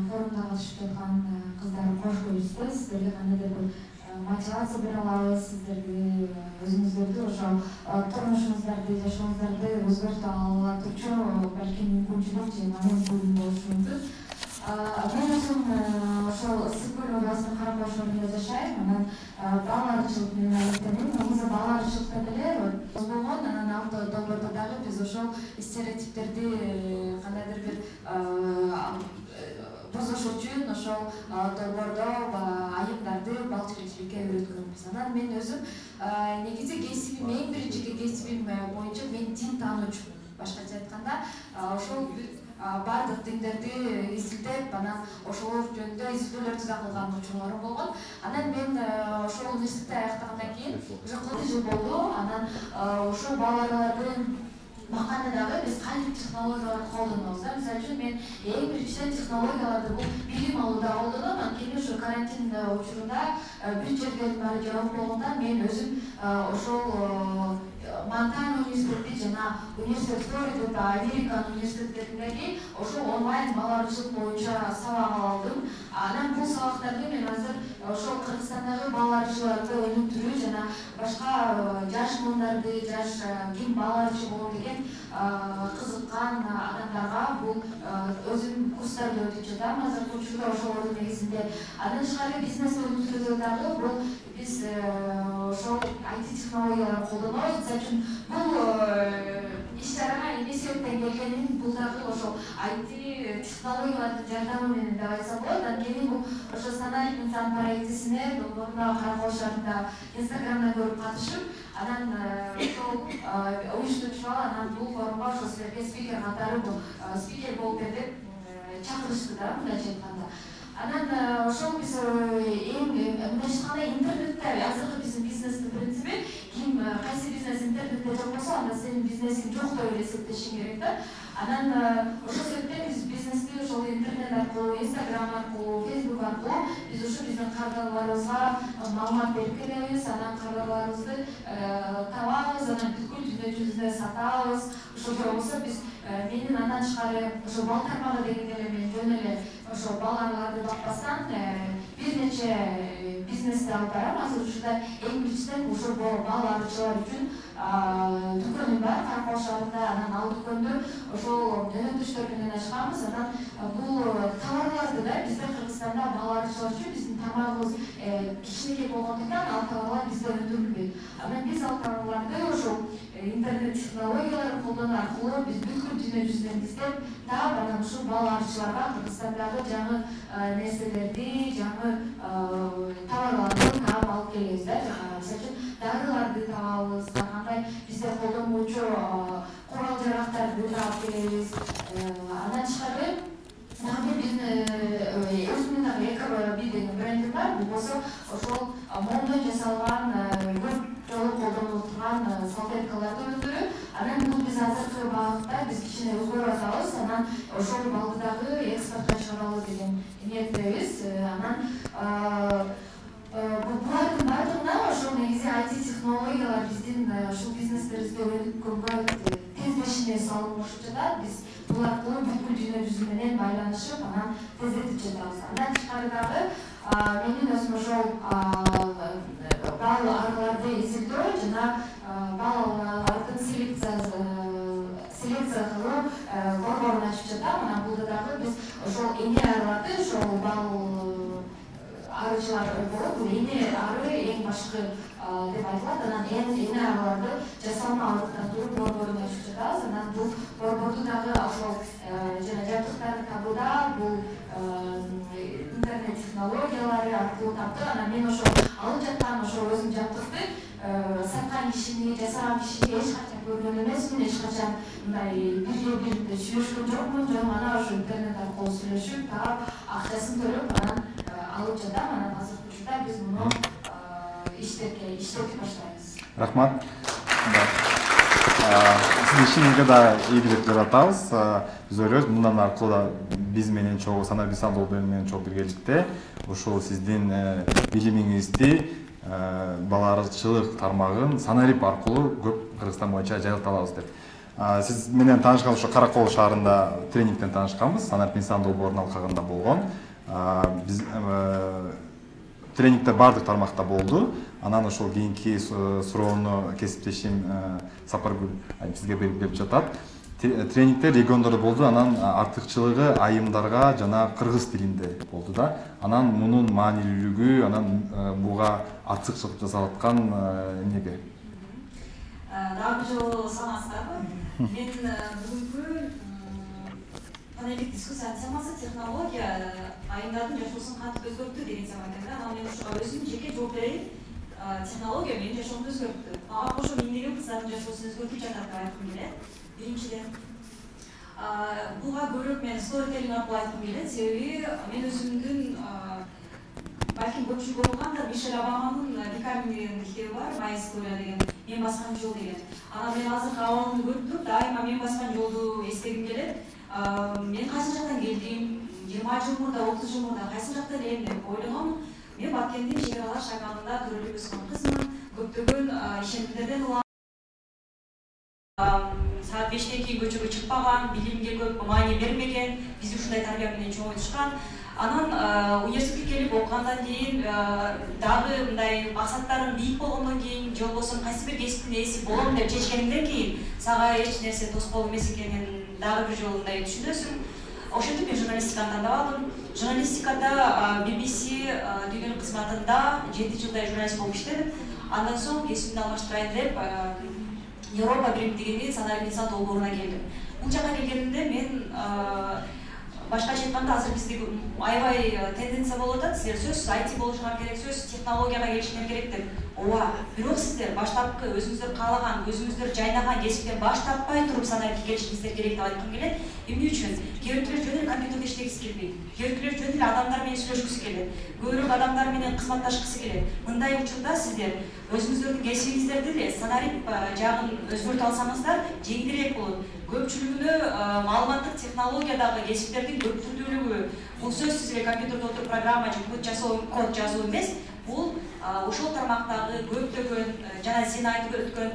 форумда катышып жаткан кыздар кош келипсиздер. Сиздерге кандайдыр бир мотивация бере алабыз, сиздерди өзүңүздөрдү ошол турмушуңуздарды, жашооңуздарды өзгөртө ала турчу балким мүмкүнчүлүк же момент болушу мүмкүн. Мен өзүм ошол ысык көл областынын Каракош районунда жашайм. Анан бал арычылык менен алектенем. Негизи бал арычылыктан эле болгон, анан алты долбоордо дагы биз ошол стереотиптерди кандайдыр бир бузуш үчүн ошол долбоордо айымдарды бал чечиликке үйрөткөнбүз. Анан мен өзүм негизи кесибим, эң биринчи кесибим боюнча мен дин таануучумун. Башкача айтканда, ошол бардык диндерди изилдеп, анан ошолор жөнүндө изилдөөлөрдү да кылган учурларым болгон. Анан мен ошол университетти аяктагандан кийин уже 40 жыл болду. Анан ошол балалардын бакканда дагы биз кайсы технологияларды колдонобуз да. Мисалы үчүн мен эң биринчиден технологияларды бул билим алууда колдоном. Анткени ошо карантин учурунда бир жерден баары жабык болгондо мен өзүм ошол Монтана университети жана университет Флорида, Американын университеттериндеги ошол онлайн бал арычылык боюнча сабак алдым. Анан бул сабактарды мен азыр ошол Кыргызстандагы бал арычыларды өнүктүрүү жана башка жаш мундарды, жаш ким бал арычы болом деген кызыккан адамдарга бул өзүм курстарды өтүп жатам. Азыркы учурда ошолордун негизинде. Андан тышкары бизнес өнүктүрүүдө дагы бул биз ошол IT технологияларды колдонобуз. Мисалы үчүн бул иш-чарага эмне себептен келгенин бул дагы ошол IT технологиялардын жардамы менен деп айтсам болот. Анткени бул ошо Санарип инсан проектисине мурда Каракош шаарында Инстаграмдан көрүп катышып, анан ошол уюштурчу анан бул форумга ошо силерге спикер катары спикер болуп бер деп чакырышты да, мындайча айтканда. Анан ошол биз мындайча айтканда интернетте азыркы биздин бизнестин принциби ким кайсы бизнес интернетте бизнесин жок деп эле эсептешим керек да. Анан ошол себептен биз бизнести ошол интернет аркылуу, Instagram аркылуу, Facebook аркылуу биз ушу биздин кардарларыбызга маалымат берип келебиз, анан кардарларыбызды табабыз, анан бүткүл дүйнө жүзүндө сатабыз. Ошол болбосо биз менин андан тышкары ошо бал тармагы дегенде эле мен жөн эле ошо балаларды бакпастан бир нече бизнести алып барам. Азыр учурда эң биринчиден ошол бал арычылар үчүн дүкөнүм бар Каракол шаарында. Анан ал дүкөндө ошол жөнөтүштөр менен ачканбыз. Анан бул товарларды да бизде Кыргызстанда бал арычылар үчүн биздин тамагыбыз кичинекей болгондуктан ал товарлар бизде өндүрүлбөйт. Анан биз ал товарларды ошол интернет технологияларын колдонуу аркылуу биз бүткүл дүйнө жүзүнөн издеп таап, анан ушул бал арычыларга Кыргызстандагы жаңы нерселерди, жаңы товарларды таап алып келебиз да. Мисалы үчүн дарыларды табабыз, кандай бизде колдонуучу курал-жарактарды таап келебиз. Андан тышкары дагы биздин өзүмдүн дагы Эко деген брендим бар. Бул болсо ошол мондон жасалган көп жолу колдонулуп турган салфеткаларды өндүрүп, анан бул биз азыркы багытта биз кичине өзгөрүп атабыз. Анан ошол балды дагы экспортко чыгаралы деген ниеттебиз. Анан булардын баардыгына ошол негизи IT технологиялар биздин ушул бизнестерибизге өнүккөнгө тезлешине салынышып жатат. Биз бул аркылуу бүткүл дүйнө жүзү менен байланышып, анан тездетип жатабыз. Андан тышкары дагы менин өзүм ошол бал араларды изилдөө жана балдын селекция кылуу борборун ачып жатам. Анан булда дагы биз ошол эне араларды, ошол бал арычылар болуп, бул эне ары эң башкы деп айтылат. Анан эне араларды жасалма арыктандыруу борборун ачып жатабыз. Анан бул борборду дагы ошол жана жабдыктарды табууда бул интернет технологиялары аркылуу таптык. Анан мен ошол алып жаткан ошол өзүм жабдыкты саткан кишини, жасаган кишини эч качан көргөн эмесмин, эч качан мындай бирге сүйлөшкөн жокмун. Жөн гана ошо интернет аркылуу сүйлөшүп, таап, акчасын төлөп, анан алып жатам. Анан азыркы учурда биз муну иштетип баштайбыз. Рахмат. Сиздин ишиңизге да ийгилик жаратабыз. Биз ойлойбуз мындан аркылуу да биз менен чогуу Санар Бисандуу менен чогуу биргеликте ушул сиздин билимиңизди бала арычылык тармагын Санарип аркылуу көп Кыргызстан боюнча жайылта алабыз деп. Сиз менен таанышкан ошо Каракол шаарында тренингден таанышканбыз. Санар Бисандуу борун алкагында болгон. Биз тренингде баардык тармакта болду. Анан ошол кийинки суроону кесиптешим Сапаргүл сизге берип жатат. Тренингде региондордо болду. Анан артыкчылыгы айымдарга жана кыргыз тилинде болду да. Анан мунун маанилүүлүгү, анан буга артыкчылык жасалып аткан эмнеге? Дагы бир жолу саламатсыздарбы? Мен бүгүнкү панелдик дискуссиянын темасы технология айымдардын жашоосун кантип өзгөрттү деген тема экен да. Анан мен ушуга өзүм жеке жооп берейин. Технология менин жашоомду өзгөрттү. Ага кошо эмнеге кыздардын жашоосун өзгөртүп жатат деп айткым келет. Биринчиден, буга бөлөк мен сторителлинг аркылуу айткым келет. Себеби мен өзүмдүн балким көпчүлүк окугандар Мишель Обаманын Becoming деген китеби бар, My Story деген, мен баскан жол деген. Анан мен азыркы абалымды көрүп туруп, дайыма мен баскан жолду эстегим келет. Мен кайсы жактан келдим, 20 жыл мурда, 30 жыл мурда кайсы жакта элем деп ойлогом. Мен Баткендин чек аралаш аймагында төрөлүп өскөн кызмын. Көптөгөн ишенимдерден улам. Саат 5тен кийин көчөгө чыкпаган, билимге көп маани бермеген, биз ушундай тарбия менен чоңойтушкан. Анан университетке келип окугандан кийин дагы мындай максаттарым бийик болгондон кийин, же болбосо кайсы бир кесиптин ээси болом деп чечкенинден кийин сага эч нерсе тоскоол эмес экенин дагы бир жолу мындай түшүнөсүң. Ошентип мен журналистиканы тандап алдым. Журналистикада BBC деген кызматында 7 жылдай журналист болуп иштедим. Андан соң кесибимди алмаштырайын деп Европа биримдигинин Санар Бисандуу долбооруна келдим. Бул жака келгенимде мен башкача айтканда азыр бизде аябай тенденция болуп атат. Силер сөзсүз IT болушуңар керек, сөзсүз технологияга келишиңер керек деп ооба, бирок сиздер баштапкы өзүңүздөр каалаган, өзүңүздөр жайнаган кесиптен баш тартпай туруп санариптке келишиңиздер керек деп айткым келет. Эмне үчүн? Кээ бирөөлөр жөн эле компьютерде иштегиси келбейт. Кээ бирөөлөр жөн эле адамдар менен сүйлөшкүсү келет. Көбүрөөк адамдар менен кызматташкысы келет. Мындай учурда сиздер өзүңүздөрдүн кесибиңиздерди эле санарип жагын өзгөртө алсаңыздар жеңилирээк болот. Көпчүлүгүнө маалыматтык технологиядагы кесиптердин көптүрдүүлүгү бул сөзсүз эле компьютерде отуруп программа же код жазуу эмес. Бул ошол тармактагы көптөгөн жана сен айтып өткөн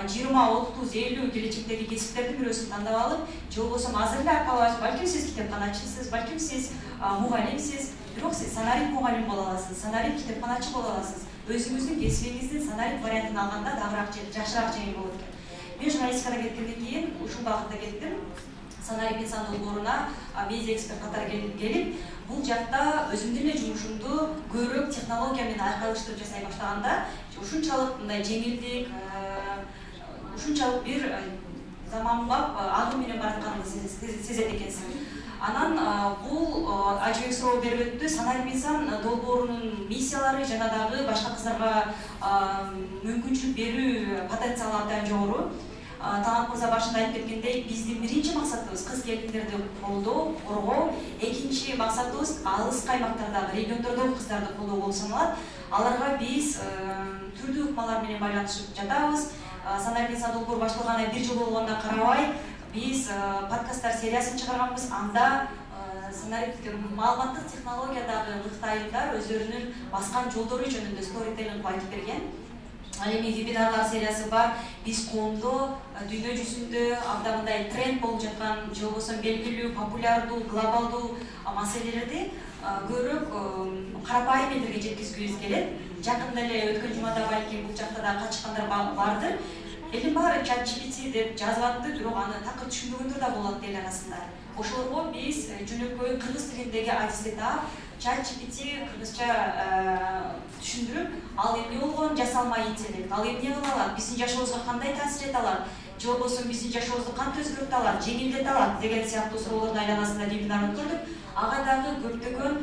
20-30-50 келечектеги кесиптердин бирөөсүн тандап алып, же болбосо азыр эле аркалабайсыз, балким сиз китепканачысыз, балким сиз мугалимсиз, бирок сиз санарип мугалим боло аласыз, санарип китепканачы боло аласыз. Өзүңүздүн кесибиңиздин санарип вариантын алганда дагыраак жакшыраак жеңил болот экен. Мен журналистикада кеткенден кийин ушул багытта кеттим. Санарип инсан долбооруна медиа эксперт катары келип, бул жакта өзүмдүн эле жумушумду көбүрөөк технология менен айкалыштырып жасай баштаганда, ушунчалык мындай жеңилдик, ушунчалык бир заманбап агым менен баратканымды сезет экенсиң. Анан бул ажыбек суроо берип өттү. Санарип инсан долбоорунун миссиялары жана дагы башка кыздарга мүмкүнчүлүк берүү потенциалы абдан жогору. Талант мырза башында айтып кеткендей, биздин биринчи максатыбыз кыз келиндерди колдоо, коргоо, экинчи максатыбыз алыскы аймактардагы, региондордогу кыздарды колдоо болуп саналат. Аларга биз түрдүү ыкмалар менен байланышып жатабыз. Санарип инсан долбоору башталганына 1 жыл болгонуна карабай, биз подкасттар сериясын чыгарганбыз. Анда маалыматтык технологиядагы мыкты айымдар өздөрүнүн баскан жолдору жөнүндө сторителлинг айтып берген. Ал эми вебинарлар сериясы бар. Биз коомдо дүйнө жүзүндө абдан мындай тренд болуп жаткан, же болбосо белгилүү, популярдуу, глобалдуу маселелерди көбүрөөк карапайым элдерге жеткизгүбүз келет. Жакында эле өткөн жумада балким бул жакта да катышкандар бардыр. Элин баары ChatGPT деп жазып атты, бирок аны такыр түшүнбөгөндөр да болот эл арасында. Ошолорго биз жөнөкөй кыргыз тилиндеги адисти таап, ChatGPT кыргызча түшүндүрүп, ал эмне болгон жасалма интеллект, ал эмне кыла алат, биздин жашообузга кандай таасир эте алат, же болбосо биздин жашообузду кантип өзгөртө алат, жеңилдете алат деген сыяктуу суроолордун айланасында вебинар өткөрдүк. Ага дагы көптөгөн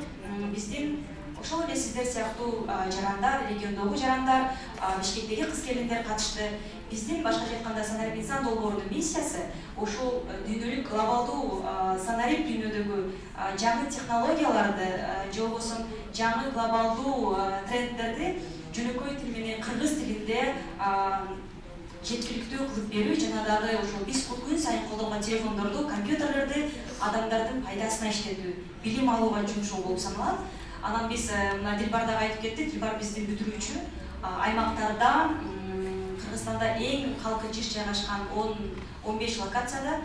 биздин ошол эле сиздер сыяктуу жарандар, региондогу жарандар, Бишкектеги кыз келиндер катышты. Биздин башкача айтканда санарип инсан долбоорунун миссиясы ошол дүйнөлүк глобалдуу санарип дүйнөдөгү жаңы технологияларды, же болбосо жаңы глобалдуу трендтерди жөнөкөй тил менен кыргыз тилинде жеткиликтүү кылып берүү жана дагы ошол биз күн сайын колдонгон телефондорду, компьютерлерди адамдардын пайдасына иштетүү, билим алууга жумшоо болуп саналат. Анан биз мына Дилбар дагы айтып кетти, Дилбар биздин бүтүрүүчү аймактарда Кыргызстанда эң калкы жыш жайгашкан 10-15 локацияда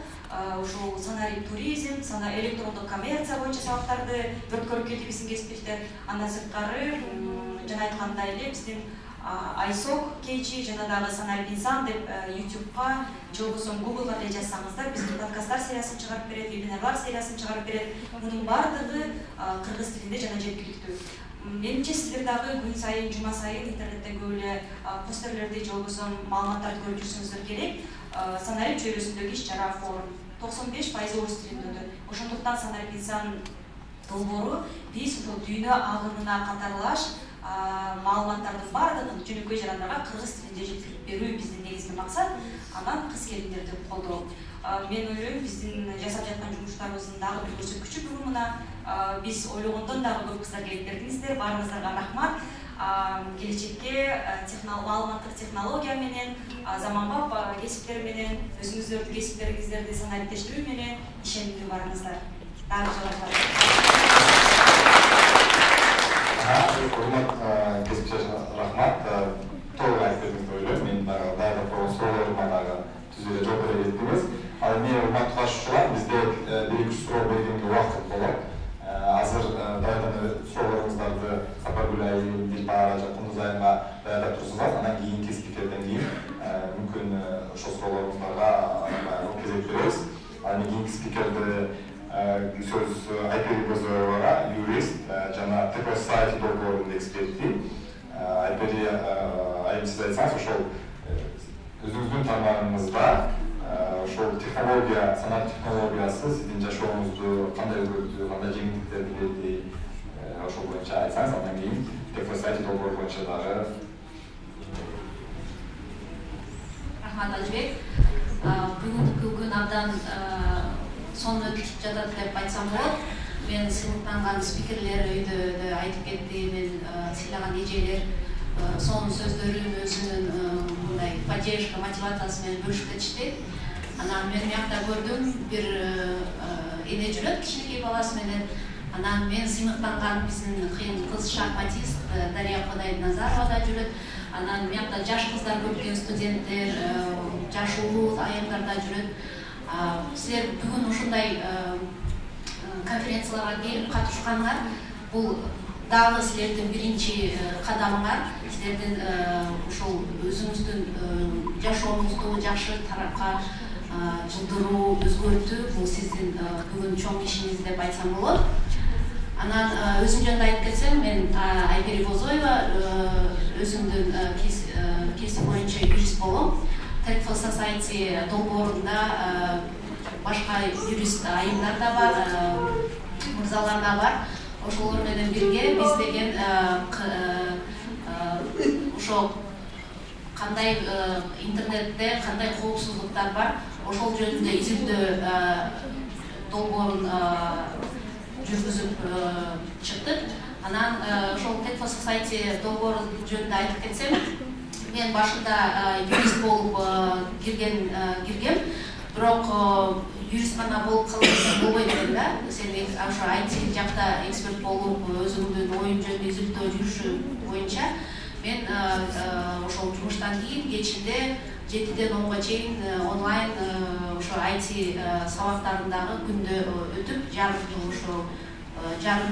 ошол санарип туризм, электрондук коммерция боюнча сабактарды өткөрүп келди биздин кесиптештер. Андан сырткары жана айткандай эле биздин Айсок Кейчи жана дагы санарип инсан деп YouTube'га же болбосо Google'га деле жазсаңыздар, биздин подкасттар сериясын чыгарып берет, вебинарлар сериясын чыгарып берет. Мунун баардыгы кыргыз тилинде жана жеткиликтүү. Менимче сиздер дагы күн сайын, жума сайын интернетте көп эле постерлерди же болбосо маалыматтарды көрүп жүрсөңүздөр керек. Санарип чөйрөсүндөгү иш-чара форум 95% орус тилинде өтөт. Ошондуктан санарип инсан долбоору биз ошол дүйнө агымына катарлаш маалыматтардын баардыгын жөнөкөй жарандарга кыргыз тилинде жеткирип берүү биздин негизги максат. Анан кыз келиндерди колдоо. Мен ойлойм биздин жасап жаткан жумуштарыбыздын дагы бир көрсөткүчү бүгүн мына биз ойлогондон дагы көп кыздар келип бердиңиздер. Баарыңыздарга рахмат. Келечекке маалыматтык технология менен, заманбап кесиптер менен, өзүңүздөрдүн кесиптериңиздерди санариптештирүү менен ишенимдүү барыңыздар. Дагы Урмат кесипчилер, рахмат. Толук айтып бердиңиз деп ойлойм. Мен дагы даярдап койгон суроолорума дагы түз эле жооп бере кеттиңиз. Ал эми урматтуу катышуучулар, бизде 1-2 суроо бергенге убакыт болот. Азыр даярданып суроолоруңуздарды Сапаргүл айым, Дилбар Жакындыз айымга даярдап турсуңар. Анан кийинки спикерден кийин мүмкүн ошол суроолоруңуздарга кезек беребиз. Ал эми кийинки спикерди сөз Айпери Бозоевага, юрист жана ТП Society долбоорунун эксперти. Айпери айым, сиз айтсаңыз, ошол өзүңүздүн тармагыңызда ошол технология, санат технологиясы сиздин жашооңузду кандай өзгөрттү, кандай жеңилдиктер берди, ошол боюнча айтсаңыз, андан кийин ТП Society долбоору боюнча дагы Рахмат Ажбек. Бүгүнкү күн абдан сонун өтүп жатат деп айтсам болот. Мен сыйлыктанган спикерлер өйдө айтып кетти, мен сыйлаган эжелер сонун сөздөрүн өзүнүн мындай поддержка, мотивациясы менен бөлүшүп кетишти. Анан мен мыякта көрдүм, бир эне жүрөт кичинекей баласы менен. Анан мен сыймыктанган биздин кыйын кыз шахматист Дария Кодайназарова да жүрөт. Анан мыякта жаш кыздар көп, студенттер, жаш улуу айымдар да жүрөт. Силер бүгүн ушундай конференцияларга келип катышканыңар бул дагы силердин биринчи кадамыңар. Силердин ушул өзүңүздүн жашооңузду жакшы тарапка жылдыруу, өзгөртүү бул сиздин бүгүн чоң ишиңиз деп айтсам болот. Анан өзүм жөнүндө айтып кетсем, мен Айбери Бозоева, өзүмдүн кесип боюнча юрист болом. Tech for Society долбоорунда башка юрист айымдар да бар, мырзалар да бар. Ошолор менен бирге биз деген ошо кандай интернетте кандай коопсуздуктар бар, ошол жөнүндө изилдөө долбоорун жүргүзүп чыктык. Анан ошол Tech for Society долбоору жөнүндө айтып кетсем, мен башында юрист болуп киргем, бирок юрист гана болуп калып болбойт элем да. Сен ошо IT жакта эксперт болуп, өзүңдүн оюң жөнүндө изилдөө жүрүшү боюнча мен ошол жумуштан кийин кечинде 7-ден 10га чейин онлайн ошо IT сабактарындагы күндө өтүп, жарым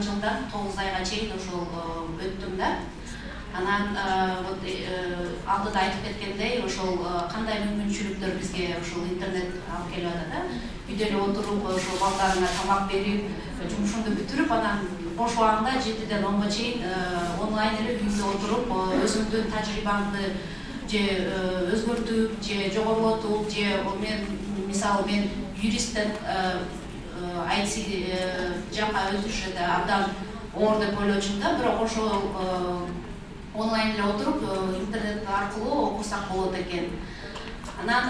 жылда 9 айга чейин ошол өттүм да. Анан алдыда айтып кеткендей, ошол кандай мүмкүнчүлүктөр бизге ошол интернет алып келип атат да. Үйдө эле отуруп, ошол балдарыңа тамак берип, жумушуңду бүтүрүп, анан бош убагыңда 7-ден 10га чейин онлайн эле үйүңдө отуруп, өзүңдүн тажрыйбаңды же өзгөртүп, же жогорулатып, же мен юристтен IT жакка өтүш абдан оор деп ойлочумун да, бирок ошол онлайн эле отуруп, интернет аркылуу окусак болот экен. Анан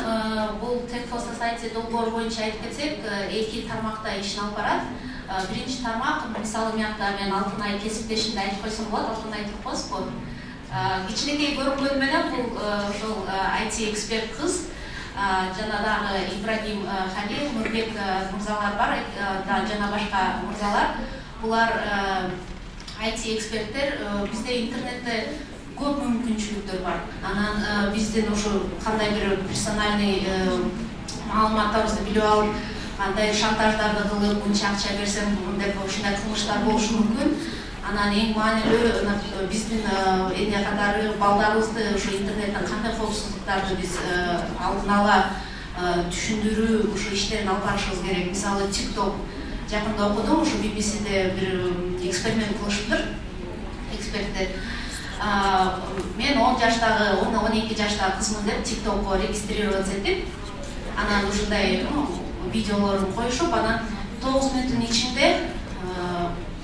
бул Tech for Society долбоору боюнча айтып кетсек, 2 тармакта ишин алып барат. Биринчи тармак, мисалы мыякта мен Алтынай кесиптешимди айтып койсом болот, Алтынай Туркосовго. Кичинекей көрүнгөнү менен бул ошол IT эксперт кыз, жана дагы Ибрагим Халил, Нурбек мырзалар бар, жана башка мырзалар. Булар IT эксперттер, бизде интернетте көп мүмкүнчүлүктөр бар. Анан биздин ошо кандай бир персональный маалыматтарыбызды билип алып, кандай шантаждарды кылып, мынча акча берсем деп ушундай кылмыштар болушу мүмкүн. Анан эң маанилүү биздин эне катары балдарыбызды ошо интернеттен кандай коопсуздуктарды биз алдын ала түшүндүрүү ушу иштерин алып барышыбыз керек. Мисалы TikTok жакында окудум, ушу BBC'де бир эксперимент кылышыптыр эксперттер. Мен 10 жаштагы, 12 жаштагы кызмын деп TikTokко регистрироваться этип, анан ушундай видеолорун коюшуп, анан 9 мүнөттүн ичинде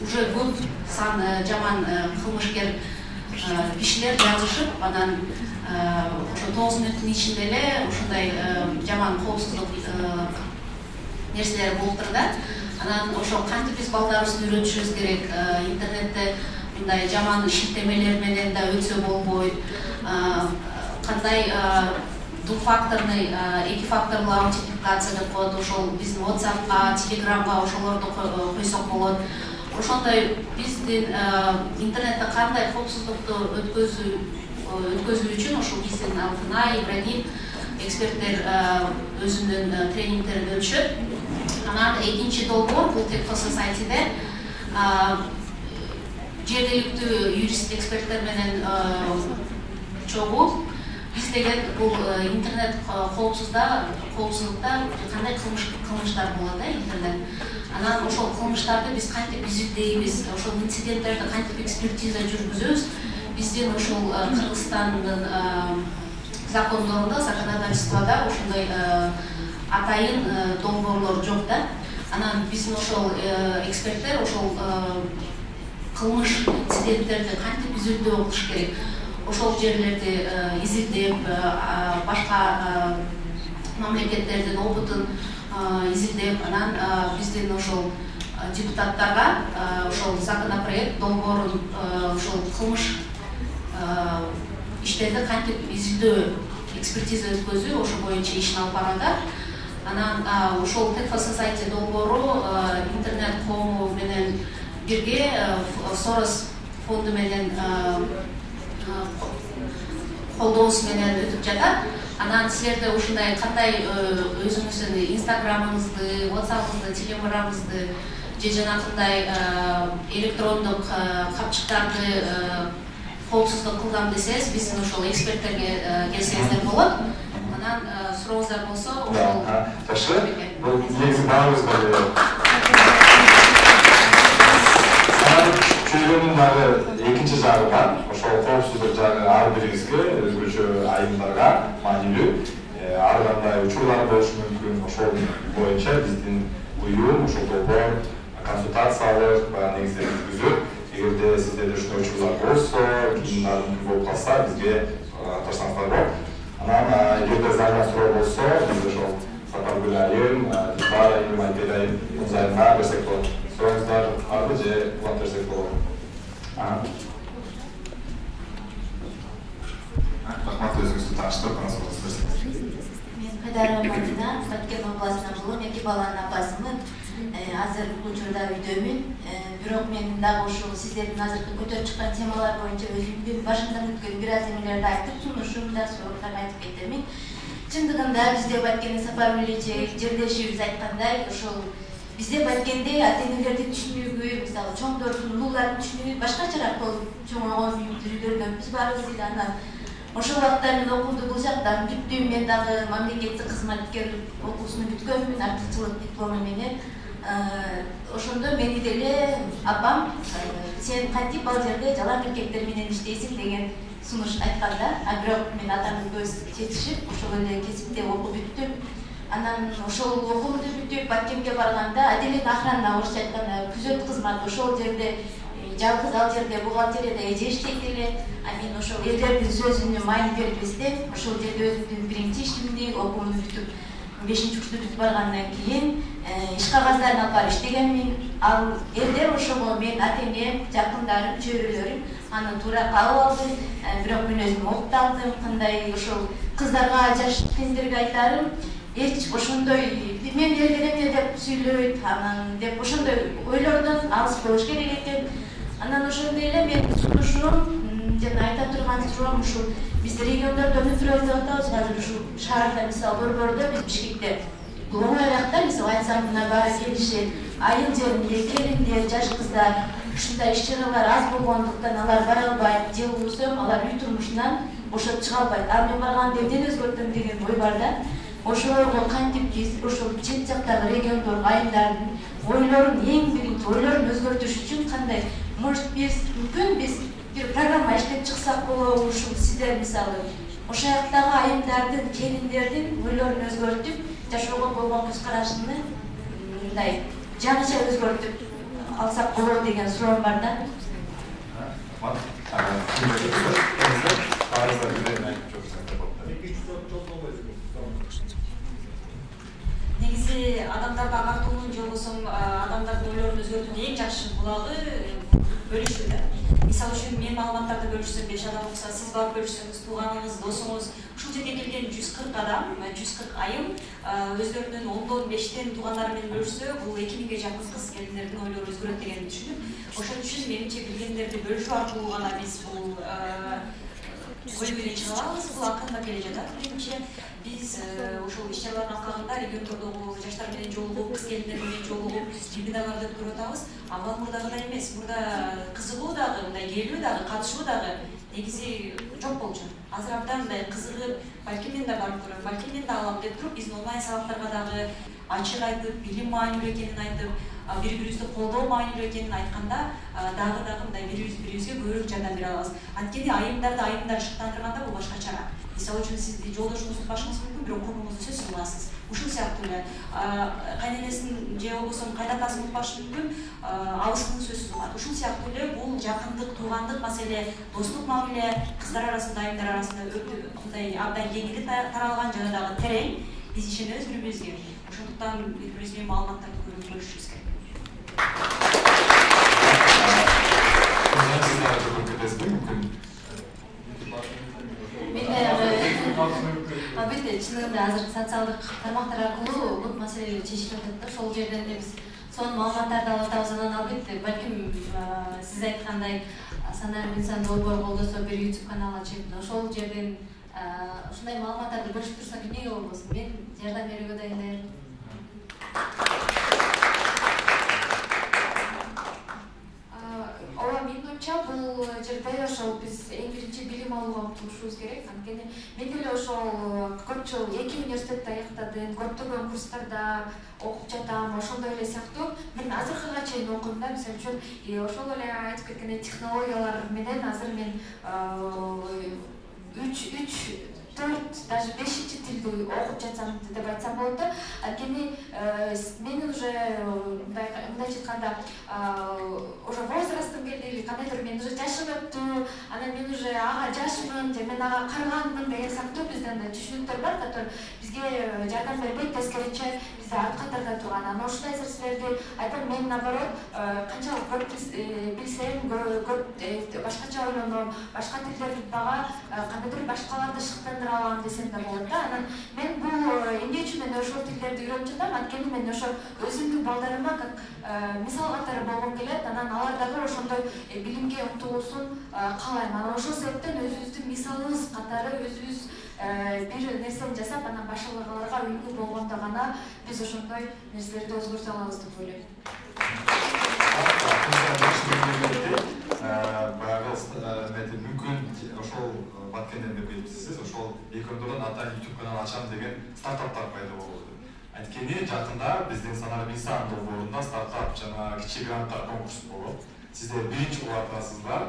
уже көп сан жаман кылмышкер кишилер жазышып, анан ошо 9 мүнөттүн ичинде эле ушундай жаман коопсуздук нерселер болуптур да. Анан ошо кантип биз балдарыбызды үйрөтүшүбүз керек, интернетте мындай жаман шилтемелер менен да өтсө болбойт, кандай двухфакторный, экифакторлуу аутентификация деп коет, ошол биздин WhatsApp'ка, Telegram'га ошолорду койсок болот. Ошондой биздин интернетте кандай коопсуздукту өткөзүү үчүн ошол биздин Алтынай, Ибрагим эксперттер өзүнүн тренингдерин өтүшөт. Анан экинчи долбоор бул Tech for Society'де жергиликтүү юрист эксперттер менен чогуу биз деген бул интернет коопсуздукта кандай кылмыштар болот интернет. Анан ошол кылмыштарды биз кантип изилдейбиз, ошол инциденттерди кантип экспертиза жүргүзөбүз. Биздин ошол Кыргызстандын закондорунда, законодательствода ошондой атайын долбоорлор жок да. Анан биздин ошол эксперттер ошол кылмыш инциденттерди кантип изилдөө кылыш керек, ошол жерлерди изилдеп, башка мамлекеттердин опытын изилдеп, анан биздин ошол депутаттарга ошол законопроект долбоорун ошол кылмыш иштерди кантип изилдөө, экспертиза өткөзүү ошо боюнча ишин алып барганда, анан ошол Tech for Society долбоору интернет коому менен бирге Soros фонду менен колдоосу менен өтүп жатат. Анан силерде ушундай кандай өзүңүздүн инстаграмыңызды, WhatsApp'ыңызды, телеграмыңызды же жанакындай электрондук капчыктарды коопсуздук кылгам десеңиз, биздин ошол эксперттерге келсеңиздер болот. Анан сурооңуздар болсо, ошол жакшы. Бул негизи баарыбызга чөйгөнүн дагы экинчи жагы бар. Ошол коопсуздук жагы ар бирибизге өзгөчө айымдарга маанилүү. Ар кандай учурлар болушу мүмкүн. Ошол боюнча биздин уюм ошол долбоор консультациялык негизде жүргүзөт. Эгерде сиздерде ушундай учурлар болсо, кийин мүмкүн болуп калса, бизге катташсаңыздар болот. Анан эгерде заң суроо болсо, биз ошол Сапаргүл айым, Дилбар айым, Айбек айым айымга берсек болот. Сурооңуздар барбы же улап берсек болот? Рахмат, өзүңүздү тааныштырып, анан сурооңузду берсеңиз. Мен Кайдарова Мадина, Баткен областынан болом, 2 баланын апасымын. Азыр бул учурда үйдөмүн. Бирок мен дагы ушул сиздердин азыркы көтөрүп чыккан темалар боюнча өзүмдүн башымдан өткөн бир аз эмелерди айтып, сунушумда сурооңуздарга айтып кетемин. Чындыгында бизде Баткендин Сапаргүл эже жерлешибиз айткандай, ошол бизде Баткенде ата-энелердин түшүнүгү, мисалы чоңдордун, улуулардын түшүнүгү башкачараак болуп чоңойгон үйдөрдөнбүз баарыбыз эле. Анан ошол убакта мен окуумду бул жактан бүттүм. Мен дагы мамлекеттик кызматкерлик окуусуну бүткөнмүн, артыкчылык диплому менен. Ошондо мени деле апам сен кантип ал жерде жалаң эркектер менен иштейсиң деген сунуш айтканда, бирок мен атамдын көз жетишип ошол эле кесипте окуп бүттүм. Анан ошол окуумду бүтүп Баткенге барганда отделение охраны, орусча айтканда күзөт кызматы, ошол жерде жалгыз ал жерде бухгалтерияда эже иштейт эле. Мен ошол элдердин сөзүнө маани берип эстеп, ошол жерде өзүмдүн биринчи ишимди окуумду бүтүп 5-курсту бүтүп баргандан кийин иш кагаздарын алып барып иштегенмин. Ал элдер ошого мен ата-энем, жакындарым, чөйрөлөрүм аны туура кабыл алды. Бирок мен өзүм окталдым. Кандай ошол кыздарга, жаш кендерге айтарым, эч ошондой мен элдер эмне деп сүйлөйт, анан деп ошондой ойлордон алыс болуш керек экен. Анан ошондой эле мен сунушум жана айта турган суроом ушул биз региондордо өтүрөбүз деп атабыз. Азыр ушул шаарда, мисалы Борбордо, биз Бишкекте бул оңойлук да, мисалы айтсам мына баары келишет. Айыл жеринде келиндер, жаш кыздар ушундай иш-чаралар аз болгондуктан алар бара албайт, же болбосо алар үй турмушунан бошоп чыга албайт. Ал мен барганда эмнени өзгөртөм деген ой бар да. Ошолорго кантип биз ошол чет жактагы региондор айымдардын ойлорун, эң биринчи ойлорун өзгөртүш үчүн кандай, может биз мүмкүн биз бир программа иштеп чыксак болобу, ушул сиздер мисалы ошол жактагы айымдардын, келиндердин ойлорун өзгөртүп, жашоого болгон көз карашын мындай жаңыча өзгөртүп алсак болот деген суроом бар да. Негизи адамдарды агартуунун же болбосо адамдардын ойлорун өзгөртүүнүн эң жакшы булагы бөлүшүү да. Мисалы үчүн мен маалыматтарды бөлүшсөм, 5 адам болсо, сиз барып бөлүшсөңүз, тууганыңыз, досуңуз, ушул жерге келген 140 адам, 140 айым өздөрүнүн 10-5 туугандары менен бөлүшсө, бул 2000ге жакын кыз келиндердин ойлору өзгөрөт дегенди түшүнүп, ошон үчүн менимче билгендерди бөлүшүү аркылуу гана биз бул ой менен чыга алабыз. Бул акырындап келе жатат. Менимче биз ошол иш-чаралардын алкагында региондордогу жаштар менен жолугуп, кыз келиндер менен жолугуп, вебинарларды өткөрүп атабыз. Авал мурдагыдай эмес. Мурда кызыгуу дагы, мындай келүү дагы, катышуу дагы негизи жок болчу. Азыр абдан мындай кызыгып, балким мен да барып көрөм, балким мен да алам деп туруп, биздин онлайн сабактарга дагы ачык айтып, билим маанилүү экенин айтып, бири-бирибизди колдоо маанилүү экенин айтканда, дагы мындай бири-бирибизге көбүрөөк жардам бере алабыз. Анткени айымдарды айымдар шыктандырганда бул башкачараак. мисалы үчүн сизди жолдошуңузду башыңыз мүмкүн, бирок курбуңузду сөзсүз угасыз. Ушул сыяктуу эле кайненесин же болбосо кайдатасын укпашы мүмкүн, абысынын сөзсүз угат. Ушул сыяктуу эле бул жакындык, туугандык маселе, достук мамиле кыздар арасында, айымдар арасында мындай абдан кеңири таралган жана дагы терең. Биз ишенебиз бири-бирибизге. Ошондуктан бири-бирибиз менен маалыматтарды көрүп бөлүшүбүз керек. Албетте, чынында азыр социалдык тармактар аркылуу көп маселелер чечилип атат да. Ошол жерден биз сонун маалыматтарды алып атабыз. Анан албетте, балким сиз айткандай санарип инсан долбоор колдосо бир YouTube канал ачып, ошол жерден ушундай маалыматтарды бөлүшүп турсак эмнеге болбосун? Мен жардам берүүгө дайындаймын. Ооба, менин оюмча бул жерде ошол биз эң биринчи билим алууга умтулушубуз керек. Анткени мен деле ошол көп жыл 2 университетти аяктадым, көптөгөн курстарда окуп жатам. Ошондой эле сыяктуу мен азыркыга чейин окудум да. Мисалы үчүн ошол эле айтып кеткендей технологиялар менен азыр мен 3, 4, даже 5-чи тилди окуп жатсам деп айтсам болот да. Анткени мен уже мындайча айтканда уже возрастым келди или кандайдыр, мен уже жашым өттү, анан мен уже ага жашмын же мен ага карыганмын деген сыяктуу бизде андай түшүнүктөр бар, который бизге жардам бербейт, тескерисинче бизди арт катарда турган. Анан ушундай нерселерди айтам, мен наоборот канчалык көп билсем, көп башкача ойлоном, башка тилдерди дагы кандайдыр башкаларды шыктандыра алам десем да болот да. Анан мен бул эмне үчүн мен ошол тилдерди үйрөнүп жатам? Анткени мен ошо өзүмдүн балдарыма как мисал катары болгум келет. Анан алар дагы ошондой билимге умтулуусун каалайм. Анан ошол себептен өзүбүздүн мисалыбыз катары өзүбүз бир нерсени жасап, анан башкаларга үлгү болгондо гана биз ошондой нерселерди өзгөртө алабыз деп ойлойм. Баягы мүмкүн ошол баткенден деп келипсиз, ошол экөөндөрдөн ата YouTube канал ачам деген стартаптар пайда болду. Анткени жакында биздин санарип инсан долбоорунда стартап жана кичи гранттар конкурсу болот. Сиздер биринчи болуп атасыздар.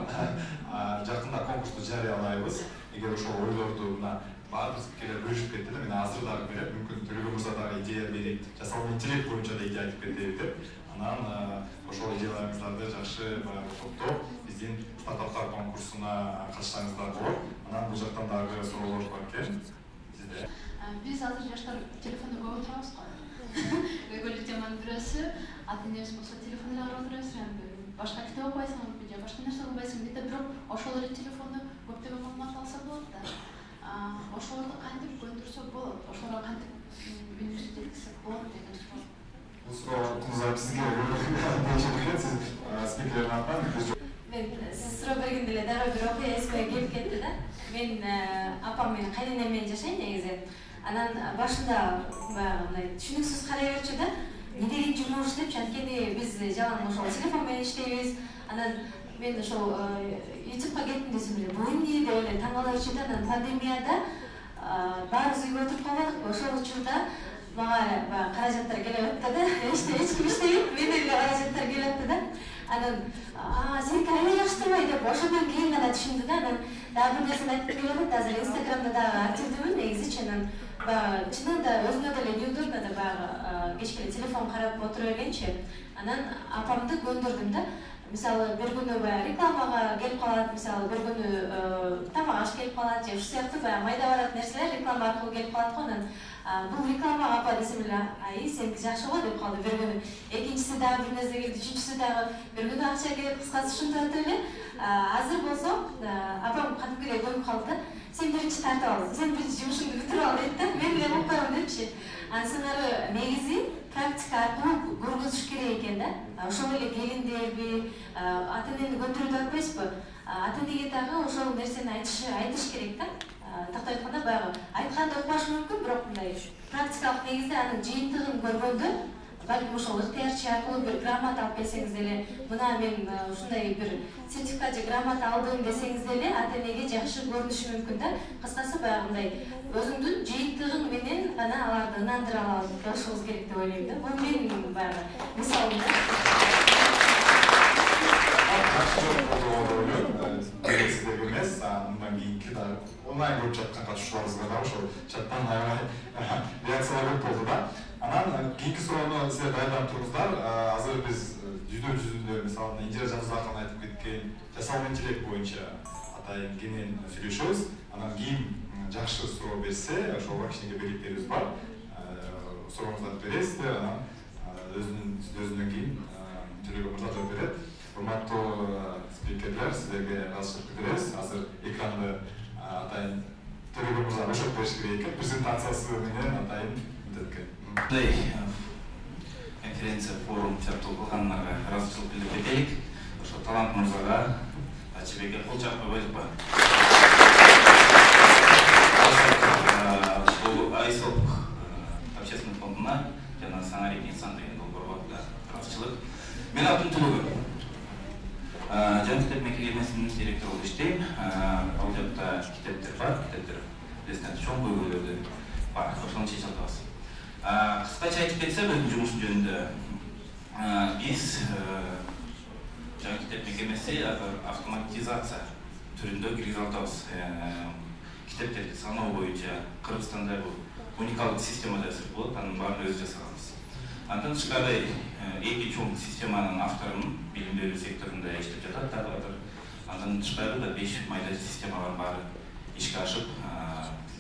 Жакында конкурсту жарыялайбыз. Эгер ошол ойлорду мына баардык пикирлер бөлүшүп кетти да, мен азыр дагы берем, мүмкүн Төлөгөн мырза дагы идея берип, жасалма интеллект боюнча да идея айтып кетеби деп. Анан ошол идеяларыңыздарды жакшы топтоп биздин стартаптар конкурсуна катышсаңыздар болот. Анан бул жактан дагы суроолор бар экен. Сизде? Биз азыр жаштар телефонду көп отурабыз го. Көйгөйлүү теманын бирөөсү, ата-энебиз болсо телефон эле карап отурабыз. Башка китеп окубайсың же башка нерсе окубайсың бите, бирок ошол эле телефонду көптөгөн маалымат алса болот да. Ошолорду кантип көндүрсөк болот? Ошолорго кантип үнүбүздү жеткизсек болот деген суроо. Бул сурооңузга сизге беришет, сиз спикердин атынан Мен сиз суроо бергенде эле дароо бир окуя эсиме келип кетти да. Мен апам менен кайненем менен жашайм негизи. Анан башында баягы мындай түшүнүксүз карай берчү да. Не деген жумуш депчи, анткени биз жалаң ошол телефон менен иштейбиз. Анан мен ошол YouTubeга кеттим десем эле, бул эмне деп эле таң кала берчү да. Анан пандемияда баарыбыз үйгө отуруп калбадыкпы, ошол учурда мага баягы каражаттар келип атты да. Эч ким иштебейт, менен каражаттар келип атты да. Анан сеники аябай жакшы турбайбы деп ошондон кийин гана түшүндү да. Анан дагы бир нерсени айтып келип атат. Азыр Инстаграмда дагы активдүүмүн негизичи. Анан баягы чынында өзүмө деле неудобно да, баягы кечке эле телефон карап отура бергенчи. Анан апамды көндүрдүм да. Мисалы бир күнү баягы рекламага келип калат, мисалы бир күнү тамак аш келип калат же ушул сыяктуу баягы майда барат нерселер реклама аркылуу келип калат го. Анан бул рекламага апа десем эле, ай сеники жакшы го деп калды бир күнү. Экинчиси дагы бир нерсе келди, үчүнчүсү дагы бир күнү акча келип, кыскасы ушинтип атып эле. Азыр болсо апам кадимкидей көнүп калды да. Сен биринчи тартып ал, сен биринчи жумушуңду бүтүрүп ал дейт да. Мен эле укпайм депчи. Андан ары негизи практика аркылуу көргөзүш керек экен да. Ошол эле келиндерби, ата-энени көндүрүү деп атпайсызбы? Ата-энеге дагы ошол нерсени айтыш керек да. Тактап айтканда баягы айтканды укпашы мүмкүн, бирок мындай практикалык негизде анын жыйынтыгын көргөндө, балким ошол ыктыярчы аркылуу бир грамота алып келсеңиз деле, мына мен ушундай бир сертификат же грамота алдым десеңиз деле, ата-энеге жакшы көрүнүшү мүмкүн да. Кыскасы баягы мындай өзүңдүн жыйынтыгың менен гана аларды ынандыра алышыбыз керек деп ойлойм да. Бул менин баягы мисалым да. Сиздерге эмес, мындан кийинки дагы онлайн көрүп жаткан катышуучуларыбызга дагы ошол чаттан аябай реакциялар көп болду да. Анан кийинки суроону силер даярданып туруңуздар. Азыр биз жүзүндө мисалы Индира Жанузакова айтып кеткен жасалма интеллект боюнча атайын кенен сүйлөшөбүз. Анан ким жакшы суроо берсе, ошого кичинекей белектерибиз бар. Сурооңуздарды бересиздер, анан өзүнөн кийин Төлөгөн мырза жооп берет. Урматтуу спикерлер, сиздерге ыраазычылык билдиребиз. Азыр экранды атайын Төлөгөн мырза бошотуп бериш керек экен, презентациясы менен атайын мындай конференция форум чарптоо кылгандарга ыраазычылык билдирип кетелик. Ошо Талант мырзага Ачыбекке кол чаап койбойлукпу? Ушул Айсок общественный фондуна жана Саңарек инсан деген долбоорго ыраазычылык. Мен атым Төлөгөн. Жан китеп мекемесинин директору болуп иштейм. Ал жакта китептер бар, китептер дестен чоң көйгөйлөрдү бар. Ошону чечип атабыз. Кыскача айтып кетсем, өзүнүн жумушу жөнүндө биз жаңы китеп мекемеси автоматизация түрүндө киргизе атабыз. Китептерди саноо боюнча Кыргызстанда бул уникалдык система жасап болот, анын баарын өзү жасаганбыз. Андан тышкары эки чоң системанын авторунун билим берүү секторунда иштеп жатат, дагы андан тышкары да 5 майда системалар баары ишке ашып,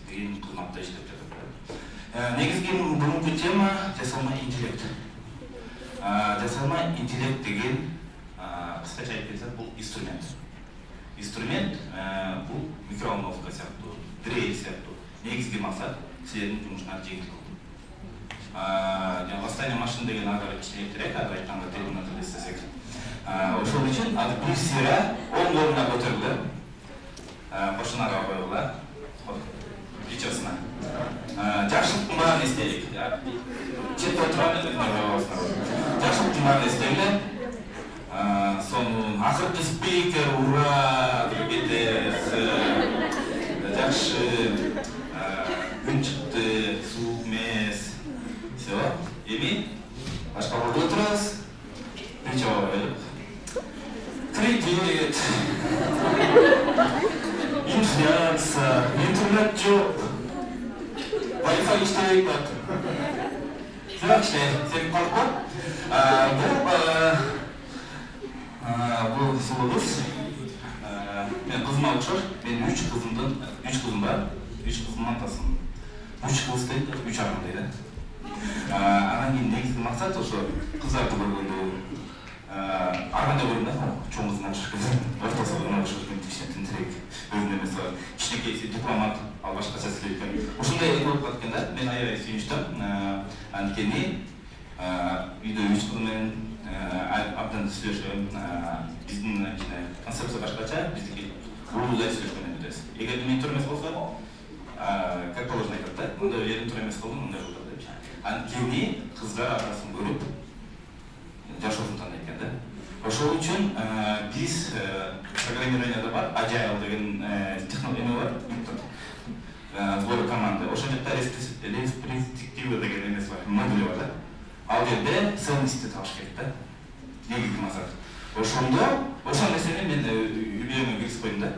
кийин кызматта иштеп жатат. Негизги мурунку тема жасалма интеллект. Жасалма интеллект деген кыскача айтып кетсек, бул инструмент. Инструмент бул микроволновка сыяктуу, дрель сыяктуу. Негизги максат силердин жумушуңарды жеңил кылуу. Восстание машин деген ары кичинекирээк, ары айтканда терминатор десек. Ошол үчүн азыр бир сыйра 10 колуна көтөрүлдү. Башына койгула. Прическасына. Жакшылыктын баарын эстелик. Четте отурган жакшылыктын баарын эстелик. Сонун акыркы спикер, ура деп кетебиз. Жакшы күн чыкты, суук эмес. Все. Эми башка ордо отурабыз. Нече ойлоп. Кредит. Инфляция, интернет жок. Wi-Fi иштебей атат. Бирок сен калып бул сулубуз. Мен кызыма окшош. Менин 3 кызым бар. 3 кызымдын атасымын. 3 кыз дейт, 3 арым дейт. Анан кийин негизги максат ошо кыздарды көргөндө арганда көрдүм да, чоң кызына чыккан. Ортосуна окшош кичине тинтирээк. Өзүнө эмес кичинекей дипломат, ал башкача сүйлөйт экен. Ушундай болуп калган да, мен аябай сүйүнүчтүм. Анткени үйдө 3 кыз менен абдан сүйлөшөм. Биздин концепция башкача, биздики улуулай сүйлөшкөн эмес. Эгер мен тур эмес болсо, как положено айтат да, мындай жерин тур эмес болдум, мындай болду деп. Анткени кыздар атасын көрүп жашоосун тандайт экен да. Ошол үчүн биз программированияда бар, Agile деген технология бар, сбор команды. Ошол жакта ретроспектива деген эмес бар, модуль бар да. Ал жерде ценности табыш керек да. Негизги максат. Ошол нерсени мен үйрөнүүгө киргизип койдум да.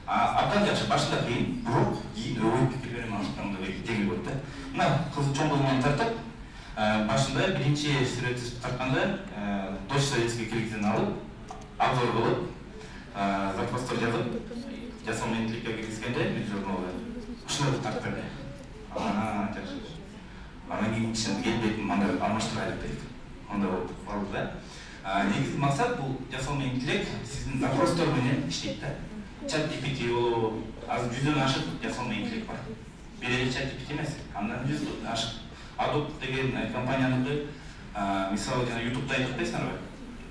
Абдан жакшы, башында кыйын, бирок кийин ой пикирлерин алышканда жеңил болот да. Мына кыз чоң кыз менен тартып, башында биринчи сүрөт тартканда Дочь советский киргизден алып, обзор кылып, запростор жазып, жасалма интеллектке киргизгенде мен журналда ушуну тарттым. Жакшы. Анан кийин кичине келбейтин мындай алмаштырайлык дейт. Мындай болуп калды да. Негизги максат бул жасалма интеллект сиздин запростор менен иштейт да. Чат GPT болобу, азыр 100дөн ашык жасалма интеллект бар. Бир эле чат GPT эмес, андан 100 ашык. Adobe деген компанияныкы, мисалы жана YouTube'да айтып атпайсыңарбы?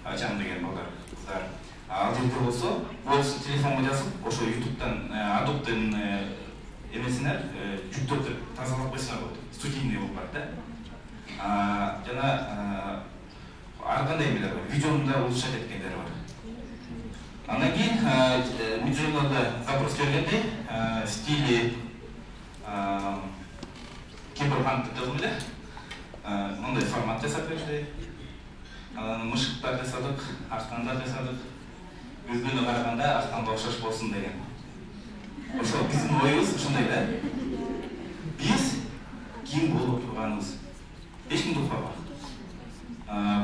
Ачам деген балдар, кыздар. Ал жерде болсо, болсун телефонго жазып, ошо YouTube'дан Adobe'дын эмесине жүктөп тазалап койсоңар болот. Студийный болуп бар да. Жана ар кандай эмелер бар, видеону да улучшать эткендер бар. Андан кийин Midjourney'да запрос бергенде стили киберпанк деп жазылды. Мындай формат жасап берди. Анан мышыктар жасадык, арстандар жасадык. Өзгөнө караганда арстанга окшош болсун деген. ошол биздин оюбуз ушундай да. Биз ким болуп турганыбыз эч кимди укпаган.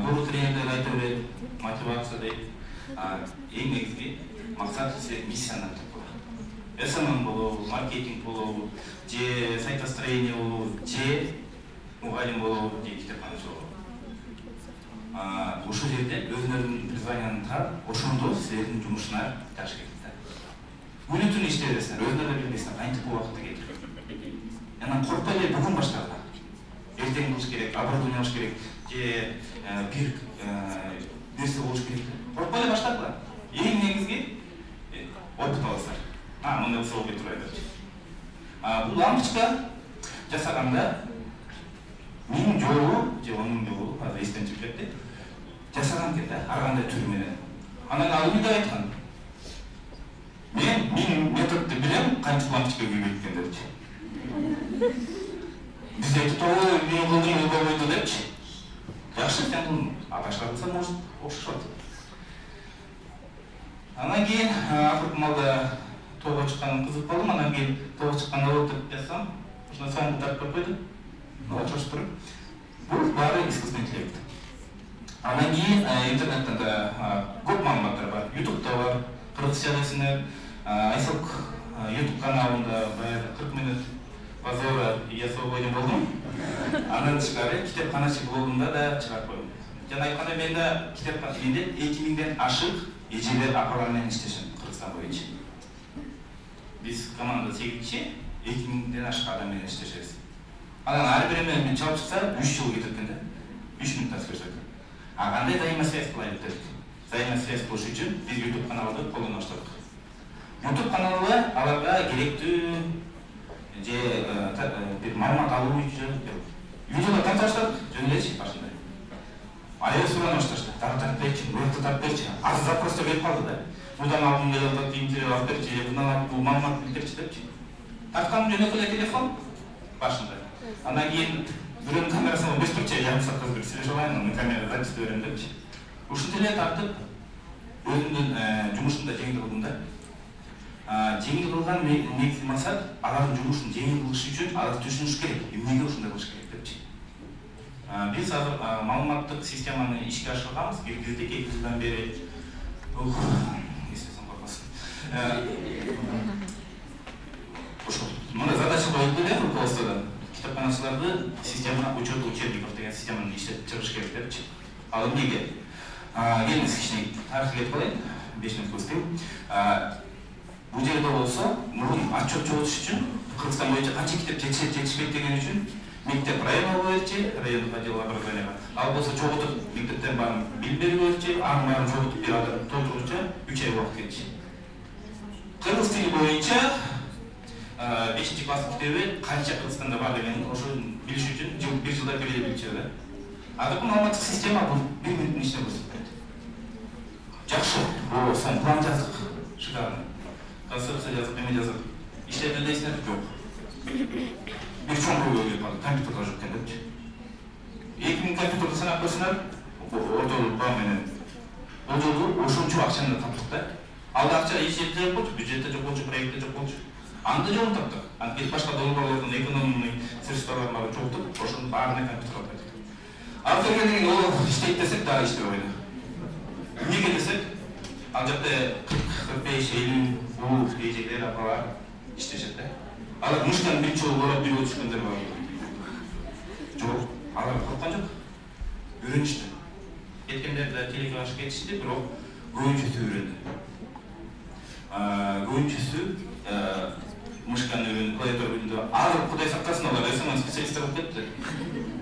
Бул тренерлер айта берет, мотивация дейт. Эң негизги максат силер миссияны тапкан. СММ болобу, маркетинг болобу, же сайтостроение болобу, же мугалим болобу, же китепканачы болобу. Ошол жерде өзүнүн призванияны таап, ошондо силердин жумушуна жакшы келет да. Күнү түнү иштей бересиңер, өзүңөр билбейсиңер, кантип бул убакытты кетирип. Анан коркпой эле бүгүн баштагыла. Эртең кылыш керек, оборудование алыш керек, же бир нерсе болуш керек. Коркпой эле баштагыла. Эң негизги опыт аласыздар. Мындай болсо болбой турбайбы. Бул лампочка жасаганда 1000 жолу же 10 000 жолу, азыр эстен чыгып кетти. Жасаган экен да, ар кандай түрү менен. Анан ал эмне деп айткан? Мен методду билем, канча лампочка күйбөйт экен депчи. Биз айтып мен кылдым, болбойт депчи. Жакшы, сен кылдың. Башка кылса, может, окшошот. Анан кийин акыркы маалда тоого чыкканым кызык болдум. Анан кийин тоого чыкканда болуп деп жазсам, ошондо соңку тартып койдум. Чочуп туруп. Бул баары искусственный интеллект. Анан кийин интернеттен да көп маалыматтар бар. YouTube'да бар. Кыргызча десеңер, Айсок YouTube каналында баягы 40 минут базара ясоо деп болдум. Андан тышкары китепканачы блогунда да чыгарып койдум. Жана айткандай мен да китепкана менде 2000ден ашык эжелер апалар менен иштешем Кыргызстан боюнча. Биз команда 8 киши 2000ден ашык адам менен иштешебиз. Анан ар бири менен чалып чыкса 3 жыл кетет экен да. 3 минуттан сөйлөшөт. Кандай взаимосвязь кылайын дедик. Взаимосвязь кылыш үчүн биз YouTube каналды колдоно баштадык. YouTube каналы аларга керектүү же бир маалымат алуу үчүн видеолор тарта баштадык. Жөн элечи башында. Аял сурана башташты. Тартып берчи, муртты тартып берчи. Азыр запросто берип калды да. Мурдан алдым деле интервью алып берчи, мындан алып бул маалымат билдирчи депчи. Тарткан жөн эле телефон башында. Андан кийин бирөөнүн камерасына 5 турча жарым саатка бир сүйлөшүп алайын, анын камера запись берем депчи. Ушинтип эле тартып өзүмдүн жумушумда жеңил кылдым да. Жеңил кылган негизги максат алардын жумушун жеңил кылыш үчүн алар түшүнүш керек, эмнеге ушундай кылыш керек депчи. Биз азыр маалыматтык системаны ишке ашырганбыз, бир 2 жылдан бери. Эстесем коркосун. Ошол мына задача коюлду эле руководстводон. Китепканачыларды система учет учебников деген системаны иштетип чыгыш керек депчи. Ал эмнеге? Келиңиз кичине тарыхты кетип калайын, 5 мүнөт көздөйм. Бул жерде болсо, мурун отчет жоготуш үчүн Кыргызстан боюнча канча китеп жетишпейт деген үчүн мектеп районго берчи, райондук отдел образования. Ал болсо жоготуп мектептен барып билип берип берчи, анын баарын жоготуп бир адам толтургуча 3 ай убакыт кетчи. Кыргыз тили боюнча 5-класс китеби канча Кыргызстанда бар дегенин ошо билиш үчүн 1 жылда бир эле билчү да. Азыркы маалыматтык система бул 1 мүнөттүн ичинде көрсөтөт. Жакшы, бул сон план жаздык, шикарный. Концепция жазып, эме жазып, иштеп элесиңер жок. Бир чоң көйгөй келип калды, компьютерда жок экен депчи. 2000 компьютерди санап көрсөңөр, ортолук баа менен. Бул жолу ошончо акчаны таптык да. Алда акча эч жерде жок болчу, бюджетте жок болчу, проектте жок болчу. Анда жолун таптык. Анткени башка долбоорлордун экономный средстваларын баарын чогултуп, ошонун баарына компьютер алып кеттик. Ал кергенден кийин ол иштейт десек дагы иштебейт. Эмнеге десек, ал жакта 45-50 бул эжелер апалар иштешет да. Алар муштан бир жолу көрүп бир өтүшкөндөр бар. Жок, алар корккон жок. Үйрөнүштү. Кеткендер да телефонга кетишти, бирок көбүнчөсү үйрөндү. Көбүнчөсү мышканы үйрөндү, клавиатура үйрөндү. Азыр Кудай сактасын, алар СММ специалисттер болуп кетти.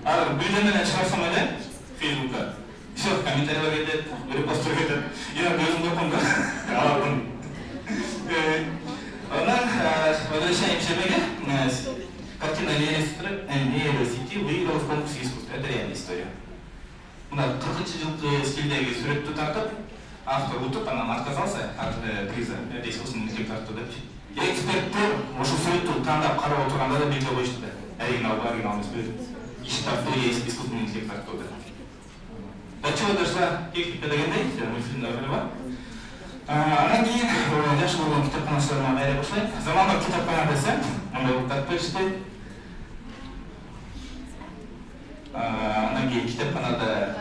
Азыр бирден чыгарсам эле Facebook'ка все комментарийлер кетет, репосттор кетет. Я өзүм корком да. Алардын. Анан возвращаемся к картина нейросети выиграла в конкурсе искусства. Это реальная история. Мына 40-жылкы стилдеги сүрөттү тартып, автор утуп, анан отказался от приза. Это искусственный интеллект тартты депчи. Эксперттер ошол сүрөттү тандап карап отурганда да билбей коюшту да. Оригинал эмес бир иши тартуу искусственный интеллект тартты. До чего дошла техника дегендей, мультфильмда бар. Анан кийин жакшы болгон китепканачыларыма кайра башлайм. Заманбап китепкана десем, андай болуп атпайбызбы. Анан кийин китепканада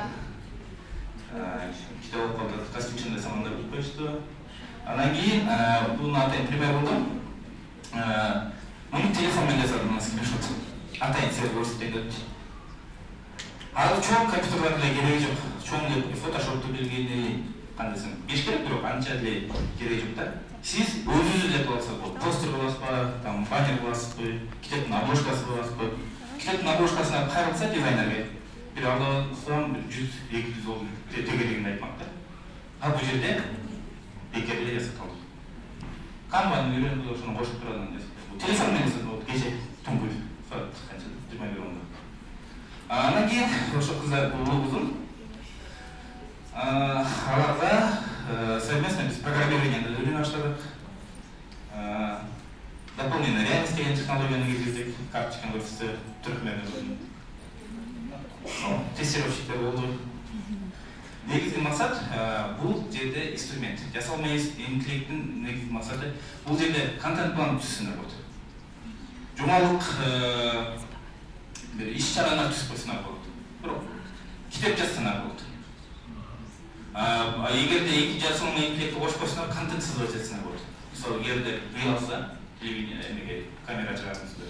китеп окуп калып костюмчун десем андай болуп коюшту. Анан кийин бул атайын пример болдум. Муну телефон менен жасадым, мына скриншот. Атайын силерге көрсөтөйүн депчи. Азыр чоң компьютерлер деле кереги жок. Чоң деп фотошопту билгени кандайсың? Беш керек, бирок анча деле кереги жок да. Сиз өзүңүз эле алсаңыз болот. Постер кыласызбы, там баннер кыласызбы, китептин обложкасы кыласызбы? Китептин обложкасына кайрылса дизайнерге бир алдасам 100-200 доллар тегерегинде айтмак да. А бул жерде бекер эле жасап калдым. Канваны үйрөнүп ошону кошуп турган нерсе. Телефон менен болот, кече түнкү саат канча 21:00. Анан кийин ошо кыздар улуубуздун аларга совместно биз программированияны үйрөнө баштадык. Дополненная реальность деген технологияны киргиздик, карточканы көрсөтсө түркмөнү. Тестировщиктер болду. Негизги максат бул жерде инструмент. Жасалма интеллекттин негизги максаты бул жерде контент план түзсүнөр болот. Жумалык бир иш-чаралар түзүп койсунар болот. Бирок китеп жазсанар болот. Эгерде эки жасалма интеллектти кошуп койсонор контент сызып жатсанар болот. Мисалы эгерде кыйналса, телевидение камера чыгарасызбы.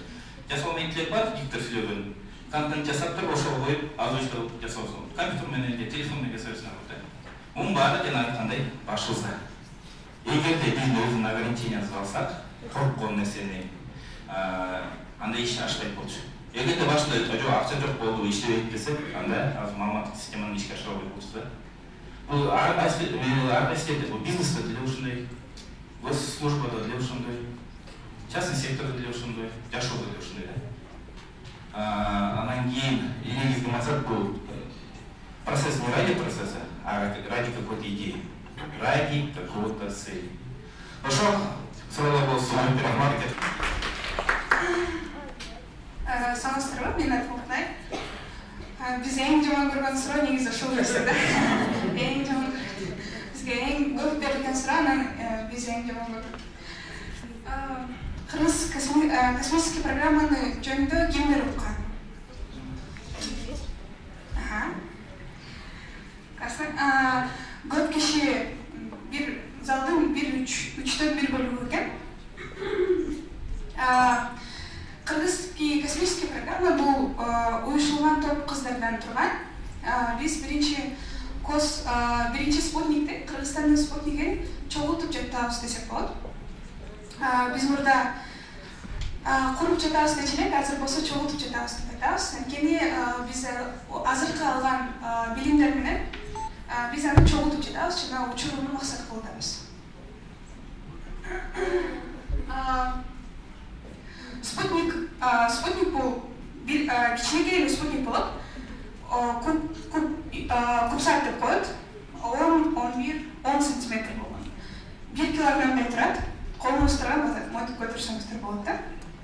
Жасалма интеллект бар, диктор сүйлөгөн. Контент жасап туруп ошого коюп, озвучка кылып жасабыз болот. Компьютер менен же телефон менен жасайсыңар болот. Мунун баары жана айткандай башыбызда. Эгерде биз өзүнүн ограниченияны алсак, корккон нерсени анда иш ашпайт болчу. Эгерде башында жок акча жок болду, иштебейт десек, анда азыр маалыматтык системаны ишке ашыра албай болчу да. Бул ар кайсы бул бизнесте деле ушундай, госслужбада деле ушундай, частный сектордо деле ушундай, жашоодо деле ушундай да. Анан кийин негизги максат бул процесс не ради процесса, а ради какой-то идеи, ради какого-то цели. Ошо суроолор болсо рахмат. Саламатсыздарбы, мен Алтынай. Биз эң жаман көргөн суроо негизи ушул нерсе да. Эң жаман бизге эң көп берилген суроо, анан биз эң жаман көрдүк. Кыргыз космический программаны жөнүндө кимдер уккан? Көп киши бир залдын 3/4 бөлүгү экен. Кыргызский космический программа бул уюшулган топ кыздардан турган. Биз биринчи спутникти, Кыргызстандын спутнигин чогултуп жатабыз десек болот. Биз мурда куруп жатабыз дечи элек, азыр болсо чогултуп жатабыз деп айтабыз. Анткени биз азыркы алган билимдер менен биз аны чогултуп жатабыз жана учурууну максат кылып атабыз. Спутник бул бир кичинекей эле спутник болуп, кубсат деп коет, 10 сантиметр болгон. 1 килограммдай турат, колуңузда мотип көтөрсөңүздөр болот да.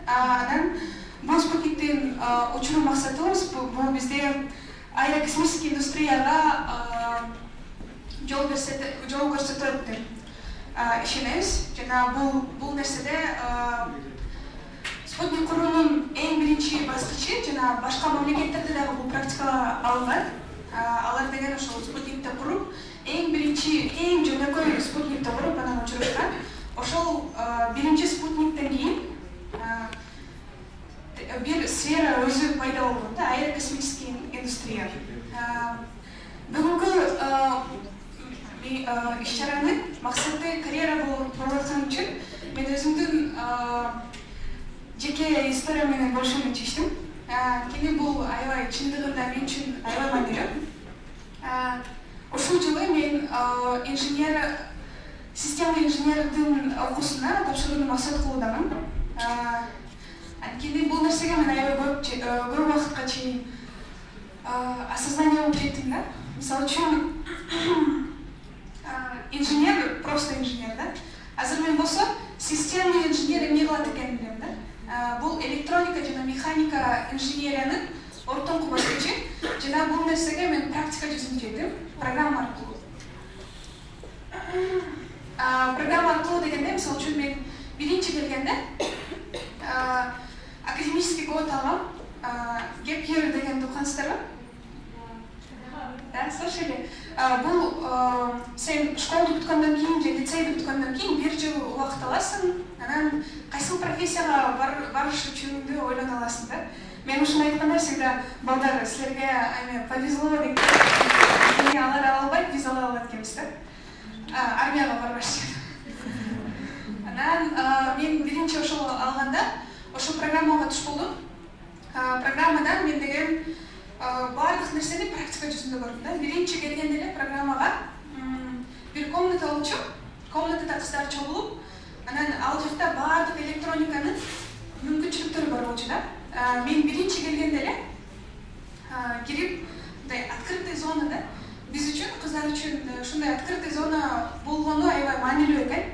Анан бул спутниктин учуруу максатыбыз бул бизде аэрокосмический индустрияга жол көрсөтөт деп ишенебиз. Жана бул нерседе спутник куруунун эң биринчи баскычы жана башка мамлекеттерде дагы бул практикага алынган. Алар деген ошол спутникти куруп, эң биринчи, эң жөнөкөй спутникти куруп анан учуруштан. Ошол биринчи спутниктен кийин бир сфера өзү пайда болгон да, аэрокосмический индустрия. Бүгүнкү иш-чаранын максаты карьера болуп аткан үчүн мен өзүмдүн жеке история менен бөлүшүүнү чечтим. Кини бул аябай чындыгында мен үчүн аябай маанилүү. Ушул жылы мен система инженердин окуусуна тапшырууну максат кылуудамын. Анткени бул нерсеге мен аябай көп убакытка чейин осознание болуп жеттим да. Мисалы үчүн инженер, просто инженер да. Азыр мен болсо системный инженер эмне кылат экенин билем да. Бул электроника жана механика инженериянын ортоңку баскычы жана бул нерсеге мен практика жүзүндө жеттим, программа аркылуу. программа аркылуу дегенде, мисалы үчүн мен биринчи келгенде академический год алгам. Gap year дегенди уккансыздарбы? Да, слышали? Бул сен школду бүткөндөн кийин же лицейди бүткөндөн кийин 1 жыл убакыт аласың, анан кайсыл профессияга барыш үчүн ойлоно аласың да. Мен ушуну айтканда всегда балдар силерге повезло деп алар ала албайт, биз ала алат экенбиз да. Армияга барбаш. Анан мен биринчи ошол алганда ошол программага туш болдум. Программадан мен деген баардык нерсени практика жүзүндө көрдүм да. Биринчи келгенде эле программага бир комната болчу. Комнатада кыздар чогулуп, анан ал жакта баардык электрониканын мүмкүнчүлүктөрү бар болчу да. Мен биринчи келгенде эле кирип, мындай открытый зонада биз үчүн, кыздар үчүн ушундай открытый зона болгону аябай маанилүү экен.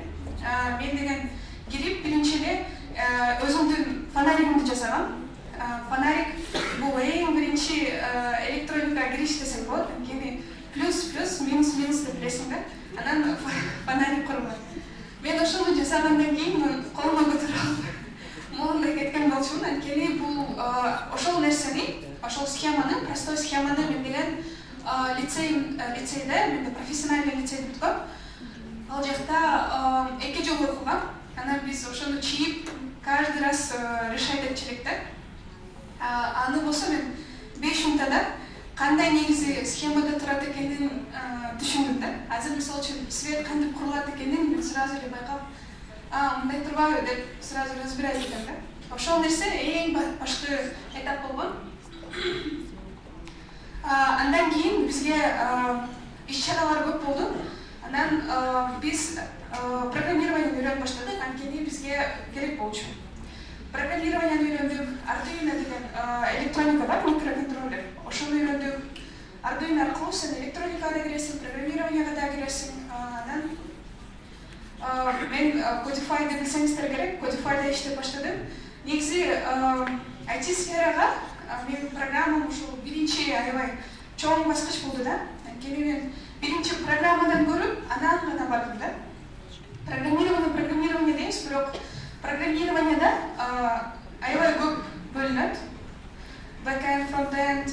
Мен деген кирип биринчи эле өзүмдүн фонаригимди жасагам. Фонарик бул эң биринчи электроника кириш десек болот. Анткени плюс, минус деп билесиң да. Анан фонарик курган. Мен ошону жасагандан кийин колума көтөрүп алып моундай кеткен болчумун. Анткени бул ошол нерсени, ошол схеманы, простой схеманы мен деген лицейде, мен профессиональный лицейди бүткөм. Ал жакта 2 жыл окугам. Анан биз ошону чийип каждый раз решать этчү элек да. Аны болсо мен 5 минутада кандай негизи схемада турат экенин түшүндүм да. Азыр мисалы үчүн свет кантип курулат экенин мен сразу эле байкап, мындай турбайбы деп сразу разбирать этем да. Ошол нерсе эң башкы этап болгон. Андан кийин бизге иш-чаралар көп болду. Анан биз программированияны үйрөнүп баштадык, анткени бизге керек болчу. Программированияны үйрөндүк, Arduino деген электроника бар, микроконтроллер. Ошону үйрөндүк. Arduino аркылуу сен электроникага да киресиң, программированияга да киресиң. Анан мен Codify деп билсеңиздер керек, Codifyда иштеп баштадым. Негизи IT сферага мен программам ушул биринчи аябай чоң баскыч болду да. Анткени мен биринчи программадан көрүп, анан гана бардым да. Программирование дейбиз, бирок программированияда аябай көп бөлүнөт. Backend, frontend,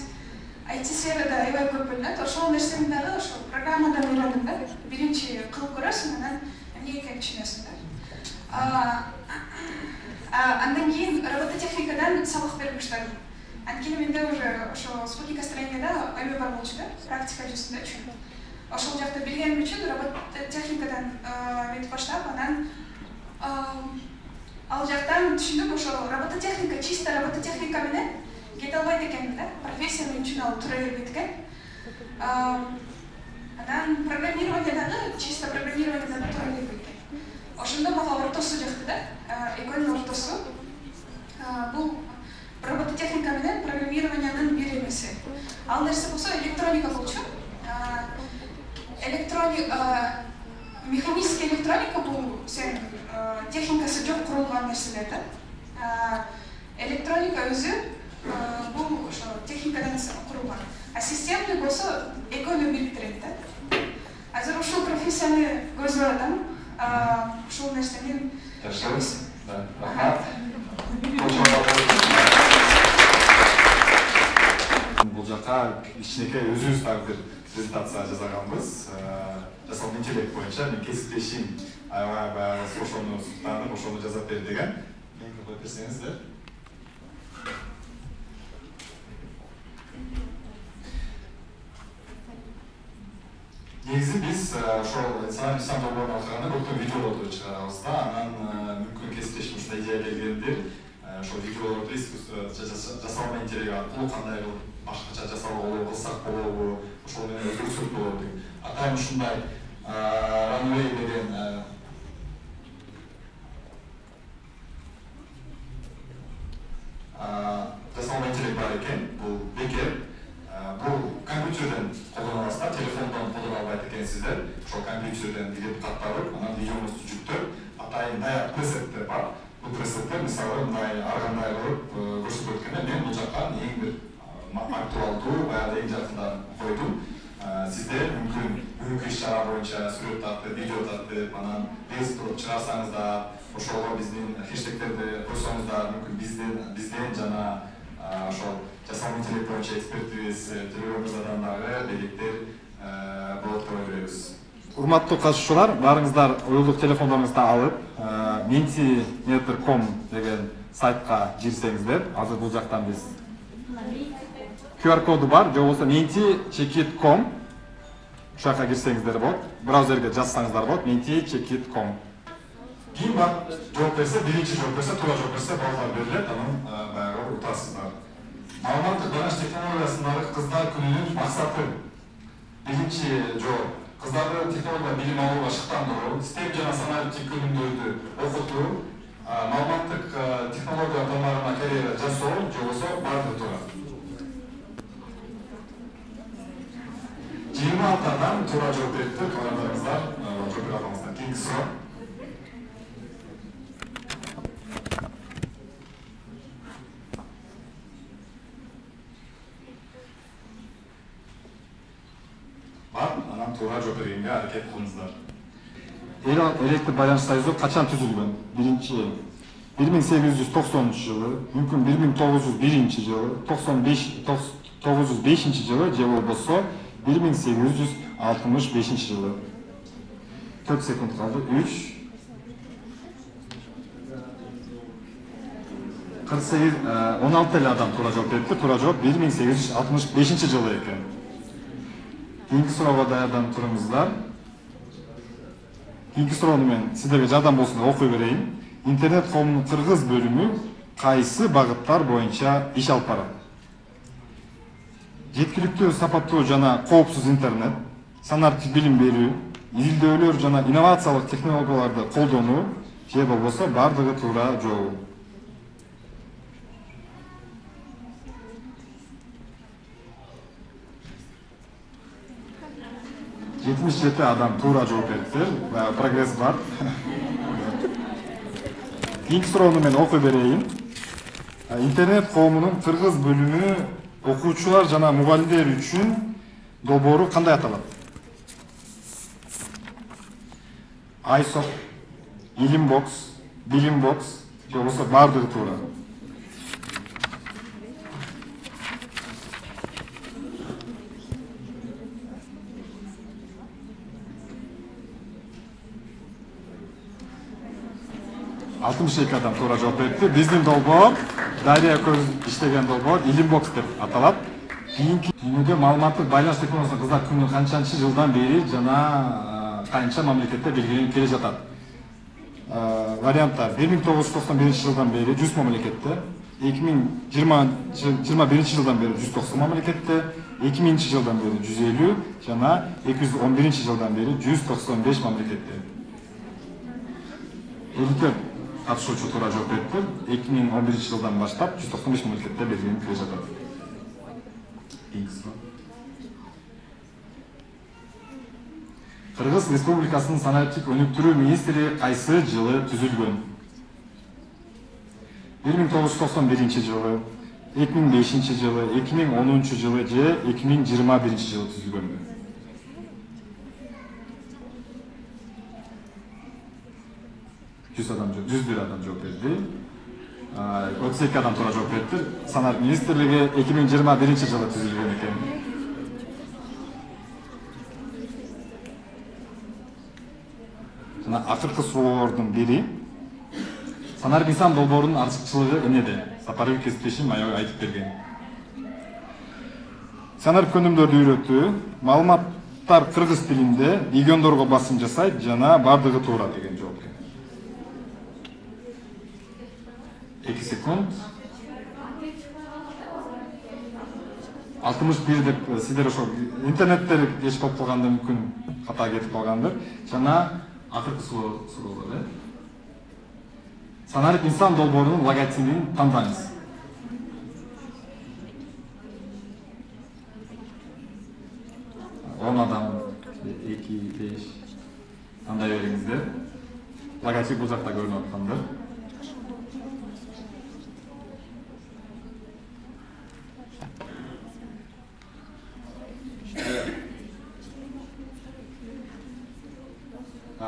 IT сферада аябай көп бөлүнөт. Ошол нерсени дагы ошол программадан үйрөндүм да. Биринчи кылып көрөсүң, анан эмне экенин түшүнөсүң да. Андан кийин робототехникадан сабак берип баштадым. Анткени менде уже ошо спутникостроенияда эме бар болчу да, практика жүзүндө үчүн. Ошол жакта билгеним үчүн робототехникадан метип баштап, анан ал жактан түшүндүм, ошо робототехника, чисто робототехника менен кете албайт экенмин да. Профессия мен үчүн ал тура бербейт экен. Анан программирование дагы, чисто программирование дагы тура бербейт экен. Ошондо мага ортосу жакты да, экөөнүн ортосу. Бул робототехника менен программированиянын бир эмеси. Ал нерсе болсо электроника болчу. Механический электроника бул сен техникасы жок курулган нерселер да. Электроника өзү бул ошо техникадан курулган. А системный болсо экөөнү бириктирет да. Азыр ушул профессияны көздөп атам. Ушул нерсени жакшы. Рахмат. Бул жака кичинекей өзүбүз дагы бир презентация жасаганбыз. Жасалган интеллект боюнча мен кесиптешим аябай баягы ошону таанып, ошону жасап бер деген. Мен коюп берсеңиздер. Негизи биз ошол инсан жолдорун окуганда көптөгөн видеолорду чыгарабыз да. Анан мүмкүн кесиптешим ушундай идея келгендир. Ошол видеолорду жасалма интеллект аркылуу кандай кылып башкача жасалгалы кылсак болобу, ошол менен өзгөртсөк болобу деп. Атайын ушундай Runway деген жасалма интеллект бар экен. Бул бекер. Бул компьютерден колдоно аласыздар, телефондон колдоно албайт экенсиздер. Ошол компьютерден билип катталып, анан видеоңузду жүктөп, атайын даяр пресеттер бар. Бул пресеттер мисалы мындай ар кандай кылып көрсөтүп өткөндө мен бул жакка эң бир актуалдуу, баягы эң жакындарын койдум. сиздер мүмкүн бүгүнкү иш-чара боюнча сүрөт тартып, видео тартып, анан рилс туруп чыгарсаңыздар, ошого биздин хэштегтерди койсоңуздар, мүмкүн бизден жана ошол жасалма интеллект боюнча экспертибиз Төлөгөн мырзадан дагы белектер болот деп ойлойбуз. Урматтуу катышуучулар, баарыңыздар уюлдук телефондоруңузду алып, mentimeter.com деген сайтка кирсеңиздер, азыр бул жактан биз QR коду бар, же болбосо menti.com ушака кирсеңиздер болот. Браузерге жазсаңыздар болот, menti.com. Ким жооп берсе, биринчи жооп берсе, туура жооп берсе, балдар берилет, анан баягы утасыздар. Маалыматтык байланыш технологиясындагы кыздар күнүнүн максаты. Биринчи жооп. Кыздарды технология билим алууга шыктандыруу, STEM жана санариптик өнүмдөрдү окутуу, маалыматтык технология аталмарына карьера жасоо, же болбосо бардыгы туура. 26 адам туура жооп берипти, калгандарыңыздар жооп бере алыңыздар. Кийинки суроо. Анан туура жооп бергенге аракет кылыңыздар. Электр байланыш союзу качан түзүлгөн? 1890-жылы, мүмкүн 1901 жылы, 1905 жылы, же болбосо 1865 жылы. 4 секунд калды. 3 48 16 эле адам туура жооп берипти. Туура жооп 1865 жылы экен. Кийинки суроого даярданып туруңуздар. Кийинки суроону мен сиздерге жардам болсун деп окуй берейин. Интернет коомунун кыргыз бөлүмү кайсы багыттар боюнча иш алып барат? Жеткиликтүү, сапаттуу жана коопсуз интернет, санариптик билим берүү, изилдөөлөр жана инновациялык технологияларды колдонуу, же болбосо бардыгы туура жол. жети адам туура жооп берипти. Прогресс бар. Кийинки суроону мен окуй берейин. Интернет коомунун кыргыз бөлүмү окуучулар жана мугалимдер үчүн долбоору кандай аталат? iSoft, Ilimbox, Bilimbox, же болбосо бардыгы туура. Адам туура жооп берипти. Биздин долбоор, Дария көз иштеген долбоор Ilimbox деп аталат. Кийинки дүйнөдө маалыматтык байланыш технологиясынын кыздар күнү канчанчы жылдан бери жана канча мамлекетте белгиленип келе жатат? Варианттар: 1991 жылдан бери 100 мамлекетте, 2021 жылдан бери 190 мамлекетте, 2000 жылдан бери 150 жана 211 жылдан бери 195 мамлекетте. Катышуучу туура жооп берипти. 2011 жылдан баштап 195 мамлекетте белгиленип келе жатат. Кыргыз Республикасынын санариптик өнүктүрүү министри кайсы жылы түзүлгөн? 1991 жылы, 2005 жылы, 2010 жылы же 2021 жылы түзүлгөнбү? Адам 101 адам жооп берди. 32 адам туура жооп берди. Санариптик министрлиги 2021 жылы түзүлгөн экен. Жана акыркы суроолордун бири санарип инсан долбоорунун артыкчылыгы эмнеде? Сапарбек Кесиптешим айтып берген. Санарип өнүмдөрдү үйрөтүү, маалыматтар кыргыз тилинде, региондорго басым жасайт жана бардыгы туура деген жооп. 2 секунд. 61 деп сиздер ошо интернеттер кеч болуп калганда мүмкүн ката кетип калгандыр. Жана акыркы суроолор. Санарип инсан долбоорунун логотипин тандаңыз. Адам 2-5 тандай бериңиздер. Логотип бул жакта көрүнүп аткандар.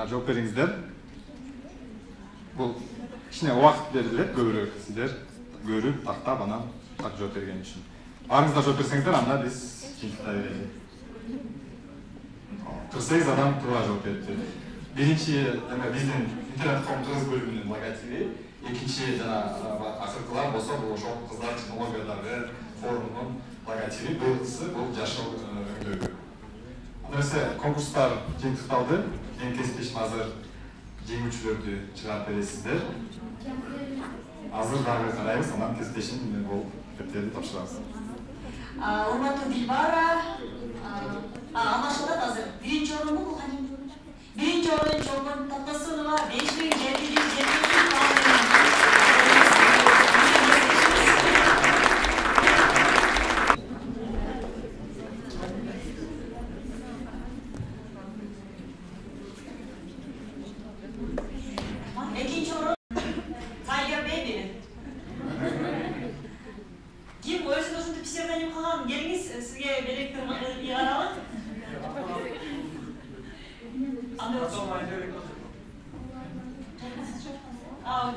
жооп бериңиздер. Бул кичине убакыт берилет, көбүрөөк сиздер көрүп, тактап, анан так жооп берген үчүн. Баарыңыздар жооп берсеңиздер, анда биз жыйынтыктай берели. Кырсеңиз адам туура жооп берипти. Биринчи биздин интернет-ком кыргыз бөлүмүнүн логотиби, экинчи жана акыркылар болсо бул ошол кыздар технологиядагы форумунун логотиби, быйылкысы бул жашыл өңдөгү. Андерсе конкурстар жыйынтыкталды. Эң кесиптешим азыр жеңүүчүлөрдү чыгарып бересиздер. Азыр дагы карайбыз, анан кесиптешим бул китептерди тапшырабыз. Урматтуу Дилбара, алмашылат азыр. Биринчи орунду бул кантип? Биринчи орун Чолпон Тактасунова 5773 балл. Экинчи орун Tiger Baby. Ким өзүн ушунтип псевдоним кылган? Келиңиз, сизге белектер каралат.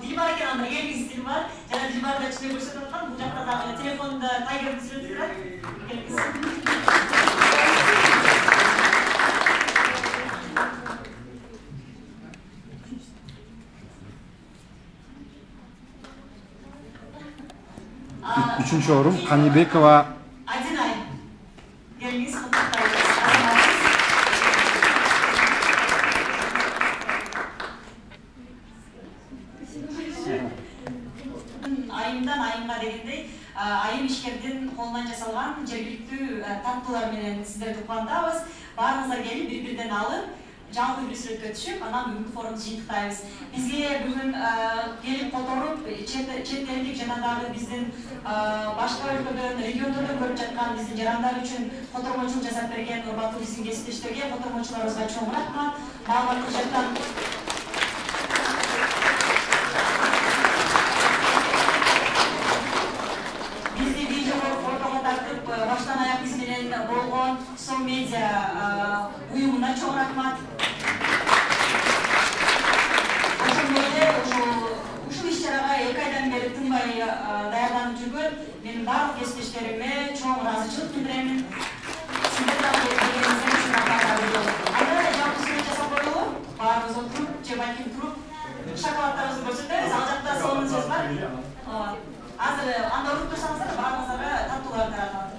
Дилбар экен, анда келиңиз Дилбар. Жана Дилбар да чыгып көрсөтүп аткан, бул жакта дагы телефонунда Tiger сүрөтү турат. Келиңиз. Үчүнчү орун Канибекова Адинай. Келиңиз, айымдан айымга дегендей, айым ишкердин колунан жасалган жергиликтүү таттуулар менен сиздерди кубандабыз. Баарыңыздар келип бири-бирден алып, жалпы бир сүрөткө түшүп, анан бүгүнкү форумду жыйынтыктайбыз. Бизге бүгүн келип которуп, чет элдик жана дагы биздин башка өлкөдөн, региондордон көрүп жаткан биздин жарандар үчүн котормочулук жасап берген урматтуу биздин кесиптештерге, котормочуларыбызга чоң рахмат. Маалыматтык жактан бизди видеого, фотого тартып, баштан аяк биз менен болгон Сом медиа уюмуна чоң рахмат. Ушул иш-чарага 2 айдан бери тынбай даярданып жүргөн менин барлык кесиптештериме чоң ыраазычылык билдирем. Сиздер дагы келгениңиздер үчүн рахмат. Анда жалпы сүрөт жасап коелу. Баарыбыз отуруп, же балким туруп, шоколаддарыбызды көрсөтөбүз. Ал жакта сонун сөз бар. Азыр анда уруп турсаңыздар, баарыңыздарга таттуулар таратат.